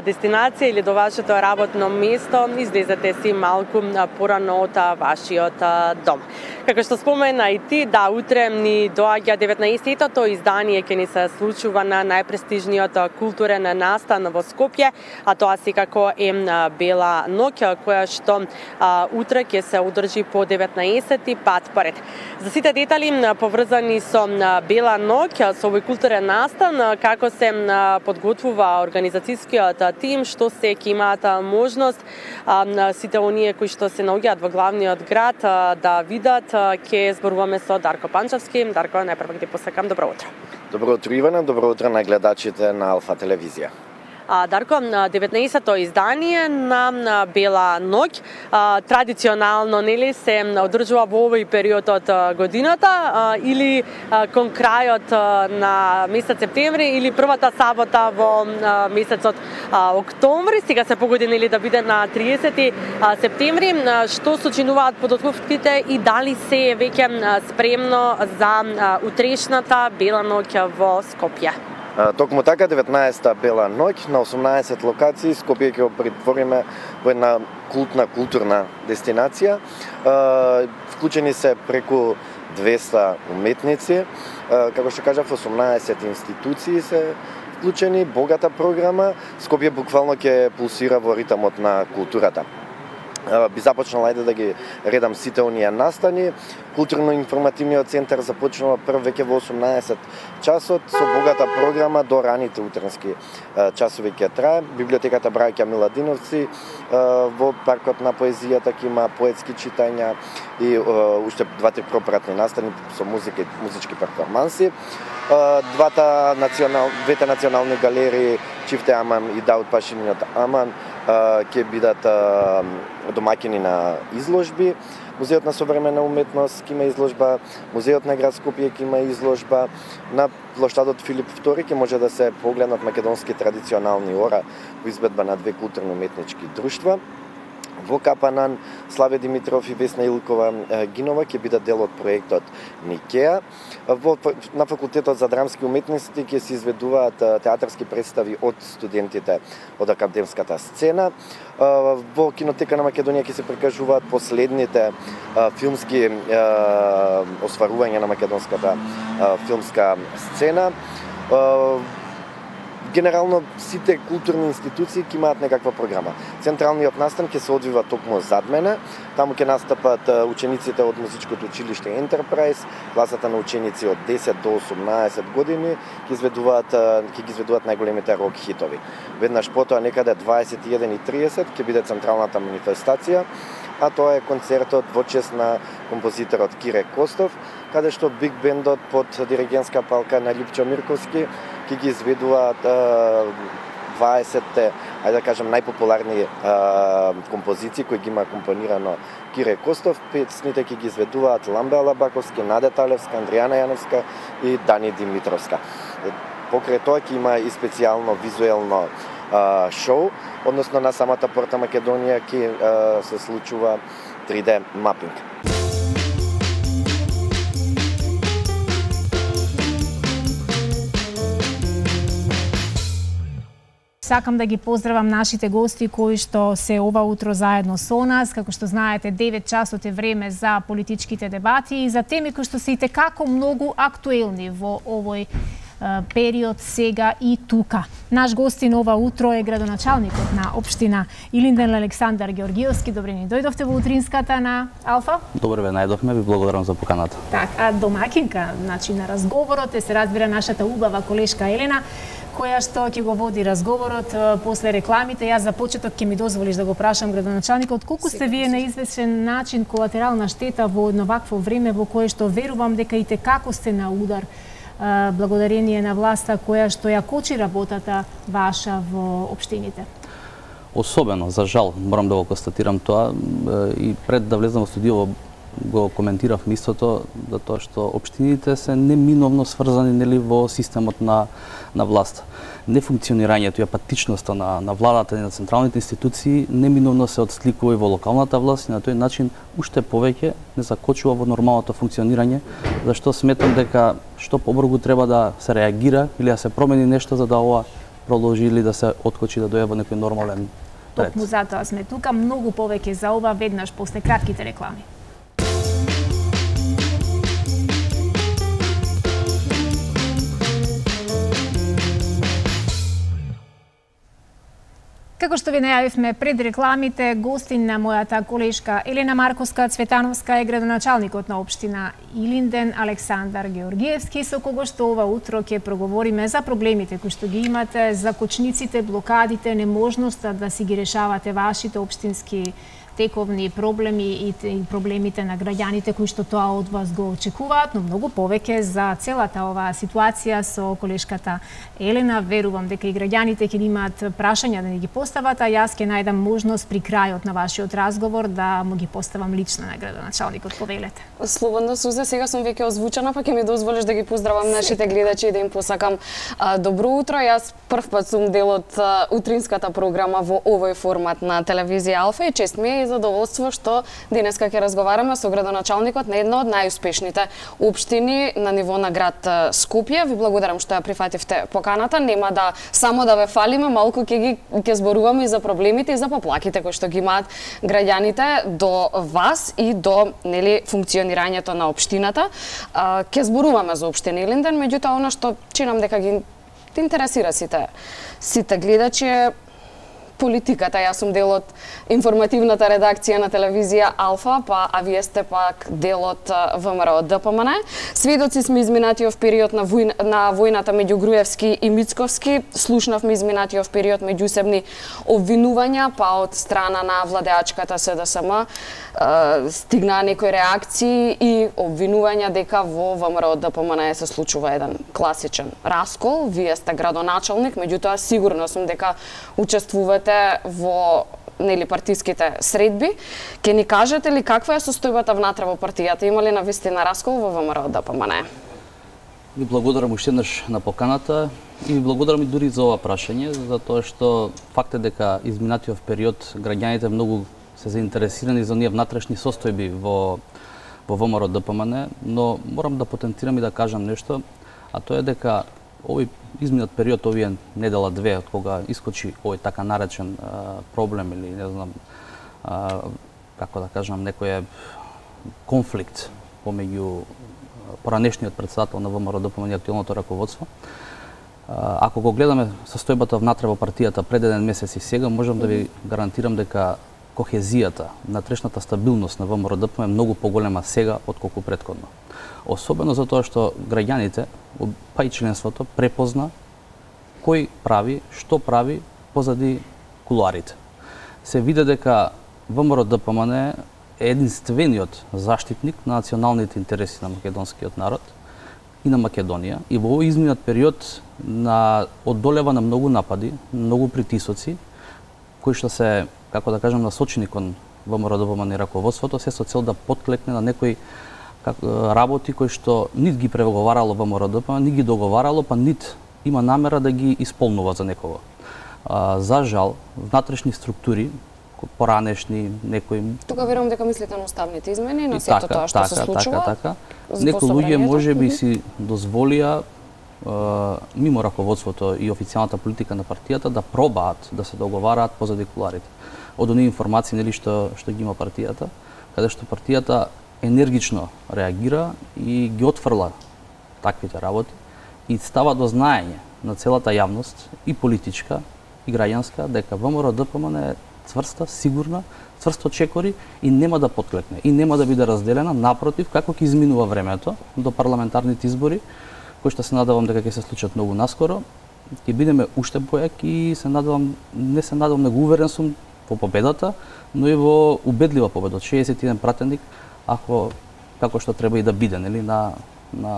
дестинација или до вашето работно место, излезете си малку порано од вашиот дом. Како што спомена и ти, да, утре ни доаѓа 19-тото издание ќе ни се случува на најпрестижниот културен настан во Скопје, а тоа секако е Бела ноќ, која што утре ќе се одржи по 19-ти пат поред. За сите детали поврзани со Бела ноќ, со овој културен настан, како се подготвува организацијскиот тим, што се ќе имаат можност сите оние кои што се наоѓаат во главниот град да видат, ќе зборуваме со Дарко Панчевски. Дарко, најпрво ти посакам добро утро. Добро утро, Ивана, добро утро на гледачите на Алфа телевизија. Дарко, 19-то издание на Бела ноќ традиционално, нели, се одржува во овој период од годината или кон крајот на месец септември или првата сабота во месецот октомври. Сега се погоди, нели, да биде на 30 септември. Што сочинуваат подготовките и дали се веќе спремно за утрешната Бела ноќ во Скопје? Токму така, 19-та Бела ноќ на 18 локации Скопје ќе го претвориме во една културна дестинација. Вклучени се преку 200 уметници, како што кажав, 18 институции се вклучени, богата програма. Скопје буквално ќе пулсира во ритмот на културата. Би започнала, ајде да ги редам сите оние настани. Културно-информативниот центар започнува прв веќе во 18 часот со богата програма до раните утрински часови ќе трае. Библиотеката Браќа Миладиновци во паркот на поезијата ќе има поетски читања и уште 2-3 пропратни настани со музика и музички перформанси. Двете национални галерии Чифте Аман и Дауд Пашиниот Аман ќе бидат домаќини на изложби. Музеот на современа уметност ќе има изложба, Музеот на град Скопје ќе има изложба, на плоштадот Филип II ќе може да се погледнат македонски традиционални ора во избедба на две културно-уметнички друштва. Во Капанан, Славе Димитров и Весна Илкова Гинова ќе бидат дел од проектот Никеа. На факултетот за драмски уметности ќе се изведуваат театарски представи од студентите од академската сцена. Во Кинотека на Македонија ќе се прикажуваат последните филмски осварувања на македонската филмска сцена. Генерално сите културни институции ќе имаат некаква програма. Централниот настан ќе се одвива токму зад мене. Таму ќе настапат учениците од музичкото училиште Enterprise, класата на ученици од 10 до 18 години, ќе ги изведуваат најголемите рок хитови. Веднаш потоа некаде 21:30 ќе биде централната манифестација, а тоа е концертот во чест на композиторот Кире Костов, каде што биг бендот под диригентска палка на Липчо Мирковски ќе ги изведуваат 20-те, ајде да кажем, најпопуларни композиции кои ги има компонирано Кире Костов. Песните ќе ги изведуваат Ламбе Алабаковски, Наде Талевска, Андријана Јановска и Дани Димитровска. Покрај тоа ќе има и специјално визуелно шоу, односно на самата порта Македонија ќе се случува 3D мапинг. Сакам да ги поздравам нашите гости кои што се ова утро заедно со нас. Како што знаете, 9 часот е време за политичките дебати и за теми кои што се итекако многу актуелни во овој период сега и тука. Наш гостин ова утро е градоначалникот на општина Илинден Александар Георгиевски. Добре ни дојдовте во утринската на Алфа. Добре ве најдовме, ви благодарам за поканата. Так, а домакинка, значи на разговорот се разбира нашата убава колешка Елена. која што ќе го води разговорот после рекламите. Јас за почеток ќе ми дозволиш да го прашам градоначалникот колку сте вие на известен начин колатерална штета во едно вакво време во кое што верувам дека и како сте на удар благодарение на власта која што ја кочи работата ваша во општините. Особено, за жал, морам да го констатирам тоа и пред да влезам во студио го коментирав истото, за тоа што општините се неминовно сврзани нели во системот на власт. Нефункционирањето и апатичноста на владата и на централните институции неминовно се отсликува и во локалната власт и на тој начин уште повеќе не закочува во нормалното функционирање, зашто сметам дека што побрзо треба да се реагира или да се промени нешто за да ова продолжи или да се откочи да дојде во некој нормален ред. Токму затоа сме тука, многу повеќе за ова веднаш после кратките реклами. Како што ви најавивме пред рекламите, гостин на мојата колешка Елена Марковска-Цветановска е градоначалникот на општина Илинден Александар Георгиевски, со кого што ова утро ќе проговориме за проблемите кои што ги имате, за кочниците, блокадите, неможноста да си ги решавате вашите општински тековни проблеми и проблемите на граѓаните кои што тоа од вас го очекуваат, но многу повеќе за целата оваа ситуација со колешката Елена. Верувам дека и граѓаните ќе имаат прашања да ни ги постават, а јас ќе најдам можност при крајот на вашиот разговор да му ги поставам лично на градоначалникот. Повелете. Слободно, Сузе, сега сум веќе озвучена, па ќе ми дозволиш да ги поздравам нашите гледачи и да им посакам добро утро. Јас првпат сум дел од утринската програма во овој формат на телевизија Алфа и чест ми е и задоволство што денеска ќе разговараме со градоначалникот на една од најуспешните општини на ниво на град Скопје. Ви благодарам што ја прифативте поканата. Нема да само да ве фалиме, малку ќе зборуваме и за проблемите и за поплаките кои што ги имаат граѓаните до вас и до нели функционирањето на општината. Ќе зборуваме за општина Илинден, меѓутоа она што чинам дека ги интересира сите гледачи политиката. Јас сум дел од информативната редакција на телевизија Алфа, а вие сте пак дел од ВМРО ДПМН. Сведоци сме изминатиот период на војната меѓу Груевски и Мицковски. Слушнавме изминатиот период меѓусебни обвинувања, па од страна на владеачката СДСМ стигнаа некои реакции и обвинувања дека во ВМРО ДПМН се случува еден класичен раскол. Вие сте градоначалник, меѓутоа сигурно сум дека учествувате во нели партиските средби. Ке ни кажете ли каква е состојбата внатре во партијата? Има ли навистина раскол во ВМРО ДПМН? Ви благодарам уште еднаш на поканата и ви благодарам и дури за ова прашање, затоа што факт е дека изминатиот период граѓаните многу се заинтересирани за оние внатрешни состојби во ВМРО ДПМН, но морам да потентирам и да кажам нешто, а тоа е дека овој изминат период, овие недела две, од кога искочи овој така наречен проблем или не знам како да кажам, некој конфликт помеѓу поранешниот претседател на ВМРО ДПМН и актуелното раководство. Ако го гледаме состојбата внатре во партијата пред еден месец и сега, можам да ви гарантирам дека кохезијата, внатрешната стабилност на ВМРО ДПМН е многу поголема сега отколку претходно. Особено затоа што граѓаните, па и членството, препозна кој прави, што прави позади кулуарите. Се види дека ВМРО ДПМН е единствениот заштитник на националните интереси на македонскиот народ и на Македонија. И во овој изминат период одолева на многу напади, многу притисоци, кои што се, како да кажам, насочени кон ВМРО ДПМН и раководството, се со цел да подклекне на некои работи кои што нит ги преговарало ВМРО ДПМН, нит ги договарало, па нит има намера да ги исполнува за некого. За жал, внатрешни структури, поранешни, некои... Тука верувам дека мислите на уставните измени, на сето тоа што се случува. Така. Некои луѓе може би си дозволија мимо раководството и официјалната политика на партијата да пробаат да се договараат позади кулуарите. Од оние информации нели што ги има партијата, каде што партијата енергично реагира и ги отфрла таквите работи и става до знаење на целата јавност и политичка и граѓанска дека ВМРО ДПМН е цврста, сигурна, цврсто чекори и нема да подклекне и нема да биде разделена, напротив, како ќе изминува времето до парламентарните избори, кои што се надевам дека ќе се случат многу наскоро, ќе бидеме уште појак и се надевам, не се надевам, него уверен сум во победата, но и во убедлива победа од 61 пратеник, ако како што треба и да биде, нели, на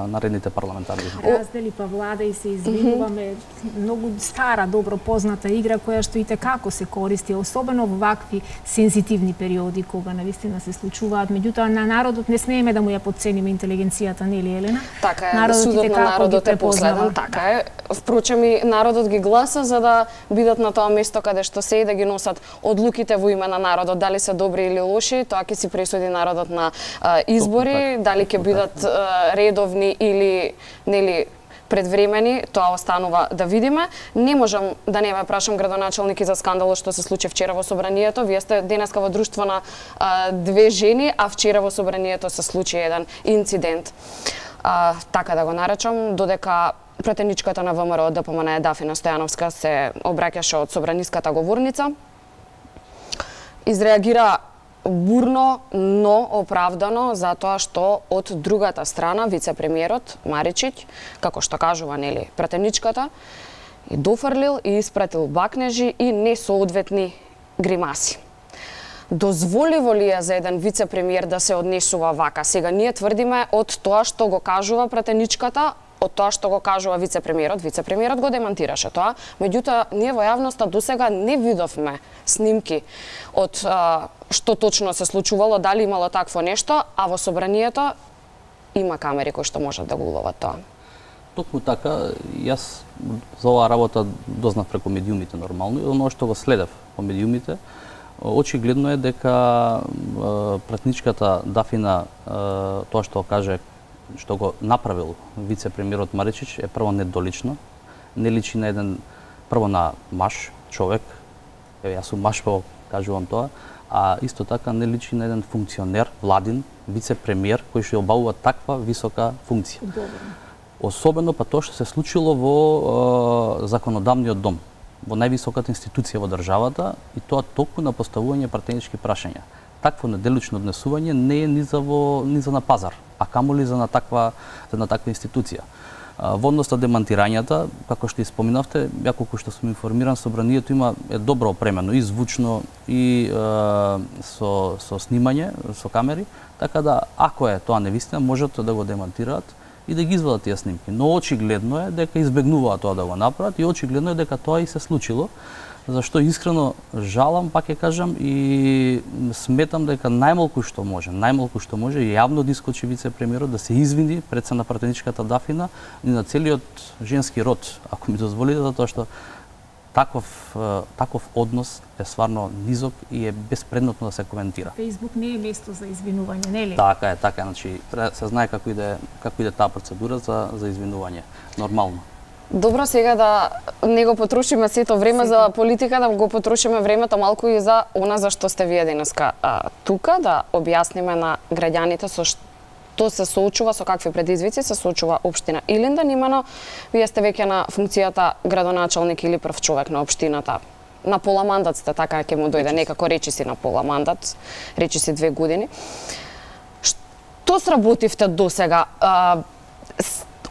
наредните парламентарни избори. Раздели па влада и се извинуваме, многу стара, добро позната игра која што и како се користи, особено во вакви сензитивни периоди кога навистина се случуваат. Меѓутоа на народот не смееме да му ја подцениме интелигенцијата, нели Елена? Така е, судот на народот е последен, така е. Впрочем и народот ги гласа за да бидат на тоа место каде што се и да ги носат одлуките во име на народот, дали се добри или лоши, тоа ќе си пресуди народот на избори, дали ќе бидат редовни или нели предвремени, тоа останува да видиме. Не можам да не ме прашам градоначалник и за скандалот што се случи вчера во собранието. Вие сте денеска во друштво на две жени, а вчера во собранието се случи еден инцидент. Така да го наречам, додека пратеничката на ВМРО ДПМН Дафина Стојановска се обраќаше од собраниската говорница, изреагира бурно, но оправдано, затоа што од другата страна вице-премиерот Маричиќ, како што кажува нели пратеничката, и дофрлил и испратил бакнежи и несоодветни гримаси. Дозволиво ли е за еден вице-премиер да се однесува вака? Сега ние тврдиме од тоа што го кажува пратеничката, од тоа што го кажува вице-премиерот го демантираше тоа, меѓутоа ние во јавноста досега не видовме снимки од што точно се случувало, дали имало такво нешто, а во собранието има камери кои што можат да го уловат тоа. Токму така, јас за оваа работа дознав преку медиумите нормално и оно што го следев по медиумите, очигледно е дека пратничката Дафина тоа што каже, што го направил вице-премиерот Маричиќ е прво недолично, не личи на еден, прво на маж, човек, јас сум маж, кажувам тоа, а исто така не личи на еден функционер, владин, вице-премиер, кој што обавува таква висока функција. Особено па тоа што се случило во законодавниот дом, во највисоката институција во државата, и тоа токму на поставување пратенички прашања. Такво неделично однесување не е ни за на пазар, а камоли за на таква институција. Во однос на демантирањата, како што и споминавте, ја колку што сум информиран, собранието е добро опремено и звучно и со снимање, со камери, така да ако е тоа невистина, можат да го демантираат и да ги извадат тие снимки. Но очигледно е дека избегнуваат тоа да го направат и очигледно е дека тоа и се случило, зашто искрено жалам, пак ќе кажам, и сметам дека најмалку што може јавно да искочи вице-премиерот да се извини пред се на пратеничката Дафина и на целиот женски род, ако ми дозволите, затоа што таков однос е стварно низок и е безпредметно да се коментира. Фејсбук не е место за извинување, нели? Така е, значи се знае како иде таа процедура за извинување, нормално. Добро, сега да не го потрошиме сето време за политика, да го потрошиме времето малку и за она за што сте вие денеска тука, да објасниме на граѓаните со што се соочува, со какви предизвици се соочува општина Илинден. Имено, вие сте веќе на функцијата градоначалник или прв човек на општината. На пола мандат сте, така ќе му дојде некако речиси на пола мандат, речиси 2 години. Што сработивте досега?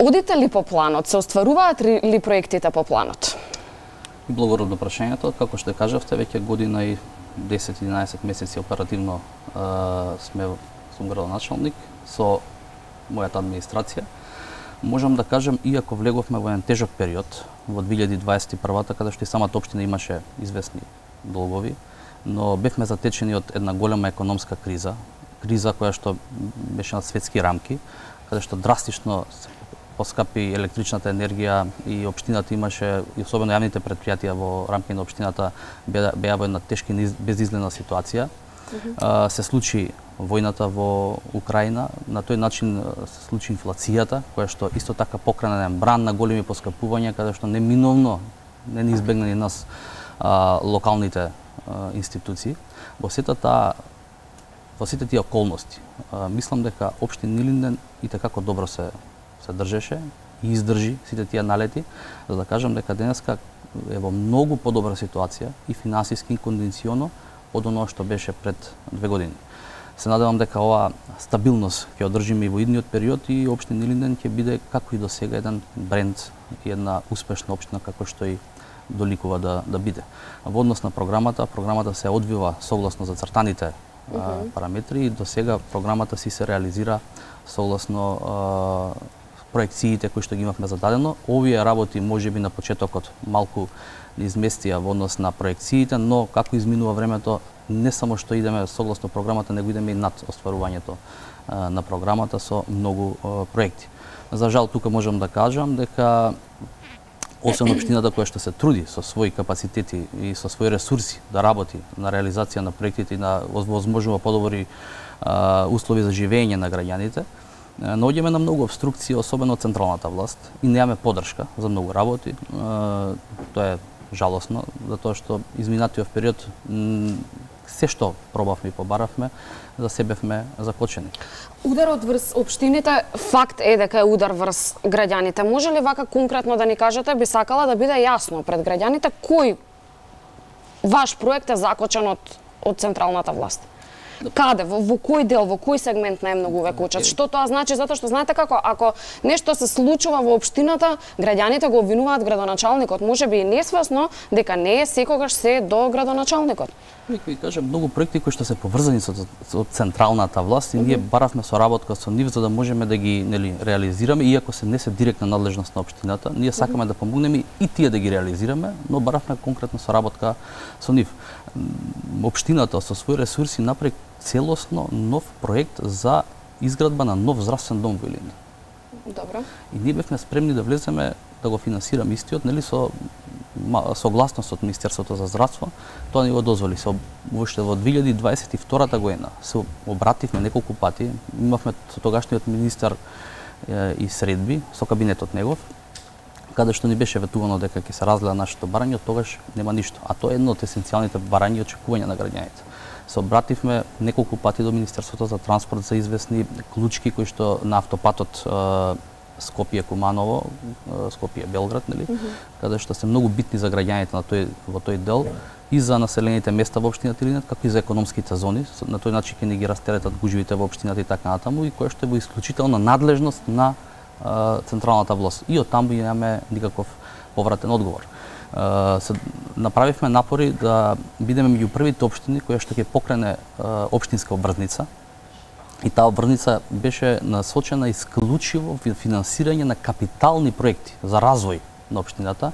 Одите ли по планот? Се остваруваат ли проектите по планот? Благодарам на прашањето. Како што кажавте, веќе година и 10-11 месеци оперативно сум градоначалник со мојата администрација. Можам да кажам, иако влеговме во еден тежок период, во 2021-та, каде што и самата општина имаше известни долгови, но бевме затечени од една голема економска криза која што беше на светски рамки, каде што драстично поскапи електричната енергија и општината имаше, и особено јавните предпријатија во рамки на општината беа во една тешка и безизгледна ситуација. Се случи војната во Украина, на тој начин се случи инфлацијата, која што исто така покрана бран на големи поскапувања, каде што неминовно не ни избегна ни нас локалните институции. Во сите тие околности, мислам дека општина Илинден и како добро се држеше и издржи сите тие налети, за да кажам дека денеска е во многу подобра ситуација и финансиски и кондиционо од оно што беше пред 2 години. Се надевам дека оваа стабилност ќе одржиме и во идниот период и општина Илинден ќе биде како и до сега еден бренд и една успешна општина како што и доликува да биде. Во однос на програмата се одвива согласно зацртаните параметри и до сега програмата си се реализира согласно проекциите кои што ги имавме зададено. Овие работи можеби на почетокот малку изместија во однос на проекциите, но како изминува времето, не само што идеме согласно програмата, него идеме и над остварувањето на програмата со многу проекти. За жал, тука можам да кажам дека освен општината која што се труди со своји капацитети и со своји ресурси да работи на реализација на проектите и на возможува подобри услови за живење на граѓаните, наоѓаме на многу обструкции, особено од централната власт, и немаме поддршка за многу работи. Тоа е жалосно, затоа што изминатиот период се што пробавме и побаравме, за себе бевме закочени. Ударот врз општините, факт е дека е удар врз граѓаните. Може ли вака конкретно да ни кажете, би сакала да биде јасно пред граѓаните кој ваш проект е закочен од централната власт? Каде, во кој дел, во кој сегмент најмногу ве кочат? Што тоа значи? Затоа што знаете како, ако нешто се случува во општината, граѓаните го обвинуваат градоначалникот, можеби и несвесно дека не е секогаш се до градоначалникот. Ви кажам, многу проекти кои што се поврзани со централната власт и ние баравме соработка со нив за да можеме да ги реализираме, иако се не се директна надлежност на општината, ние сакаме да помогнеме и тие да ги реализираме, но баравме конкретна соработка со нив. Општината со своји ресурси направи целосно нов проект за изградба на нов здравствен дом во Илинден. Добро. И ние бевме спремни да влеземе да го финансираме истиот, нели со согласност од Министерството за здравство, тоа ни го дозволи. Уште во 2022 година се обративме неколку пати, имавме со тогашниот министар и средби со кабинетот негов, каде што ни беше ветувано дека ќе се разгледа нашето барање, од тогаш нема ништо. А тоа е едно од есенцијалните барања и очекувања на граѓаните. Се обративме неколку пати до Министерството за транспорт за известни клучки кои што на автопатот Скопје-Куманово, Скопје-Белград, нели? Каде што се многу битни за граѓаните во тој дел и за населените места во општината Илинден, како и за економските зони. На тој начин ќе ни ги растеретат гужвите во општината и така натаму, и која што е во исклучителна надлежност на централната власт. И од таму немаме никаков повратен одговор. Направивме напори да бидеме меѓу првите општини која што ќе покрене општинска обврзница. И таа обврзница беше насочена исклучиво финансирање на капитални проекти за развој на општината.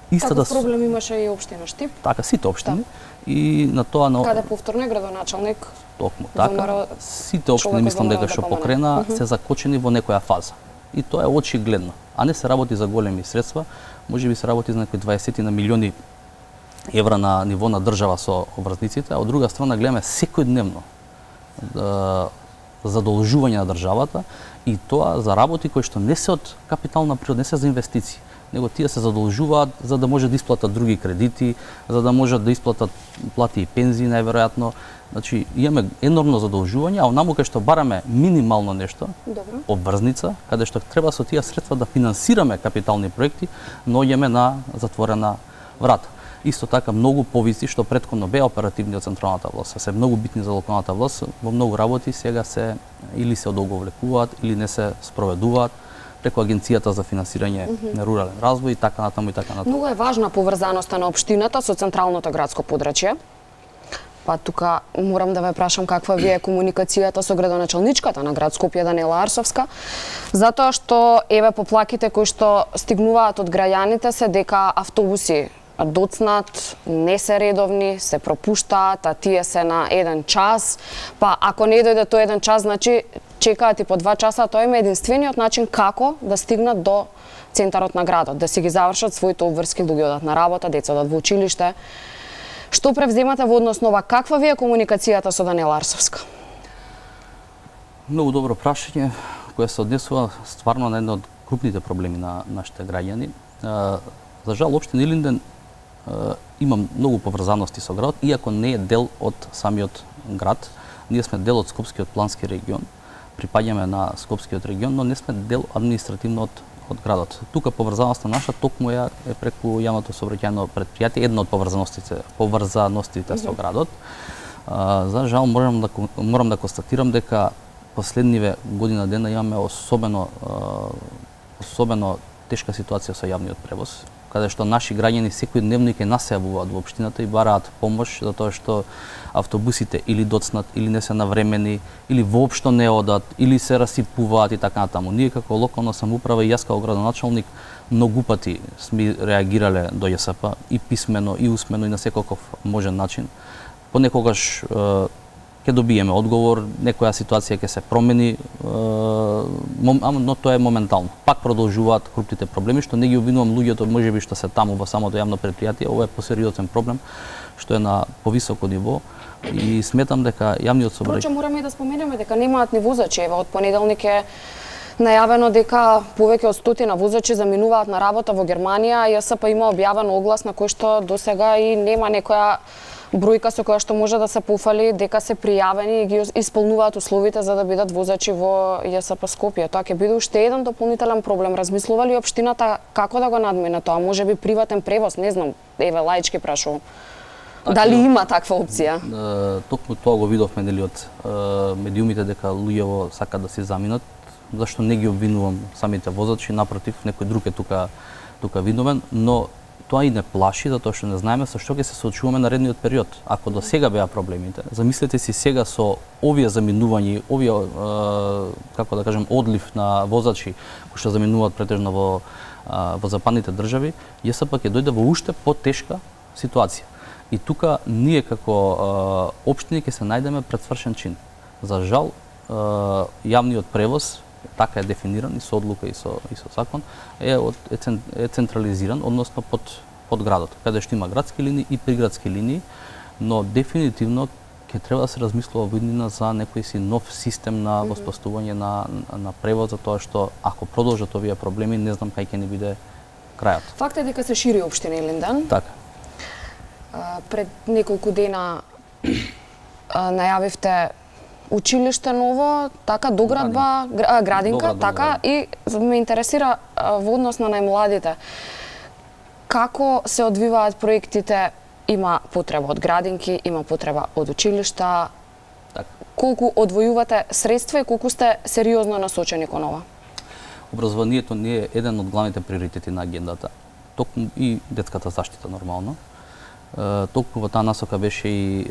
Таков проблем имаше и општина Штип. Така, сите општини. И на тоа каде повторно градоначалник. Токму така. Сите општини мислам дека што покрена се закочени во некоја фаза. И тоа е очигледно. А не се работи за големи средства, можеби се работи за некои 20 на милиони евра на ниво на држава со обврзниците, а од друга страна гледаме секојдневно задолжување на државата и тоа за работи кои што не се од капитална природа, не се за инвестиции, него тие се задолжуваат за да може да исплатат други кредити, за да можат да исплатат плати и пензии најверојатно. Значи имаме енормно задолжување, а онаму кај што бараме минимално нешто, обврзница, каде што треба со тие средства да финансираме капитални проекти, наоѓаме на затворена врата. Исто така многу повиси што претходно беа оперативни од централната власт, се многу битни за локалната власт, во многу работи сега се или се одолговлекуваат или не се спроведуваат преку Агенцијата за финансирање на рурален развој и така натаму и така натаму. Многу е важна поврзаноста на општината со централното градско подрачје. Па тука морам да ве прашам каква ви е комуникацијата со градоначалничката на град Скопје Даниела Арсовска, затоа што еве поплаките кои што стигнуваат од граѓаните се дека автобуси доцнат, не се редовни, се пропуштаат, а тие се на 1 час. Па ако не дојде тој 1 час, значи чекаат и по 2 часа, тоа е единствениот начин како да стигнат до центарот на градот, да си ги завршат своите обврски, да ги одат на работа, деца одат во училиште. Што превземате во однос на ова? Каква ви е комуникацијата со Даниела Арсовска? Многу добро прашање, кое се однесува стварно на едно од крупните проблеми на нашите граѓани. За жал, општина Илинден има многу поврзаности со градот, иако не е дел од самиот град. Ние сме дел од Скопскиот плански регион, припаѓаме на Скопскиот регион, но не сме дел административно од градот. Тука поврзаноста наша токму е преку јавното сообраќајно претпријатие, една од поврзаностите со градот. За жал морам да констатирам дека последниве година дена имаме особено тешка ситуација со јавниот превоз, каде што наши граѓани секојдневно ќе нас се јавуваат во општината и бараат помош за тоа што автобусите или доцнат, или не се навремени, или воопшто не одат, или се расипуваат и така натаму. Ние како локална самоуправа и јас како градоначалник многу пати сме реагирале до ЈСП и писмено, и усмено, и на секаков можен начин. Понекогаш ќе добиеме одговор, некоја ситуација ќе се промени, но тоа е моментално. Пак продолжуваат крупните проблеми, што не ги обвинувам луѓето, можеби што се таму во самото јавно предпријатие, ова е посериозен проблем, што е на повисоко ниво и сметам дека јавниот сообраќај... Впрочем, мораме и да споменеме дека немаат ни возачи, од понеделник е најавено дека повеќе од 100 возачи заминуваат на работа во Германија, а ЈСП има објавен оглас на кој што досега и нема некоја бројка со која што може да се пофали дека се пријавени и ги исполнуваат условите за да бидат возачи во ЈСП Скопје. Тоа ќе биде уште еден дополнителен проблем. Размислува ли општината како да го надмине тоа? Можеби приватен превоз, не знам, еве лаички прашувам. Дали има таква опција? Токму тоа го видовме нели од медиумите дека луѓето сакаат да се заминат, зашто не ги обвинувам самите возачи, напротив, некој друг е тука виновен, но тоа и не плаши, затоа што не знаеме со што ќе се соочуваме наредниот период. Ако до сега беа проблемите, замислете си сега со овие заминувања, овие, како да кажем, одлив на возачи кои што заминуваат претежно во западните држави, ЈСП ќе дојде во уште потешка ситуација. И тука ние како општини ќе се најдеме пред свршен чин. За жал, јавниот превоз, така е дефиниран и со одлука и со закон, е централизиран, односно под градот, каде што има градски линии и приградски линии, но дефинитивно ќе треба да се размислува во иднина за некој си нов систем на воспоставување на превоз, за тоа што ако продолжат овие проблеми, не знам кај ќе ни биде крајот. Факт е дека се шири општина Илинден. Така. Пред неколку дена најавивте училиште ново, така, доградба, градинка, така, и ме интересира во однос на најмладите. Како се одвиваат проектите? Има потреба од градинки, има потреба од училишта. Колку одвојувате средства и колку сте сериозно насочени кон ова? Образованието не е еден од главните приоритети на агендата. Токму и детската заштита нормално. Толку во таа насока беше и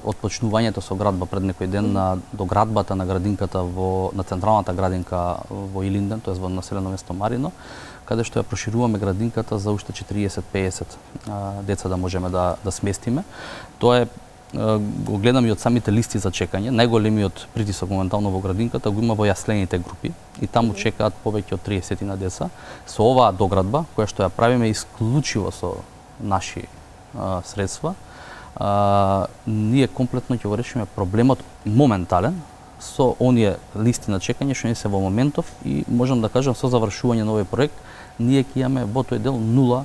отпочнувањето со градба пред некој ден на доградбата на градинката на централната градинка во Илинден, тоа во населено место Марино, каде што ја прошируваме градинката за уште 40-50 деца да можеме да сместиме. Тоа е го гледам и од самите листи за чекање. Најголемиот притисок моментално во градинката го има во јаслените групи и таму чекаат повеќе од 30 на деца. Со оваа доградба, која што ја правиме исклучиво со наши средства, ние комплетно ќе го решиме проблемот моментален со оние листи на чекање што не се во моментов и можам да кажам со завршување на овој проект ние ќе имаме во тој дел 0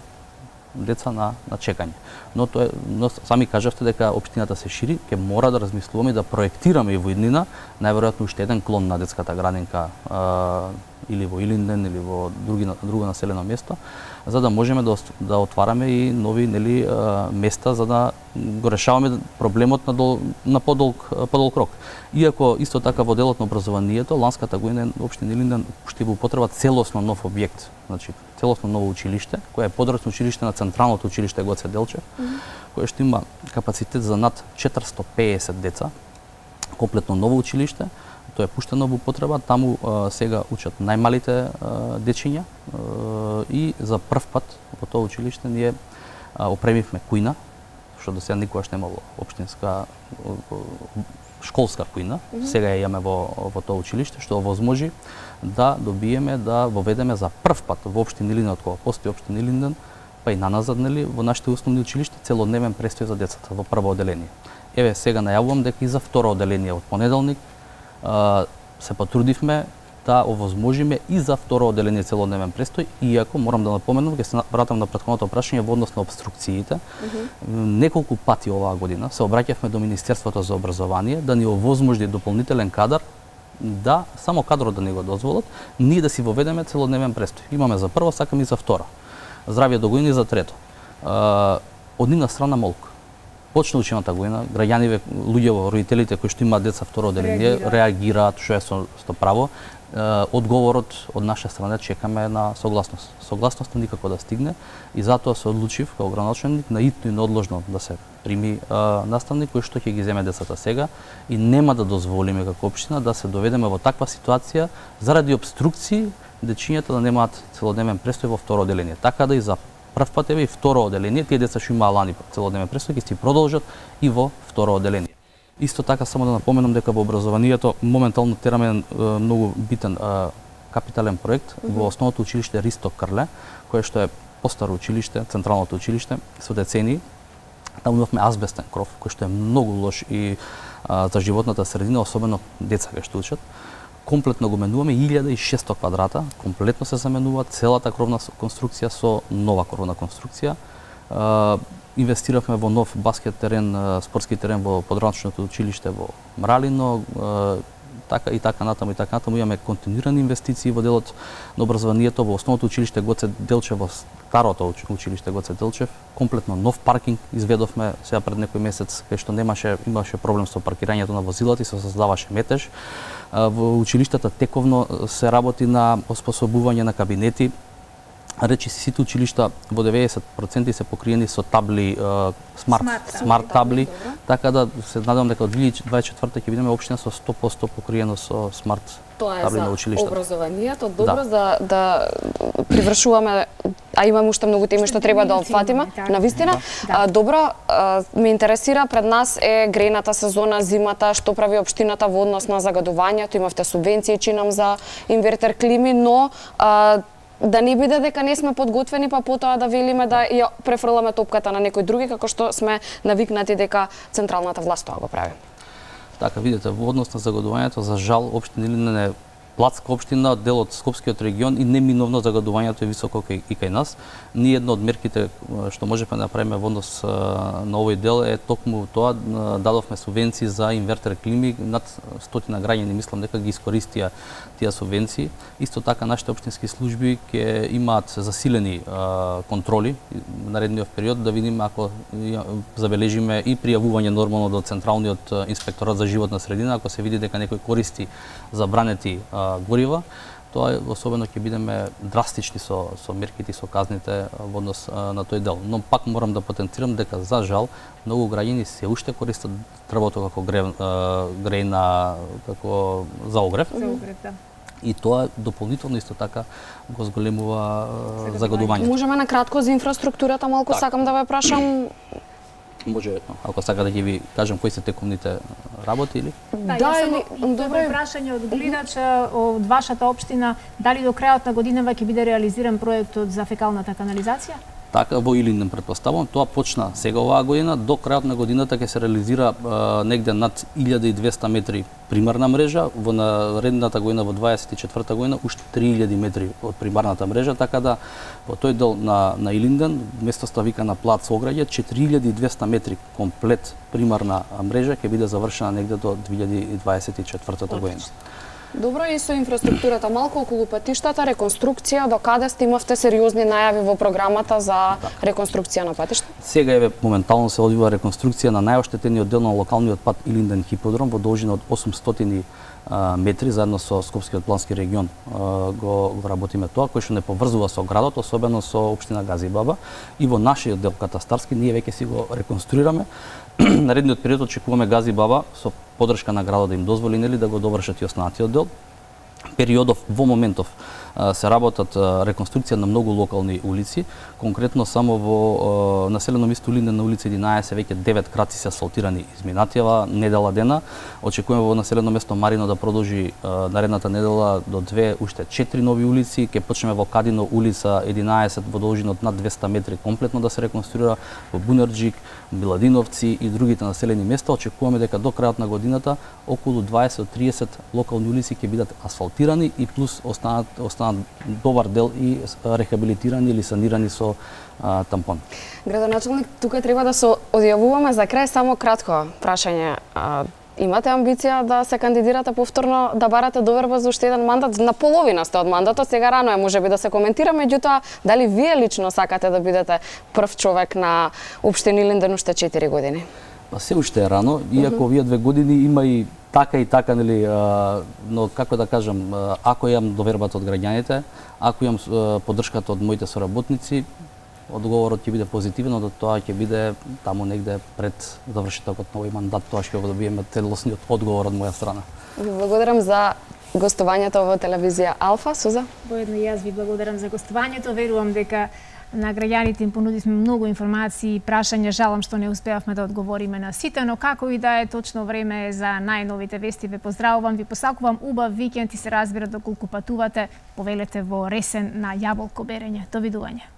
деца на чекање. Но сами кажавте дека општината се шири, ќе мора да размислуваме и да проектираме и во иднина, најверојатно уште еден клон на детската градинка или во Илинден или во друго населено место, за да можеме да отвараме и нови места за да го решаваме проблемот на подолг рок. Иако исто така во делот на образованието, ланската година општина Илинден уште во употреба целосно нов објект, значи целосно ново училиште, кое е подрасно училиште на Централното училиште Гоце Делчев, кое што има капацитет за над 450 деца, комплетно ново училиште. Тоа е пуштено во употреба, таму сега учат најмалите дечиња и за прв пат во тоа училиште ние опремивме кујна, што до сега никогаш немало општинска школска кујна. Сега ја имаме во тоа училиште, што овозможи да добиеме, да воведеме за прв пат во општина Илинден, од кога постои општина Илинден, па и наназад во нашите основни училишта целодневен престој за децата во прво оделение. Еве сега најавувам дека и за второ оделение од понеделник се потрудивме да овозможиме и за второ оделение целодневен престој, иако морам да напоменам, ќе се вратам на претходното прашање во однос на опструкциите. Неколку пати оваа година се обраќавме до Министерството за образование да ни овозможи дополнителен кадар, да само кадрот да ни го дозволат, ние да си воведеме целодневен престој. Имаме за прво, сакаме и за второ. Здравје до година и за трето. Од нивна страна молк. почна учената година, граѓаниве, луѓето, родителите кои што имаат деца второ одделение, реагираат, што е со право. Одговорот од наша страна чекаме на согласност. Согласноста никако да стигне и затоа се одлучив како градоначелник наитно и неодложно да се прими наставник кој што ќе ги земе децата сега и нема да дозволиме како општина да се доведеме во таква ситуација заради обструкции дечињата да немаат целодневен престој во второ одделение. Така да и за прв пат и второ одделение, тие деца што имаа лани целодневен престој ќе си продолжат и во второ одделение. Исто така само да напоменам дека во образованието моментално тераме многу битен капитален проект во основното училиште Ристо Крле, кое што е постаро училиште, централното училиште со децении. Таму имавме азбестен кров, кој што е многу лош и за животната средина, особено деца кај што учат. Комплетно го менуваме 1600 квадрата, комплетно се заменува целата кровна конструкција со нова кровна конструкција. Инвестиравме во нов баскет терен, спортски терен во подраничното училиште во Мралино, така и така натаму. Имаме континуирани инвестиции во делот на образованието во основното училиште Гоце Делчев, во старото училиште Гоце Делчев. Комплетно нов паркинг изведовме сега пред некој месец, кај што имаше проблем со паркирањето на возилата и се создаваше метеж. Во училиштата тековно се работи на оспособување на кабинети. Речи сите училишта во 90% се покриени со табли, смарт табли, така да се надевам дека од 2024 ќе бидеме општина со 100% покриено со смарт табли на училиштата. Тоа е за образованието, добро да привршуваме, а имаме уште многу теми што треба да опфатиме, навистина. Добро, ме интересира, пред нас е грејната сезона, зимата, што прави општината во однос на загадувањето, имавте субвенции, чинам, за инвертер клими, но да не биде дека не сме подготвени, па потоа да велиме да ја префрламе топката на некој други, како што сме навикнати дека централната власт тоа го прави. Така, видите, во однос на загадувањето, за жал, општина Илинден е платска општина, дел од Скопскиот регион и неминовно загадувањето е високо и кај нас. Ние една од мерките што можеме да направиме во однос на овој дел е токму тоа, дадовме субвенции за инвертер клими, над 100 граѓани мислам дека ги искористија тие субвенции. Исто така нашите општински служби ќе имаат засилени контроли наредниот период, да видиме ако забележиме и пријавување нормално до Централниот инспекторат за животна средина, ако се види дека некој користи забранети горива, тоа особено ќе бидеме драстични со мерките и со казните во однос на тој дел. Но пак морам да потенцирам дека за жал многу граѓани се уште користат дрвото како грејна, како за огрев. И тоа дополнително исто така го зголемува загадувањето. Можеме на кратко за инфраструктурата малку сакам да ве прашам. Може, ако сака да ги ви кажам кои се текомните работи или? Добро прашање од гледач од вашата општина, дали до крајот на годинава ќе биде реализиран проектот за фекалната канализација? Така, во Илинден претпоставувам, тоа почна сега оваа година, до крајот на годината ќе се реализира негде над 1200 метри примарна мрежа, во наредната година, во 24-та година, уште 3000 метри од примарната мрежа, така да во тој дел на Илинден, местоста викана Плац Ограѓе, 4200 метри комплет примарна мрежа ќе биде завршена негде до 2024-та година. Добро, и со инфраструктурата малку околу патиштата, реконструкција, до каде сте имавте сериозни најави во програмата за реконструкција на патишта? Сега моментално се одвива реконструкција на најоштетениот дел на локалниот пат Илинден Хиподром во должина од 800 метри, заедно со Скопскиот плански регион го работиме тоа, кој што не поврзува со градот, особено со општина Газибаба, и во нашиот дел катастарски ние веќе си го реконструираме. Наредниот период очекуваме Газибаба со поддршка на градот да им дозволи да го довршат и останатиот дел. Периодов во моментов се работат реконструкција на многу локални улици, конкретно само во населено место Илинден на улица 11 веќе 9 краци се асфалтирани изминатива недела дена. Очекуваме во населено место Марино да продолжи наредната недела до 2 уште 4 нови улици. Ќе почнеме во Кадино улица 11 во должина од над 200 метри комплетно да се реконструира, во Бунарџик, Биладиновци и другите населени места. Очекуваме дека до крајот на годината околу 20-30 локални улици ќе бидат асфалтирани и плюс останат добар дел и рехабилитирани или санирани со тампон. Градоначелник, тука треба да се одјавуваме за крај, само кратко прашање. имате амбиција да се кандидирате повторно, да барате доверба за уште еден мандат? На половина сте од мандатот, сега рано е можеби да се коментира, меѓутоа дали вие лично сакате да бидете прв човек на општина Илинден уште 4 години? Па се уште е рано, иако овие 2 години има и така, нели, но како да кажам, ако имам довербата од граѓаните, ако имам поддршката од моите соработници, одговорот ќе биде позитивен, но тоа ќе биде таму негде пред завршетокот на овој мандат, тоа што ќе добиеме целосниот одговор од моја страна. Ви благодарам за гостувањето во телевизија Алфа. Суза? Воедно и јас ви благодарам за гостувањето. Верувам дека на граѓаните им понудивме многу информации и прашања. Жалам што не успеавме да одговориме на сите, но како и да е, точно време е за најновите вести. Ве поздравувам, ви посакувам убав викенд и се разбира доколку патувате, повелете во Ресен на јаболко берење. Довидување.